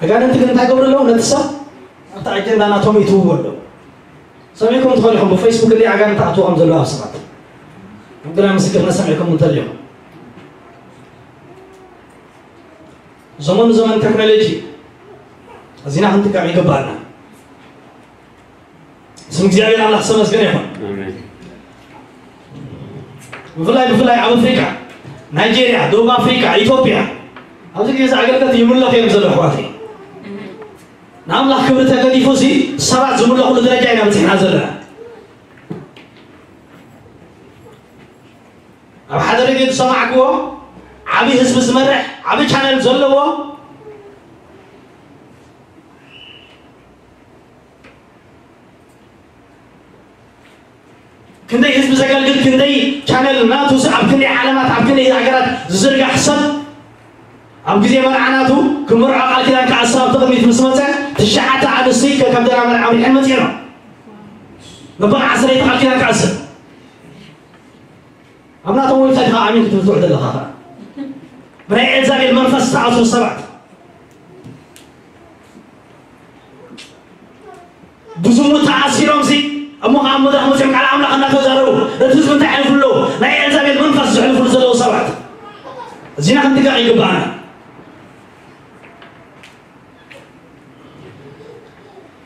ኣጋንንቲ ግን እንታይ ገብሩ ኣለዉ? ነቲ ሰብ ኣብቲ ኣጀንዳ ናቶም ይትውዎ ኣለዉ። ሰሚዕኩም ትኾኑ ኢኹም፣ ብፌስቡክ እንዲ ኣጋንንቲ ኣትዎም ዘለዉ ኣብ ሰባት። ግና ምስክርነት ሰሚዕኩም እንተሊኹም። ዘመኑ ዘመን ቴክኖሎጂ፣ እዚና ክንጥቀም ይግባኣና። ስም እግዚኣብሔር ኣምላኽ ዝተመስገነ ይኹን። ኣሜን። ብፍላይ፣ ብፍላይ ኣብ ኣፍሪቃ፣ ናይጄርያ፣ ደቡብ ኣፍሪቃ፣ ኢትዮጵያ፣ ኣብዚ ግዜ እዚ ኣገልገልቲ ይምለኹ እዮም ዘለዉ ኣሕዋተይ። ንኣምላኽ ክብሪ ተገዲፉ ሲ ሰባት ዝምለኹሉ ደረጃ ኢና በጺሕና ዘለና። ኣብ ሓደ ሬድዮ ዝሰማዕክዎ ዓቢ ህዝቢ ዝመርሕ ዓቢ ቻነል ዘለዎ ክንደይ ህዝቢ ዘገልግል፣ ክንደይ ቻነል ናቱ፣ ኣብ ክንደይ ዓለማት፣ ኣብ ክንደይ ሃገራት ዝዝርጋሕ ሰብ፣ ኣብ ግዜ መርዓ ናቱ ክምርዖ ቃል ኪዳን ክኣስር ኣብቲ ቅድሚት ምስ መጸ፣ ትሽዓተ ኣንስቲ ከ-፣ ከም ደና መርዓ ኣምሪሐን መጺኤን። መበል ዓሰርተ ቃል ኪዳን ክኣስር። ኣብ ናቶም ዌብሳይት ኢኻ ኣሚን ክትብል ትውዕል ዘለኻ ኸኣ። ብናይ ኤልዛቤል መንፈስ ዝተኣስሩ ሰባት። ብዝሙት ተኣሲሮምሲ፣ እሞ ኸዓ ኣብ መድረኽ መጺኦም ቃል ኣምላኽ እናተዛረቡ፣ ነቲ ህዝቢ እንታይ የሕልፉ ኣለዉ? ናይ ኤልዛቤል መንፈስ ዘሕልፉሉ ዘለዉ ሰባት። እዚና ክንጥንቀቕ ይግባኣና።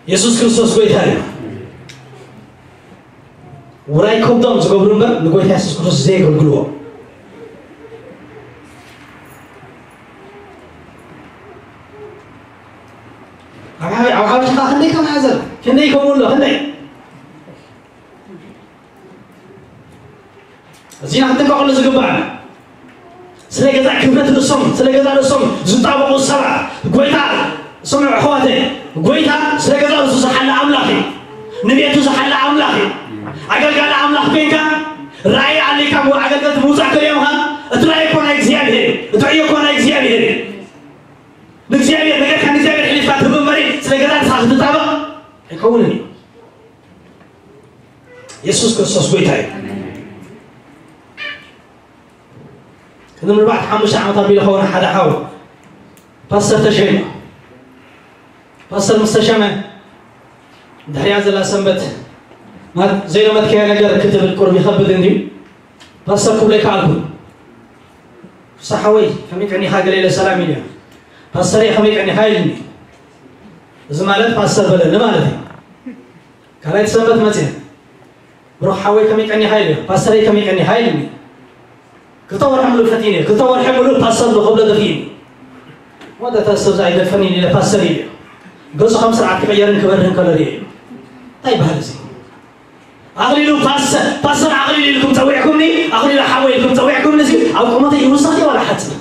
የሱስ ክርስቶስ ጎይታ እዩ። ውራይ ከብዶም ዝገብሩ እምበር ንጎይታ የሱስ ክርስቶስ ዘየገልግልዎ። ኣብ ሓ-፣ ኣብ ሓበሻ ኸዓ ክንደይ ከም ሓዘን፣ ክንደይ ከምኡ ኣሎ፣ ክንደይ። እዚና ክንጥንቀቐሉ ዝግባእ። ስለ ገዛ ክብረት ርእሶም፣ ስለ ገዛ ርእሶም ዝጣበቑ ሰባት፣ ጎይታ፣ ስምዑ ኣሕዋተይ፣ ጎይታ ስለ ገዛ ርእሱ ዝሓለ ኣምላኽ እዩ። ንቤቱ ዝሓለ ኣምላኽ እዩ። ኣገልጋሊ ኣምላኽ ኮይንካ ራእይ ኣሊካ ሞ ኣገልገልቲ ምውፃእ ከሪኦምካ፣ እቲ ራእይ እኮ ናይ እግዚኣብሔር እዩ። እቲ ዕዮ እኮ ናይ እግዚኣብሔር እዩ። ንእግዚኣብሔር ነገርካ ንእግዚኣብሔር ሕሊፍካ ትህብ እምበሪ ስለ ገዛ ርእስኻ ክትጣበቕ ኣይከውንን እዩ። የሱስ ክርስቶስ ጎይታ እዩ። ቅድሚ ኣርባዕተ ሓሙሽተ ዓመት ኣቢሉ ኸውን ሓደ ሓው ፓስተር ተሸይማ። ፓስተር ምስ ተሸመ ድሕሪያ ዘላ ሰንበት፣ ዘይለመድካዮ ነገር ክትብል ቁርብ ይኸብድ እንድዩ። ፓስተር ክብሎ ይከኣልኩ። ፍስሓ ሓወይ ከመይ ቀኒኻ? ገለ ኢለ ሰላም ኢለ። ፓስተር ከመይ ቀኒኻ ኢልኒ። እዚ ማለት ፓስተር በለኒ ማለት እዩ። ካልኣይቲ ሰንበት መፅየ። ብሩኽ ሓወይ ከመይ ቀኒኻ ኢልዮ። ፓስተረይ ከመይ ቀኒኻ ኢልኒ። ክልተ ወርሒ ሙሉእ ፈቲነ። ክልተ ወርሒ ሙሉእ ፓስተር ዶ ክብሎ ደፊእኒ። ወደ ፓስተር ኣይደፈኒ ኢለ ፓስተር ኢልዮ። ገጹ ከም ስርዓት ክቕየርን ክበርህን ከሎ ርእየ። እንታይ ይበሃል እዚ? ኣኽሊሉ ፓስተር፣ ፓስተር ኣኽሊሉ ኢልኩም ጸዊዕኩምኒ፣ ኣኽሊሉ ሓወይ ኢልኩም ጸዊዕኩምኒ፣ እዚ ኣብ ቁመተይ ይውስኽ ድዩ ዋላ ሓጽር?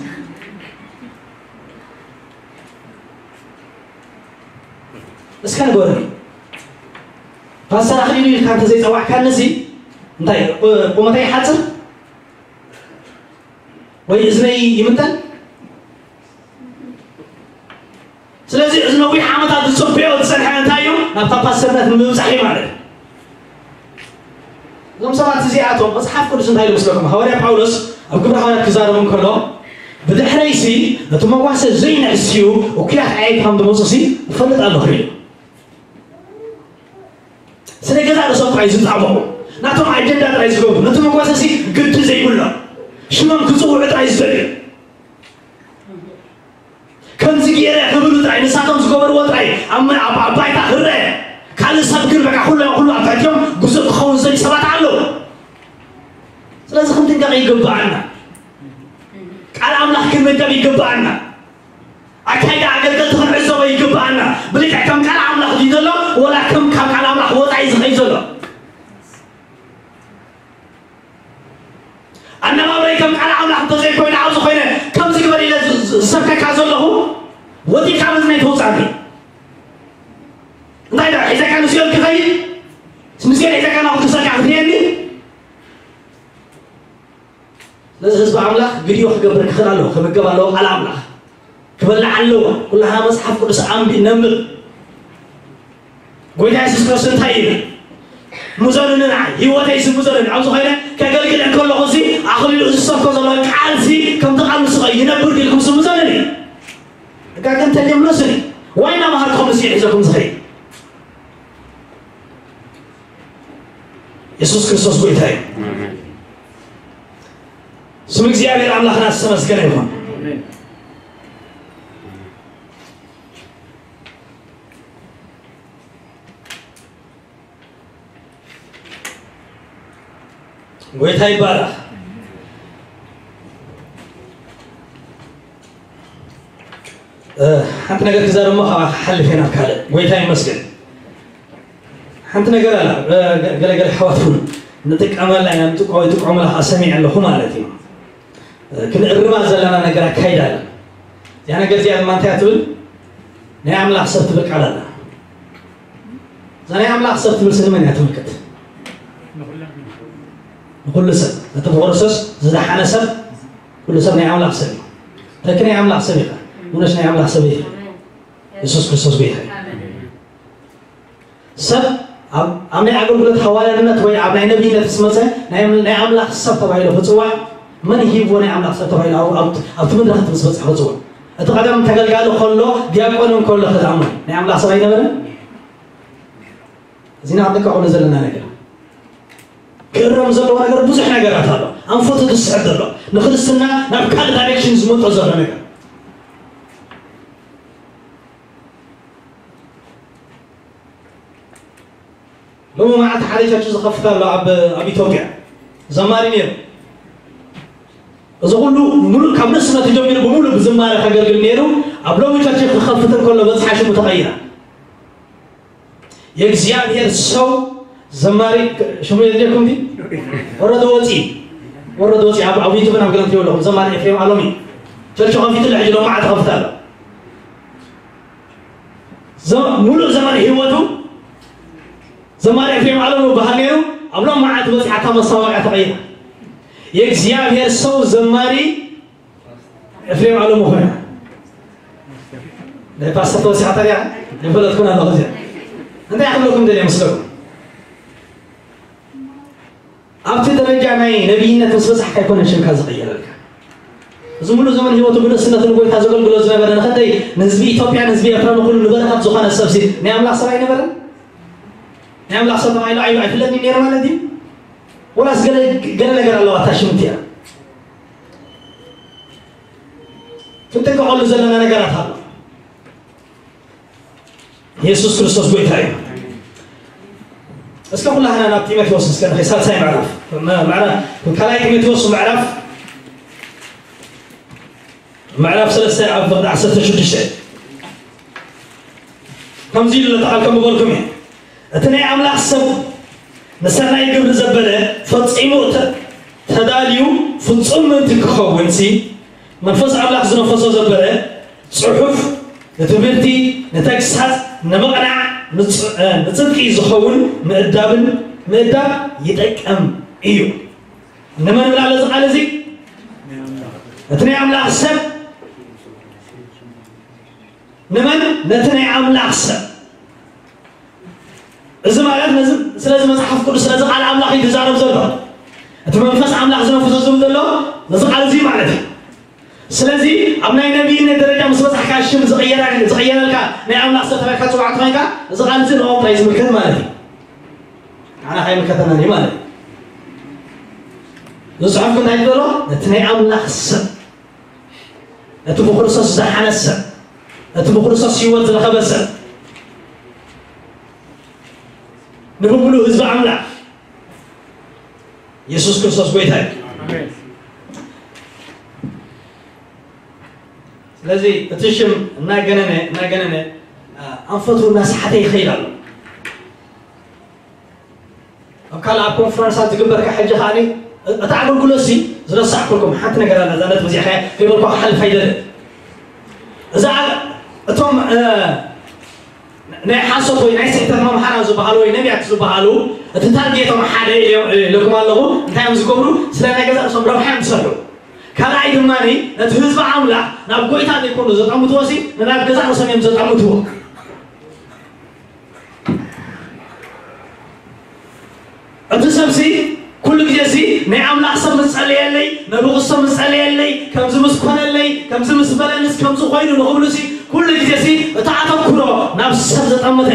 እስከ ንገሩኒ። ፓስተር ኣኽሊሉ ኢልካ እንተዘይጸዋዕካኒ እዚ እንታይ ቁ-፣ ቁመተይ ይሓጽር? ወይ እዝነይ ይምንጠል? ስለዚ እዚ ነዊሕ ዓመታት ዝጽበዮ ዝጸንሐ እንታይ እዩ? ናብታ ፓስተርነት ንምብጻሕ እዩ ማለት እዩ። እዞም ሰባት እዚኣቶም መጽሓፍ ቅዱስ እንታይ ኢሉ መስለኩም? ሃዋርያ ጳውሎስ ኣብ ግብረ ሃዋርያት ክዛረብ እንከሎ፣ "ብድሕረይሲ ነቲ መጓሰ ዘይንሕስዩ እኩያት ኣዕያይት ከም ዝመጹሲ እፈልጥ ኣለኹ" ኢሉ። ስለ ገዛ ርእሶም ጥራይ ዝጣበቑ፣ ናቶም ኣጀንዳ ጥራይ ዝገብሩ፣ ነቲ መጓሰሲ ግዲ ዘይብሎም፣ ሽሞም ክጽውዑ ጥራይ ዝደልዩ፣ ከምዚ ገይረ ክብሉ ጥራይ፣ ንሳቶም ዝገበርዎ ጥራይ ኣብ መ-፣ ኣብ፣ ኣብ ባይታ ክረአ፣ ካልእ ሰብ ግን በቃ ኩሉ፣ ኩሉ ኣብ ትሕቲኦም ግዙእ ክኸውን ዝደልዩ ሰባት ኣለዉ። ስለዚ ክንጥንቀቕ ይግብኣና። ቃል ኣምላኽ ክንምገብ ይግብኣና። ኣካይዳ ኣገልገልቲ ክንዕዘቦ ይግብኣና። ብልክዕ ከም ቃል ኣምላኽ ድዩ ዘሎ፣ ወላ ከም ካብ ቃል ኣምላኽ ወጻኢ ዝኸይድ ዘሎ? ኣነባብረይ ከም ቃል ኣምላኽ እንተዘይኮይኑ፣ ኣብዚ ኮይነ ከምዚ ግበር ኢለ ዝ-፣ ዝ-፣ ዝሰብከካ ዘለኹ፣ ወዲቕካ በዚ ናይ ተውጻእኒ። እንታይ ደኣ፣ ሒዘካ ንሲኦል ክኸይድ? ንሲኦል ሒዘካ ናብኡ ክሰካ ክትህየኒ? ስለዚ ህዝቢ ኣምላኽ ግዲኡ ክገብር ክኽእል ኣለዎ፣ ክምገብ ኣለዎ ቃል ኣምላኽ። ክበልዕ ኣለዎ። ኩላህና መጽሓፍ ቅዱስ ኣንቢ-፣ ነንብብ። ጎይታ የሱስ ክርስቶስ እንታይ ኢሉ? "ምዘኑኒ ንዓይ፣ ህይወተይ ስም ምዘኑኒ። ኣብዚ ኮይነ ከገልግል እንከለኹ እዚ ኣኽሊሉ እዚ ዝሰብኮ ዘሎ ቃል እዚ ከምቲ ቃል ንሱ ይነብር ድልኩም ስም ምዘኑኒ?" እጋ ግን ተልዮም ነስኒ። ዋይ እናመሃርኩም ንስኡ ሒዘኩም ዝኸይድ። የሱስ ክርስቶስ ጎይታ እዩ። ኣሜን። ስም እግዚኣብሔር ኣምላኽና ዝተመስገነ ይኹን። ኣሜን። ጎይታ ይባረኽ። እ፣ ሓንቲ ነገር ክዛረብ እሞ ካብኣ ክሓልፍ እየ ናብ ካልእ። ጎይታ ይመስገን። ሓንቲ ነገር ኣላ፣ እ፣ ገ-፣ ገለገለ ኣሕዋት እውን ንጥቀመላ ኢና፣ ንጥቀ-፣ ይጥቀሙላ ከዓ ሰሚዐ ኣለኹ ማለት እዩ። እ፣ ክንእርማ ዘለና ነገር ኣካይዳ ኣላ። እዚኣ ነገር እዚኣ ድማ እንታይ እያ ትብል? ናይ ኣምላኽ ሰብ ትብል ቃል ኣላ። እዛ ናይ ኣምላኽ ሰብ ትብል ስለ መን እያ ትምልከት? ንኹሉ ሰብ። ነቲ ብክርስቶስ ዝደሓነ ሰብ፣ ኩሉ ሰብ ናይ ኣምላኽ ሰብ እዩ። ተኪ ናይ ኣምላኽ ሰብ ኢኻ። ሙነሽ ናይ ኣምላኽ ሰብ ኢኻ። የሱስ ክርስቶስ ጎይታ እዩ። ሰብ ኣብ፣ ኣብ ናይ ኣገልግሎት ሃዋርያነት ወይ ኣብ ናይ ነቢይነት ምስ መጸ ናይ፣ ናይ ኣምላኽ ሰብ ተባሂሉ ክጽዋዕ፣ መን ሂብዎ ናይ ኣምላኽ ሰብ ተባሂሉ ኣብ፣ ኣብ፣ ኣብቲ መድረኽ እቲ ምስ በጽሐ ክጽዋዕ? እቲ ቀደም ተገልጋሊ ከሎ፣ ዲያቆን እውን ከሎ ከ ዝኣምኑ ናይ ኣምላኽ ሰብ ኣይነበረን? እዚና ክንጥቀቐሉ ዘለና ነገር። ክእረም ዘለዎ ነገር ብዙሕ ነገራት ኣሎ። ኣንፈቱ ዝስሕብ ዘሎ፣ ንክርስትና ናብ ካልእ ዳይሬክሽን ዝመጦ ዘሎ ነገር። ሎሚ መዓልቲ ሓደ ቸርች ዝኸፍት ኣሎ ኣብ፣ ኣብ ኢትዮጵያ። ዘማሪ ነይሩ። እዚ ኩሉ ሙሉእ ካብ ንእስነቱ ጀሚሩ ብምሉእ ብዝማረ ከገልግል ነይሩ። ኣብ ሎሚ ቸርች ክኸፍት እንከሎ በጽሓ ሽሙ ተቐይራ። የእግዚኣብሔር ሰው ዘማሪ ሽሙ የድልየኩም ድዩ? ኦረዲ ወፂ። ወረዶ ወፂ ኣብ ኣብ ዩቱብ ናብ ገለን ትሪኦ ኣለኹም። ዘማሪ ኤፍሬም ኣሎም እዩ። ቸርች ከፊቱ ሕጂ ሎም መዓት ከፍት ኣሎ። ዘ- ሙሉእ ዘመን ህይወቱ ዘማሪ ኤፍሬም ኣሎም ይበሃል ነይሩ። ኣብ ሎም መዓት በፂሓ እታ መሳዋቅያ ተቐይራ። የእግዚኣብሔር ሰው ዘማሪ ኤፍሬም ኣሎም ኾይና። ናይ ፓስተር ተወሲኻ ታዲያ ይፈለጥኩን ኣለኹ እዚኣ። እንታይ ክብለኩም ደልየ መስለኩም? ኣብቲ ደረጃ ናይ ነቢይነት ምስ በጻሕካ ኣይኮነን ሽምካ ዝቕየረልካ። እዚ ሙሉእ ዘመን ህይወቱ ብልእስነቱ ንጎይታ ዘገልግሎ ዝነበረ፣ ንኸንደይ ንህዝቢ ኢትዮጵያ ንህዝቢ ኤርትራ ንኹሉ ንበረኸት ዝኾነ ሰብሲ ናይ ኣምላኽ ሰብ ኣይነበረን? ናይ ኣምላኽ ሰብ ተባሂሉ ኣይ- ኣይፍለጥን ነይሩ ማለት እዩ? ወላስ ገለ ገለ ነገር ኣለዋ እታ ሽም እቲኣ? ክንጥንቀቐሉ ዘለና ነገራት ኣሎ። የሱስ ክርስቶስ ጎይታ እዩ። እስከ ኩላህና ናብ ጢሞቴዎስ እስከ ንኸ ሳልሳይ ምዕራፍ፣ ምዕራፍ ካልኣይ ጢሞቴዎስ ምዕራፍ ምዕራፍ ሰለስተ ኣብ ፍቕዲ ዓሰርተ ሽዱሽተ ከምዚ ኢሉ ለተቓል ከም በልኩም እዩ። እቲ ናይ ኣምላኽ ሰብ ንሰናይ ግብሪ ዘበለ ፈጺሙ ተ- ተዳልዩ ፍጹም ምእንቲ ክኸውን ሲ መንፈስ ኣምላኽ ዝነፈሶ ዘበለ ጽሑፍ ንትምህርቲ፣ ንተግሳጽ፣ ንምቕናዕ፣ ንጽ- እ፣ ንጽድቂ ዝኸውን ምእዳብን ምእዳብ ይጠቅም እዩ። ንመን ብላለ እዚ ቃል እዚ? እቲ ናይ ኣምላኽ ሰብ ንመን? ነቲ ናይ ኣምላኽ ሰብ። እዚ ማለት ነዚ ስለዚ መጽሓፍ ቅዱስ ስለዚ ቃል ኣምላኽ እዩ ዝዛረብ ዘሎ። እቲ መንፈስ ኣምላኽ ዝነፍሶ ዝብል ዘሎ ነዚ ቃል እዚ ማለት እዩ። ስለዚ ኣብ ናይ ነቢይነት ደረጃ ምስ በጻሕካ ሽም ዝቕየራ- ዝቕየረልካ ናይ ኣምላኽ ሰብ ተባሂልካ ትጽዋዕ እንተኾይንካ እዚ ቃል እዚ ንኦም ጥራይ ዝምልከት ማለት እዩ። ንዓና ካይምልከተና እዩ ማለት እዩ። እዚ ጽሑፍ እንታይ ይብሎ? ነቲ ናይ ኣምላኽ ሰብ፣ ነቲ ብክርስቶስ ዝሓነ ሰብ፣ ነቲ ብክርስቶስ ህይወት ዝረኸበ ሰብ፣ ንብሙሉ ህዝቢ ኣምላኽ የሱስ ክርስቶስ ጎይታ እዩ። ስለዚ እቲ ሽም እናገነነ እናገነነ ኣንፈቱ እናሰሓተ ይኸይድ ኣሎ። ኣብ ካልእ ኣብ ኮንፈረንሳት ዝግበር ካብ ሕጂ ከኣ እታ ኣገልግሎት ሲ ዝረሳዕኩልኩም ሓንቲ ነገር ኣላ። እዛ ነጥቢ እዚኣ ከይበልኳ ክሓልፍ ኣይደልን። እዛ እቶም ናይ ሓሶት ወይ ናይ ስሕተት መምሃራን ዝበሃሉ ወይ ነቢያት ዝበሃሉ እቲ ታርጌቶም ሓደ ኢለኩም ኣለኹ። እንታይ እዮም ዝገብሩ? ስለ ናይ ገዛእ ርእሶም ረብሓ እዮም ዝሰርሑ። ካልኣይ ድማ ነቲ ህዝቢ ኣምላኽ ናብ ጎይታ ዘይኮኑ ዘጠምትዎ ሲ ንናብ ገዛእ ርእሶም እዮም ዘጠምትዎ። እቲ ሰብሲ ኩሉ ግዜ ሲ ናይ ኣምላኽ ሰብ ምስ ጸለየለይ፣ ነብቑ ሰብ ምስ ጸለየለይ፣ ከምዚ ምስ ኮነለይ፣ ከምዚ ምስ በለንስ ከምዚ ኮይኑ ንኽብሉ ሲ ኩሉ ግዜ ሲ እቲ ኣተኩሮ ናብ ሰብ ዘጠምተ።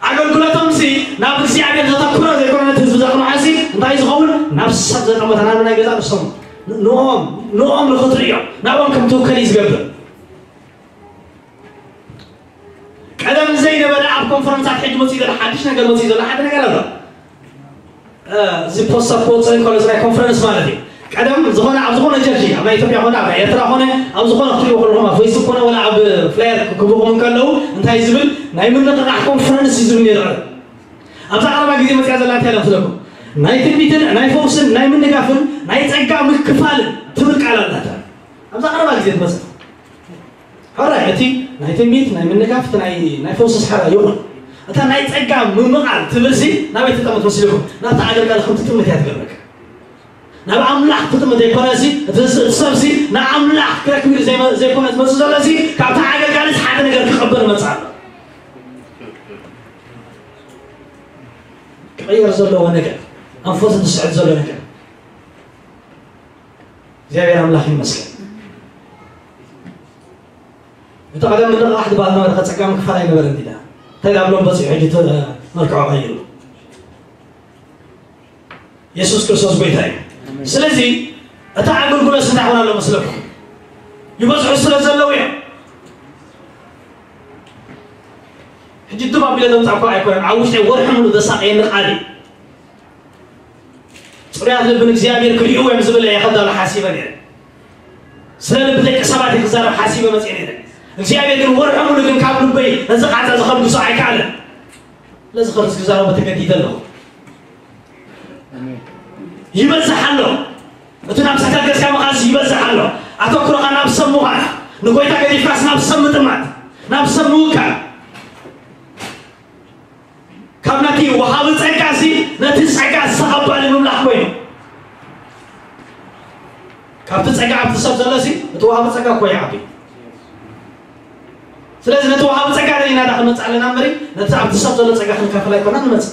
ኣገልግሎቶም ሲ ናብ እግዚኣብሔር ዘተኩረ ዘይኮነ ነቲ ህዝቢ ዘቕንዖ ሲ እንታይ ዝኸውን ናብ ሰብ ዘጠምተ ናብ ናይ ገዛ ርእሶም ንኦም ንኦም ንኽትርእዮም ናብኦም ከም ትውከል እዩ ዝገብር። ቀደም ዘይነበረ ኣብ ኮንፈረንሳት ሕጂ መፅኡ ዘሎ ሓድሽ ነገር መፅኡ ዘሎ ሓደ ነገር ኣሎ። እዚ ፖስት ኣፕ ክወፅእ እንከሎ እዚ ናይ ኮንፈረንስ ማለት እዩ። ቀደም ዝኾነ ኣብ ዝኾነ ቸርች ኣብ ናይ ኢትዮጵያ ኮነ ኣብ ናይ ኤርትራ ኮነ ኣብ ዝኾነ ክትሪእዎ ከለኹም ኣብ ፌስቡክ ኮነ ወላ ኣብ ፍላየር ክብኹም እንከለዉ እንታይ ዝብል ናይ ምንቕቓሕ ኮንፈረንስ እዩ ዝብል ነይሩ። ኣብዚ ቀረባ ግዜ መፅኣ ዘላ እንታይ ኢላ ትብለኩም? ናይ ትንቢትን ናይ ፈውስን ናይ ምንጋፍን ናይ ፀጋ ምክፋልን ትብል ቃል ኣላታ። ኣብዚ ቀረባ ግዜ ትመፅእ ሕራይ እቲ ናይ ትንቢት ናይ ምንጋፍ እቲ ናይ ናይ ፈውስስ ሕራይ ይኹን። እታ ናይ ጸጋ ምምቓል ትብል ሲ ናበይ ትጠምት መሲልኩም? ናብቲ ኣገልጋሊ ከም ትጥምት እያ ትገብረካ። ናብ ኣምላኽ ትጥምት ዘይኮነ ሲ እቲ ስ- እቲ ሰብ ሲ ንኣምላኽ ክረክብ ኢሉ ዘይመ- ዘይኮነ ዝመጽእ ዘሎ ሲ ካብቲ ኣገልጋሊ ሓደ ነገር ክቐበል መጽእ ኣሎ። ክቕየር ዘለዎ ነገር ኣንፈቱ ዝስዕብ ዘሎ ነገር እግዚኣብሔር ኣምላኽ ይመስገን። እቲ ቀደም ምንቕቓሕ ዝበሃል ነበረ፣ ከጸጋሚ ክፋል ኣይነበረን ዲና። እንታይ ዳብሎም በጺሑ ሕጂ ተ- መልክዑ ቀይሩ። የሱስ ክርስቶስ ጎይታ እዩ። ስለዚ እቲ ኣገልግሎት እንታይ ኾን ኣሎ መስለኩም? ይበዝሑ ስለ ዘለዉ እዮም። ሕጂ ድም ኣቢለ ዘምጻእኳ ኣይኮነን፣ ኣብ ውሽጢ ወርሒ ሙሉ ዘሳቀየኒ ቃል እዩ። ጽሩያት ልቢ ንእግዚኣብሔር ክሪእዎ እዮም ዝብል እየ ከዳሉ ሓሲበ ነይረ። ስለ ልቢ ደቂ ሰባት እየ ክዛረብ ሓሲበ መጽየ ነይረ። እግዚኣብሔር ግን ወርሒ ሙሉ ግን ካብ ልበይ ነዚ ቃንዛ ዝኸልግሶ ኣይከኣለን። ስለዚ ከርስ ክዛረቦ ተገዲደ ኣለኹ። ይበዝሕ ኣሎ። እቲ ናብ ስሕተት ገጽካ ምኻድሲ ይበዝሕ ኣሎ። ኣተኩሮኻ ናብ ሰብ ምዃን፣ ንጎይታ ገዲፍካስ ናብ ሰብ ምጥማት፣ ናብ ሰብ ምውካል። ካብ ነቲ ወሃቢ ጸጋሲ ነቲ ጸጋ ዝተቐበለ ምምላኽ ኮይኑ፣ ካብቲ ጸጋ ኣብቲ ሰብ ዘሎሲ እቲ ወሃቢ ጸጋ እኮ ይዓቢ። ስለዚ ነቲ ወሃቢ ጸጋ ደሊና ዳ ክንመጽእ ኣለና እምበሪ፣ ነቲ ኣብቲ ሰብ ዘሎ ጸጋ ክንካፈል ኣይኮና ንመጽእ።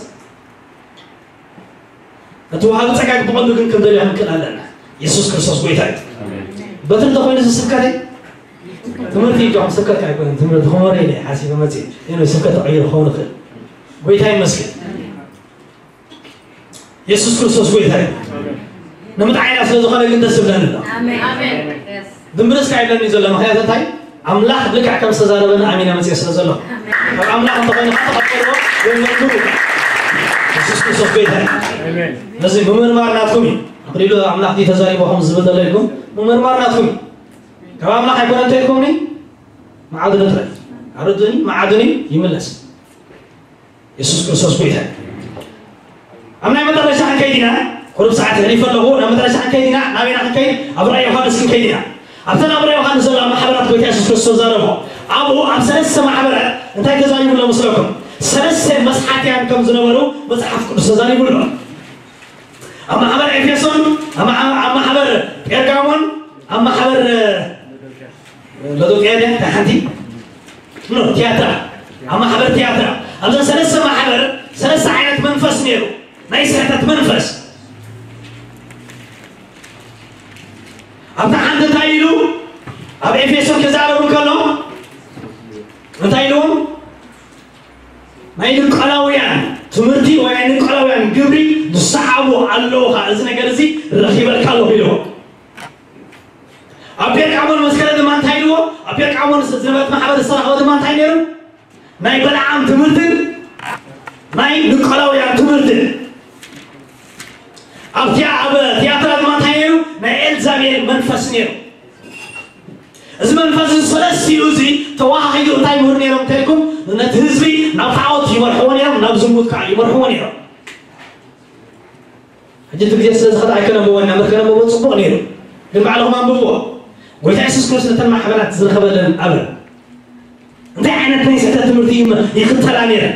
እቲ ወሃቢ ጸጋ ብቐንዱ ግን ክንደልዮ ክንክእል ኣለና። የሱስ ክርስቶስ ጎይታ እዩ። በቲ እንተኾይኑ እዚ ስብከተይ ትምህርቲ እዩ፣ ስብከት ኣይኮነን። ትምህርቲ ክመረ ኢለ ሓሲበ መጽእ። ይኖ ስብከት ተቐይሩ ክኸውን ይኽእል። ጎይታ ይመስገን። የሱስ ክርስቶስ ጎይታ እዩ። ንምጥዓይና ስለ ዝኾነ ግን ደስ ይብለኒ ኣሎ። ኣሜን። ድምብርስ ካይብለኒ ዘሎ ምኽንያት እንታይ? ኣምላኽ ልክዕ ከም ዝተዛረበና ኣሚና መጽእ ስለ ዘሎ። ካብ ኣምላኽ እንተኾይኑ ተቐበልዎ ወይ መርምሩ። የሱስ ክርስቶስ ጎይታ እዩ። ነዚ ምምርማር ናትኩም እዩ። ኣኽሊሉ ኣምላኽ ድዩ ተዛሪቦ ከም ዝብል ዘሎ ኢልኩም ምምርማር ናትኩም እዩ። ካብ ኣምላኽ ኣይኮነ እንተ ኢልኩምኒ መዓድኒ ጥራይ ኣረዱኒ፣ መዓድኒ ይምለስ። የሱስ ክርስቶስ ጎይታ እዩ። ኣብ ናይ መጨረሻ ክንከይድ ኢና። ቁሩብ ሰዓት የሕሊፈ ኣለኹ። ናብ መጨረሻ ክንከይድ ኢና። ናበይና ክንከይድ? ኣብ ራእይ ዮሃንስ ክንከይድ ኢና። ኣብተን ኣብ ራእይ ዮሃንስ ዘለዋ ማሕበራት ጎይታ የሱስ ክርስቶስ ዛረቦ። ኣብኡ ኣብ ሰለስተ ማሕበራት እንታይ ተዛሪቡ ኣሎ መስለኩም? ሰለስተ መስሓትያን ከም ዝነበሩ መጽሓፍ ቅዱስ ተዛሪቡ ኣሎ። ኣብ ማሕበር ኤፌሶን፣ ኣብ ማሕ-፣ ኣብ ማሕበር ጴርጋሞን፣ ኣብ ማሕበር ሎዶቅያ ድያ? እታ ሓንቲ ኖ፣ ቲያትራ፣ ኣብ ማሕበር ቲያትራ፣ ኣብዛ ሰለስተ ማሕበር ሰለስተ ዓይነት መንፈስ ነይሩ። ናይ ስሕተት መንፈስ። ኣብታ ሓንቲ እንታይ ኢሉ? ኣብ ኤፌሶን ክዛረቡ ከሎ እንታይ ኢልዎም? ናይ ንቆላውያን ትምህርቲ ወይ ናይ ንቆላውያን ግብሪ ዝሰዓቡ ኣለዉ ኸዓ፣ እዚ ነገር እዚ ረኺበልካ ኣለኹ ኢልዎ። ኣብ ጴርቃሞን መስከረ ድማ እንታይ ኢልዎ? ኣብ ጴርቃሞን ዝነበረት ማሕበር ዝተረኸበ ድማ እንታይ ነይሩ? ናይ በለዓም ትምህርትን ናይ ንቆላውያን ትምህርትን። ኣብ ቲያ-፣ ኣብ ቲያትራ ድማ እንታይ ነይሩ? ናይ ኤልዛቤል መንፈስ ነይሩ። እዚ መንፈስ እዚ ሰለስቲኡ እዚ ተዋሃሂዱ እንታይ ይምህሩ ነይሮም እንተልኩም፣ ነቲ ህዝቢ ናብ ጣዖት ይመርሕዎ ነይሮም፣ ናብ ዝሙት ከዓ ይመርሕዎ ነይሮም። ሕጂ እቲ ግዜ ስለ ዝኸደ ኣይከነንብቦ ኢና፣ ምር ከነንብቦ ጽቡቕ ነይሩ። ግን ባዕልኹም ኣንብብዎ። ጎይታ የሱስ ክርስቶስ ነተን ማሕበራት ዝረኸበለን ኣበ እንታይ ዓይነት ናይ ስሕተት ትምህርቲ ይመ-፣ ይኽተላ ነይረን?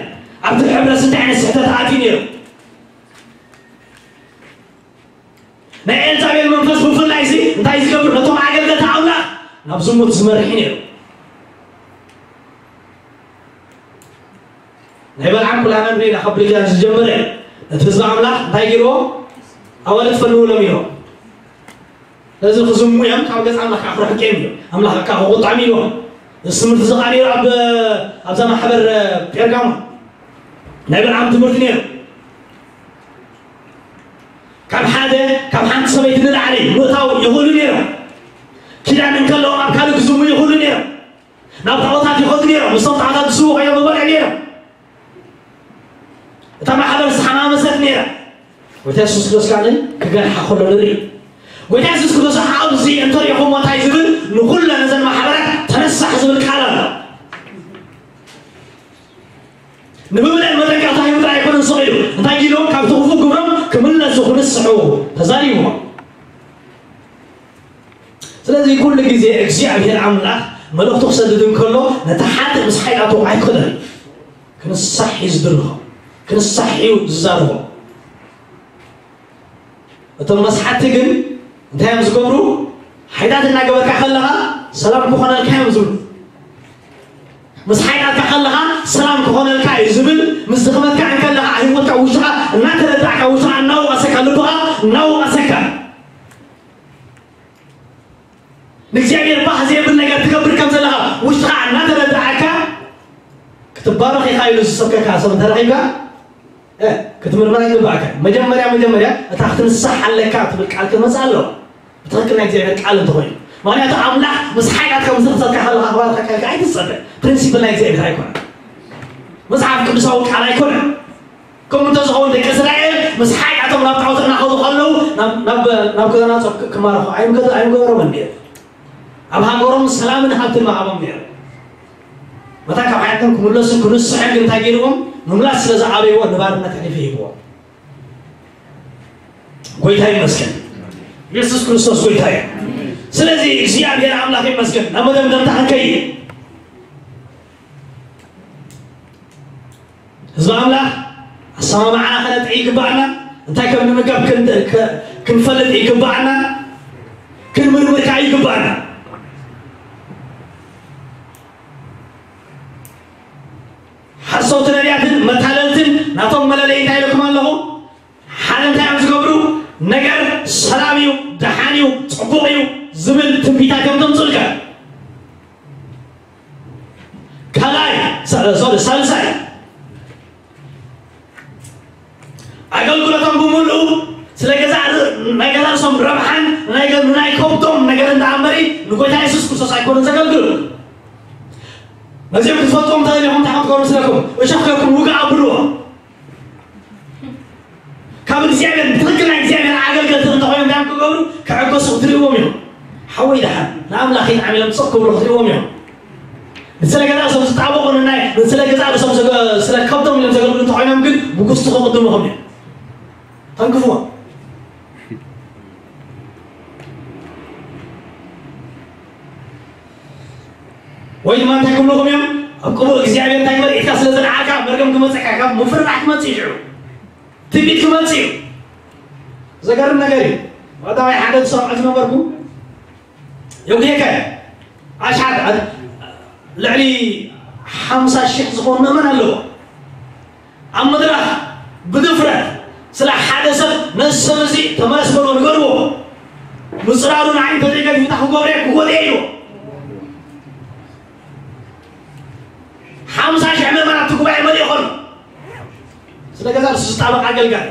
ኣብቲ ሕብረት እንታይ ዓይነት ስሕተት ኣትዩ ነይሩ? ናይ ኤልዛቤል መንፈስ ብፍላይ እዚ እንታይ ዝገብር? ነቶም ኣገልገልቲ ኣምላኽ ናብ ዝሙት ዝመርሕ ነይሩ። ናይ በልዓም ኩላና ንሪኢና ካብ ብሉይ ኪዳን ዝጀመረ ነቲ ህዝቢ ኣምላኽ እንታይ ገይርዎ? ኣዋልድ ፈልውሎም እዮም። ስለዚ ክዝሙ እዮም፣ ካብ ገጽ ኣምላኽ ከዓ ክርሕቁ እዮም። ኣምላኽ ከዓ ክቁጣዕ ኢልዎም። እዚ ትምህርቲ እዚ ከዓ ነይሩ ኣብ፣ ኣብዛ ማሕበር ጴርጋሞን ናይ በልዓም ትምህርቲ ነይሩ። ካብ ሓደ፣ ካብ ሓንቲ ሰበይቲ ንላዕሊ ምእታው ይኽእሉ ነይሮም። ኪዳን እንከለዎም ኣብ ካልእ ክዝሙ ይኽእሉ ነይሮም። ናብ ጣዖታት ይኸዱ ነይሮም። ምስቶም ጣዖታት ዝስዉ ኮይኖም ይበልዑ ነይሮም። እታ ማሕበር ዝተሓማመሰት ነይራ። ጎይታ የሱስ ክርስቶስ ከዓ ክገርሓ ከሎ ንርኢ። ጎይታ የሱስ ክርስቶስ ኣብዚ እንተሪእኹሞ እንታይ ዝብል? ንኹለን እዘን ማሕበራት ተነሳሕ ዝብል ቃል ኣሎ። ንምብለን መጠንቀቕታ ሂቡ ጥራይ ኣይኮነን ስቕ ኢሉ። እንታይ ኢሉ? ካብቲ ክፉእ ግብሮም ክምለሱ፣ ክንስሑ ተዛሪብዎም። ስለዚ ኩሉ ግዜ እግዚኣብሔር ኣምላኽ መልእኽቱ ክሰድድ እንከሎ ነቲ ሓጥእ ምስ ሓጢኣቱ ኣይኮነን ክንሳሕ እዩ ዝድርኾ፣ ክንሳሕ እዩ ዝዛርቦ። እቶም መስሓቲ ግን እንታይ እዮም ዝገብሩ? ሓጢኣት እናገበርካ ከለኻ ሰላም ክኾነልካ እዮም ዝብሉ። ምስ ሓጢኣትካ ከለኻ ሰላም ክኾነልካ እዩ ዝብል፣ ምስ ድኽመትካ እንከለኻ ህይወትካ ውሽኻ እናተረዳእካ፣ ውሽኻ እናወቐሰካ፣ ልብኻ እናወቐሰካ፣ ንእግዚኣብሔር ባህ ዘብል ነገር ትገብር ከም ዘለኻ ውሽጥኻ እናተረዳእካ፣ ክትባረኽ ኢኻ ኢሉ ዝሰብከካ ሰብ እንተረኺብካ፣ እ፣ ክትምርመር ኣይግባእካ። መጀመርያ፣ መጀመርያ እታ ክትንሳሕ ኣለካ ትብል ቃል ክትመጽእ ኣለዋ። ብትኽክል ናይ እግዚኣብሔር ቃል እንተኾይኑ። ምኽንያቱ ኣምላኽ ምስ ሓጢኣትካ ምስ ድኽመትካ ከለኻ ክባርኸካ ኢልካ ኣይትጸበ። ፕሪንሲፕል ናይ እግዚኣብሔር ኣይኮነን። መጽሓፍ ቅዱሳዊ ቃል ኣይኮነን። ከምኡ እንተዝኸውን ደቂ እስራኤል ምስ ሓጢኣቶም ናብ ጣዖት እናኸዱ ከለዉ ናብ፣ ናብ፣ ናብ ከተማ ጾር ክማረኹ ኣይምገ-፣ ኣይምገበሮምን ነይሩ። ኣብ ሃገሮም ሰላምን ሃብትን ምሃቦም ነይሩ። መታን ካብ ሓጢኣቶም ክምለሱ ክንስሑ ግን እንታይ ገይርዎም? ምምላስ ስለ ዝኣበይዎ ንባርነት ኣሕሊፉ ሂብዎም። ጎይታ ይመስገን። ኢየሱስ ክርስቶስ ጎይታ እዩ። ስለዚ እግዚኣብሔር ኣምላኽ ይመስገን። ናብ መደምደምታ ክንከይድ፣ ህዝቢ ኣምላኽ ኣሰማምዓና ከነጥሪ ይግባኣና። እንታይ ከም ንምገብ ክን- ከ- ክንፈልጥ ይግባኣና። ክንምርምር ከዓ ይግባኣና። ሓሰውቲ ነቢያትን መታለልትን ናቶም መለለይ እንታይ ኢለኩም ኣለኹ? ሓደ እንታይ እዮም ዝገብሩ? ነገር ሰላም እዩ፣ ደሓን እዩ፣ ፅቡቕ እዩ ዝብል ትንቢታት እዮም ዘምፅኡልካ። ካልኣይ፣ ሳ- ሶሪ፣ ሳልሳይ፣ ኣገልግሎቶም ብምሉኡ ስለ ገዛ ር- ናይ ገዛ ርእሶም ረብሓን ናይ ገ- ናይ ከብዶም ነገር እንዳኣንበሪ ንጎይታ የሱስ ክርስቶስ ኣይኮኑን ዘገልግሉ። ነዚኦም ክትፈልጥዎም ተደሊኹም እንታይ ክትገብሩ መስለኩም? እሾኽ ጌርኩም ውግእ ኣብልዎ። ካብ እግዚኣብሔር ብትኽክል ናይ እግዚኣብሔር ኣገልገልቲ እንተኾይኖም እንታይ ክገብሩ? ክዕገሱ ክትርእዎም እዮም። ሓወይ ደሓን ንኣምላኽ ኢልዓሚሎም ስቕ ክብሉ ክትርእዎም እዮም። ንስለ ገዛ ርእሶም ዝጣበቑ ንናይ ንስለ ገዛ ርእሶም ዘገ- ስለ ከብዶም ኢሎም ዘገልግሉ እንተኾይኖም ግን ብጉስቲ ክቕድሙኹም እዮም። ተንክፍዎም። ወይ ድማ እንታይ ክብልኹም እዮም? ኣብ ቅቡእ እግዚኣብሔር እንታይ ግበር? ኢድካ ስለ ዘልዓልካ መርገም ክመፅእካ ካብ ምፍርራሕ ክመፅእ እዩ። ሽዑ ትንቢት ክመፅእ እዩ። ዘገርም ነገር እዩ። ቀዳማይ ሓደ ዝሰምዖ ዝነበርኩ የጉዴከ ኣሽሓት ልዕሊ ሓምሳ ሽሕ ዝኾኑ ምእመን ኣለዎ። ኣብ መድረኽ ብድፍረት ስለ ሓደ ሰብ ነዚ ሰብ እዚ ተመለስ በልዎ ንገርዎ። ምፅራሩ ንዓይ እንተዘይገዲፉ እንታይ ክገብሮ እየ ክጎድኦ እየ ኢልዎ። ሓምሳ ሽሕ ምእመናት እቲ ጉባኤ መሊኡ ከሎ ስለ ገዛ ርእሱ ዝጣበቕ ኣገልጋሊ።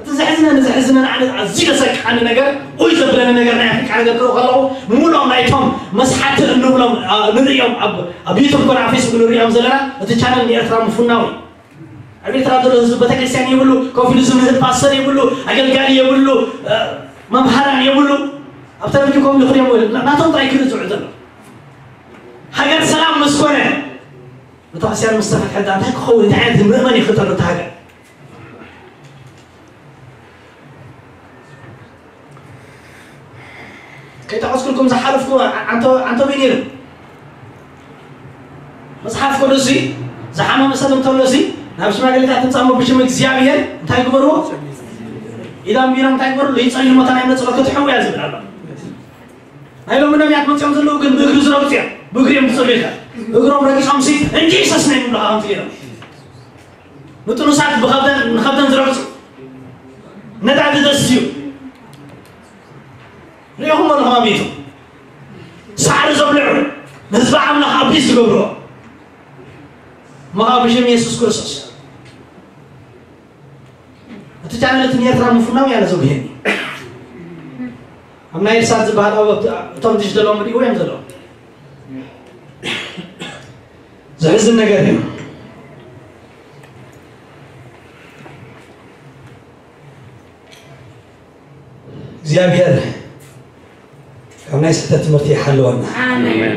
እቲ ዘሕዝነኒ ዘሕዝነኒ ኣነ ኣዝዩ ዘሰክዓኒ ነገር ኡይ ዘብለኒ ነገር ናይ ኣፍሪቃ ነገር ክርኢ ከለኹ ምሉኦም ናይቶም መስሓቲ እንብሎም ኣ፣ ንርእዮም ኣብ ኣብ ዩቱብ ኮነ ኣብ ፌስቡክ ንርእዮም ዘለና እቲ ቻነል ንኤርትራ ምፉናው እዩ። ኣብ ኤርትራ ዘሎ ህዝቢ ቤተክርስትያን የብሉ፣ ኮፍ ኢሉ ዝምህር ፓስተር የብሉ፣ ኣገልጋሊ የብሉ፣ እ፣ መምሃራን የብሉ። ኣብ ተለቪዥን ኮፍ ኢሉ ክርእዮም ይብል። ና- ናቶም ጥራይ ክርኢ ዝውዕል ዘሎ። ሃገር ሰላም ምስ ኮነ፣ ቤተክርስትያን ምስ ተፈትሐ እንታይ ክኸውን? እንታይ ዓይነት ምእመን ይፍጠር ኣብታ ሃገር? ከይጠቐስኩልኩም ዝሓለፍኩ ዓንቶ ዓንቶ በይ ነይሩ። መጽሓፍ ቅዱስ እዚ ዝሓመመ ሰብ እንተሎ እዚ ናብ ሽማግሌታት ትምጻሞ ብሽም እግዚኣብሔር እንታይ ግበርዎ? ኢዳም ቢሮም እንታይ ግበሩ? ይጸልዩ ሞታ ናይ መጽሎ ክትሕው እያ ዝብል ኣሎ። ናይ ሎሚ ነቢያት መጽኦም ዘለዉ ግን ብእግሪ ዝረግጹ እዮም። ብእግሪ እዮም ዝጸልዩ ኢልካ እግሮም ረጊጾም ሲ እንጂ ሰስ ናይ ምብሉ ሃምቲ ገይሮም ንጥኑሳት ብኸብደን ንኸብደን ዝረግጹ ነዳዲ ዘስትዩ ሪኢኹም ኣለኹም ኣቤቱ ሳዕሪ ዘብልዑ ንህዝቢ ኣምላኽ ኣቢስ ዝገብርዎ ምሃ ብሽም የሱስ ክርስቶስ እቲ ቻነል እቲ ንኤርትራ ምፍናው ያለ ዘጉሄኒ ኣብ ናይ እሳት ዝበሃል ኣብ እቶም ድሽ ዘለዎም ሪእዎ እዮም ዘለዎም ዘሕዝን ነገር እዩ እግዚኣብሔር ካብ ናይ ስሕተት ትምህርቲ ይሓልወና ኣሜን።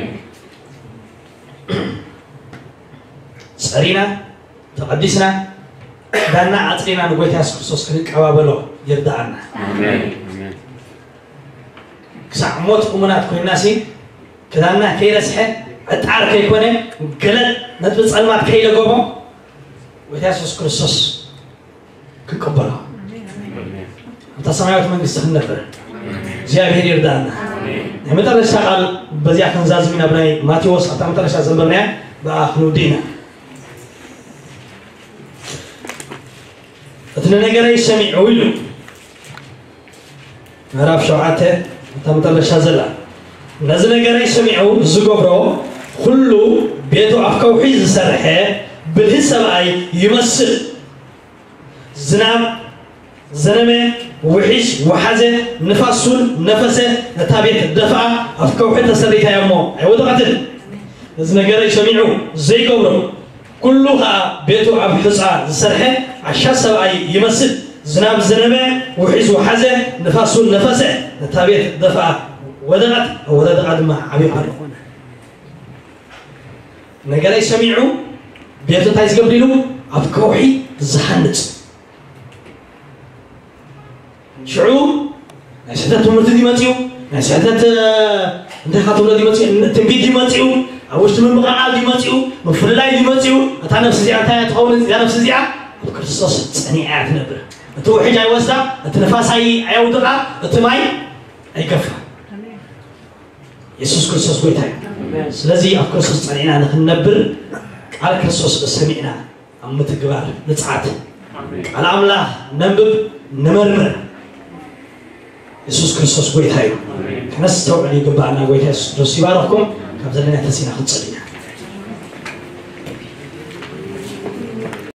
ጸሪና ተቐዲስና ክዳንና ኣጽሪና ንጎይታ የሱስ ክርስቶስ ክንቀባበሎ ይርድኣና። ኣሜን። ኣሜን። ክሳዕ ሞት እሙናት ኮይንና ሲ ክዳንና ከይረስሐ ዕጣር ከይኮነ ገለ ነጥቢ ጸልማት ከይለገቦ ጎይታ የሱስ ክርስቶስ ክቀበሎ ኣብታ ሰማያዊት መንግስቲ ክንነብር እግዚኣብሔር ይርዳእና። ናይ መጠረሽታ ቃል በዚኣ ክንዛዝም ኢና። ብናይ ማቴዎስ ኣብታ መጠረሽታ ዘንበብናያ ብኣ ክንውዲ ኢና። እቲ ንነገረይ ሰሚዑ ኢሉ ምዕራፍ ሸውዓተ እታ መጠረሻ ዘላ ነዚ ነገረይ ሰሚዑ ዝገብሮ ኩሉ ቤቱ ኣብ ከውሒ ዝሰርሐ ብልህ ሰብኣይ ይመስል። ዝናብ ዘነመ፣ ውሒዝ ወሓዘ፣ ንፋስ ሱል ነፈሰ፣ ነታ ቤት ደፍኣ፣ ኣብ ከውሒ ተሰሪታ እያ እሞ ኣይወደቐትን። ነዚ ነገረይ ሰሚዑ ዘይገብሮ፣ ኩሉ ኸኣ ቤቱ ኣብ ሑጻ ዝሰርሐ ዓሻ ሰብኣይ ይመስል። ዝናብ ዘነመ፣ ውሒዝ ወሓዘ፣ ንፋስ ሱል ነፈሰ፣ ነታ ቤት ደፍኣ፣ ወደቐት፣ ኣወዳድቓ ድማ ዓቢ ቃል ኾነ። ነገረይ ሰሚዑ ቤቱ እንታይ ዝገብር ኢሉ ኣብ ከውሒ ዝሃንጽ ሽዑ ትምህርቲ ድመፅኡ ናይ ስሕተት እንታይ ካብ ትብሎ ድመፅኡ ትንቢት ድመፅኡ ኣብ ውሽጢ ምምቕቓል ድመፅኡ ምፍልላይ ድመፅኡ እታ ነፍሲ እዚኣ እንታይ ትኸውን እዚኣ ነፍሲ እዚኣ ኣብ ክርስቶስ ፀኒዓ እያ ትነብር። እቲ ውሕጅ ኣይወስዳ፣ እቲ ንፋስ ኣይ ኣየውድቓ፣ እቲ ማይ ኣይገፋ። የሱስ ክርስቶስ ጎይታ እዩ። ስለዚ ኣብ ክርስቶስ ጸኒዕና ንኽንነብር ቃል ክርስቶስ ሰሚዕና ኣብ ምትግባር ንጽዓት። ቃል ኣምላኽ ነንብብ፣ ንመርምር። የሱስ ክርስቶስ ጎይታ እዩ። ከነስተውዕል ይግባኣና። ጎይታ የሱስ ክርስቶስ ይባርኽኩም። ካብ ዘለና ተሲና ክንጸሊ ኢና።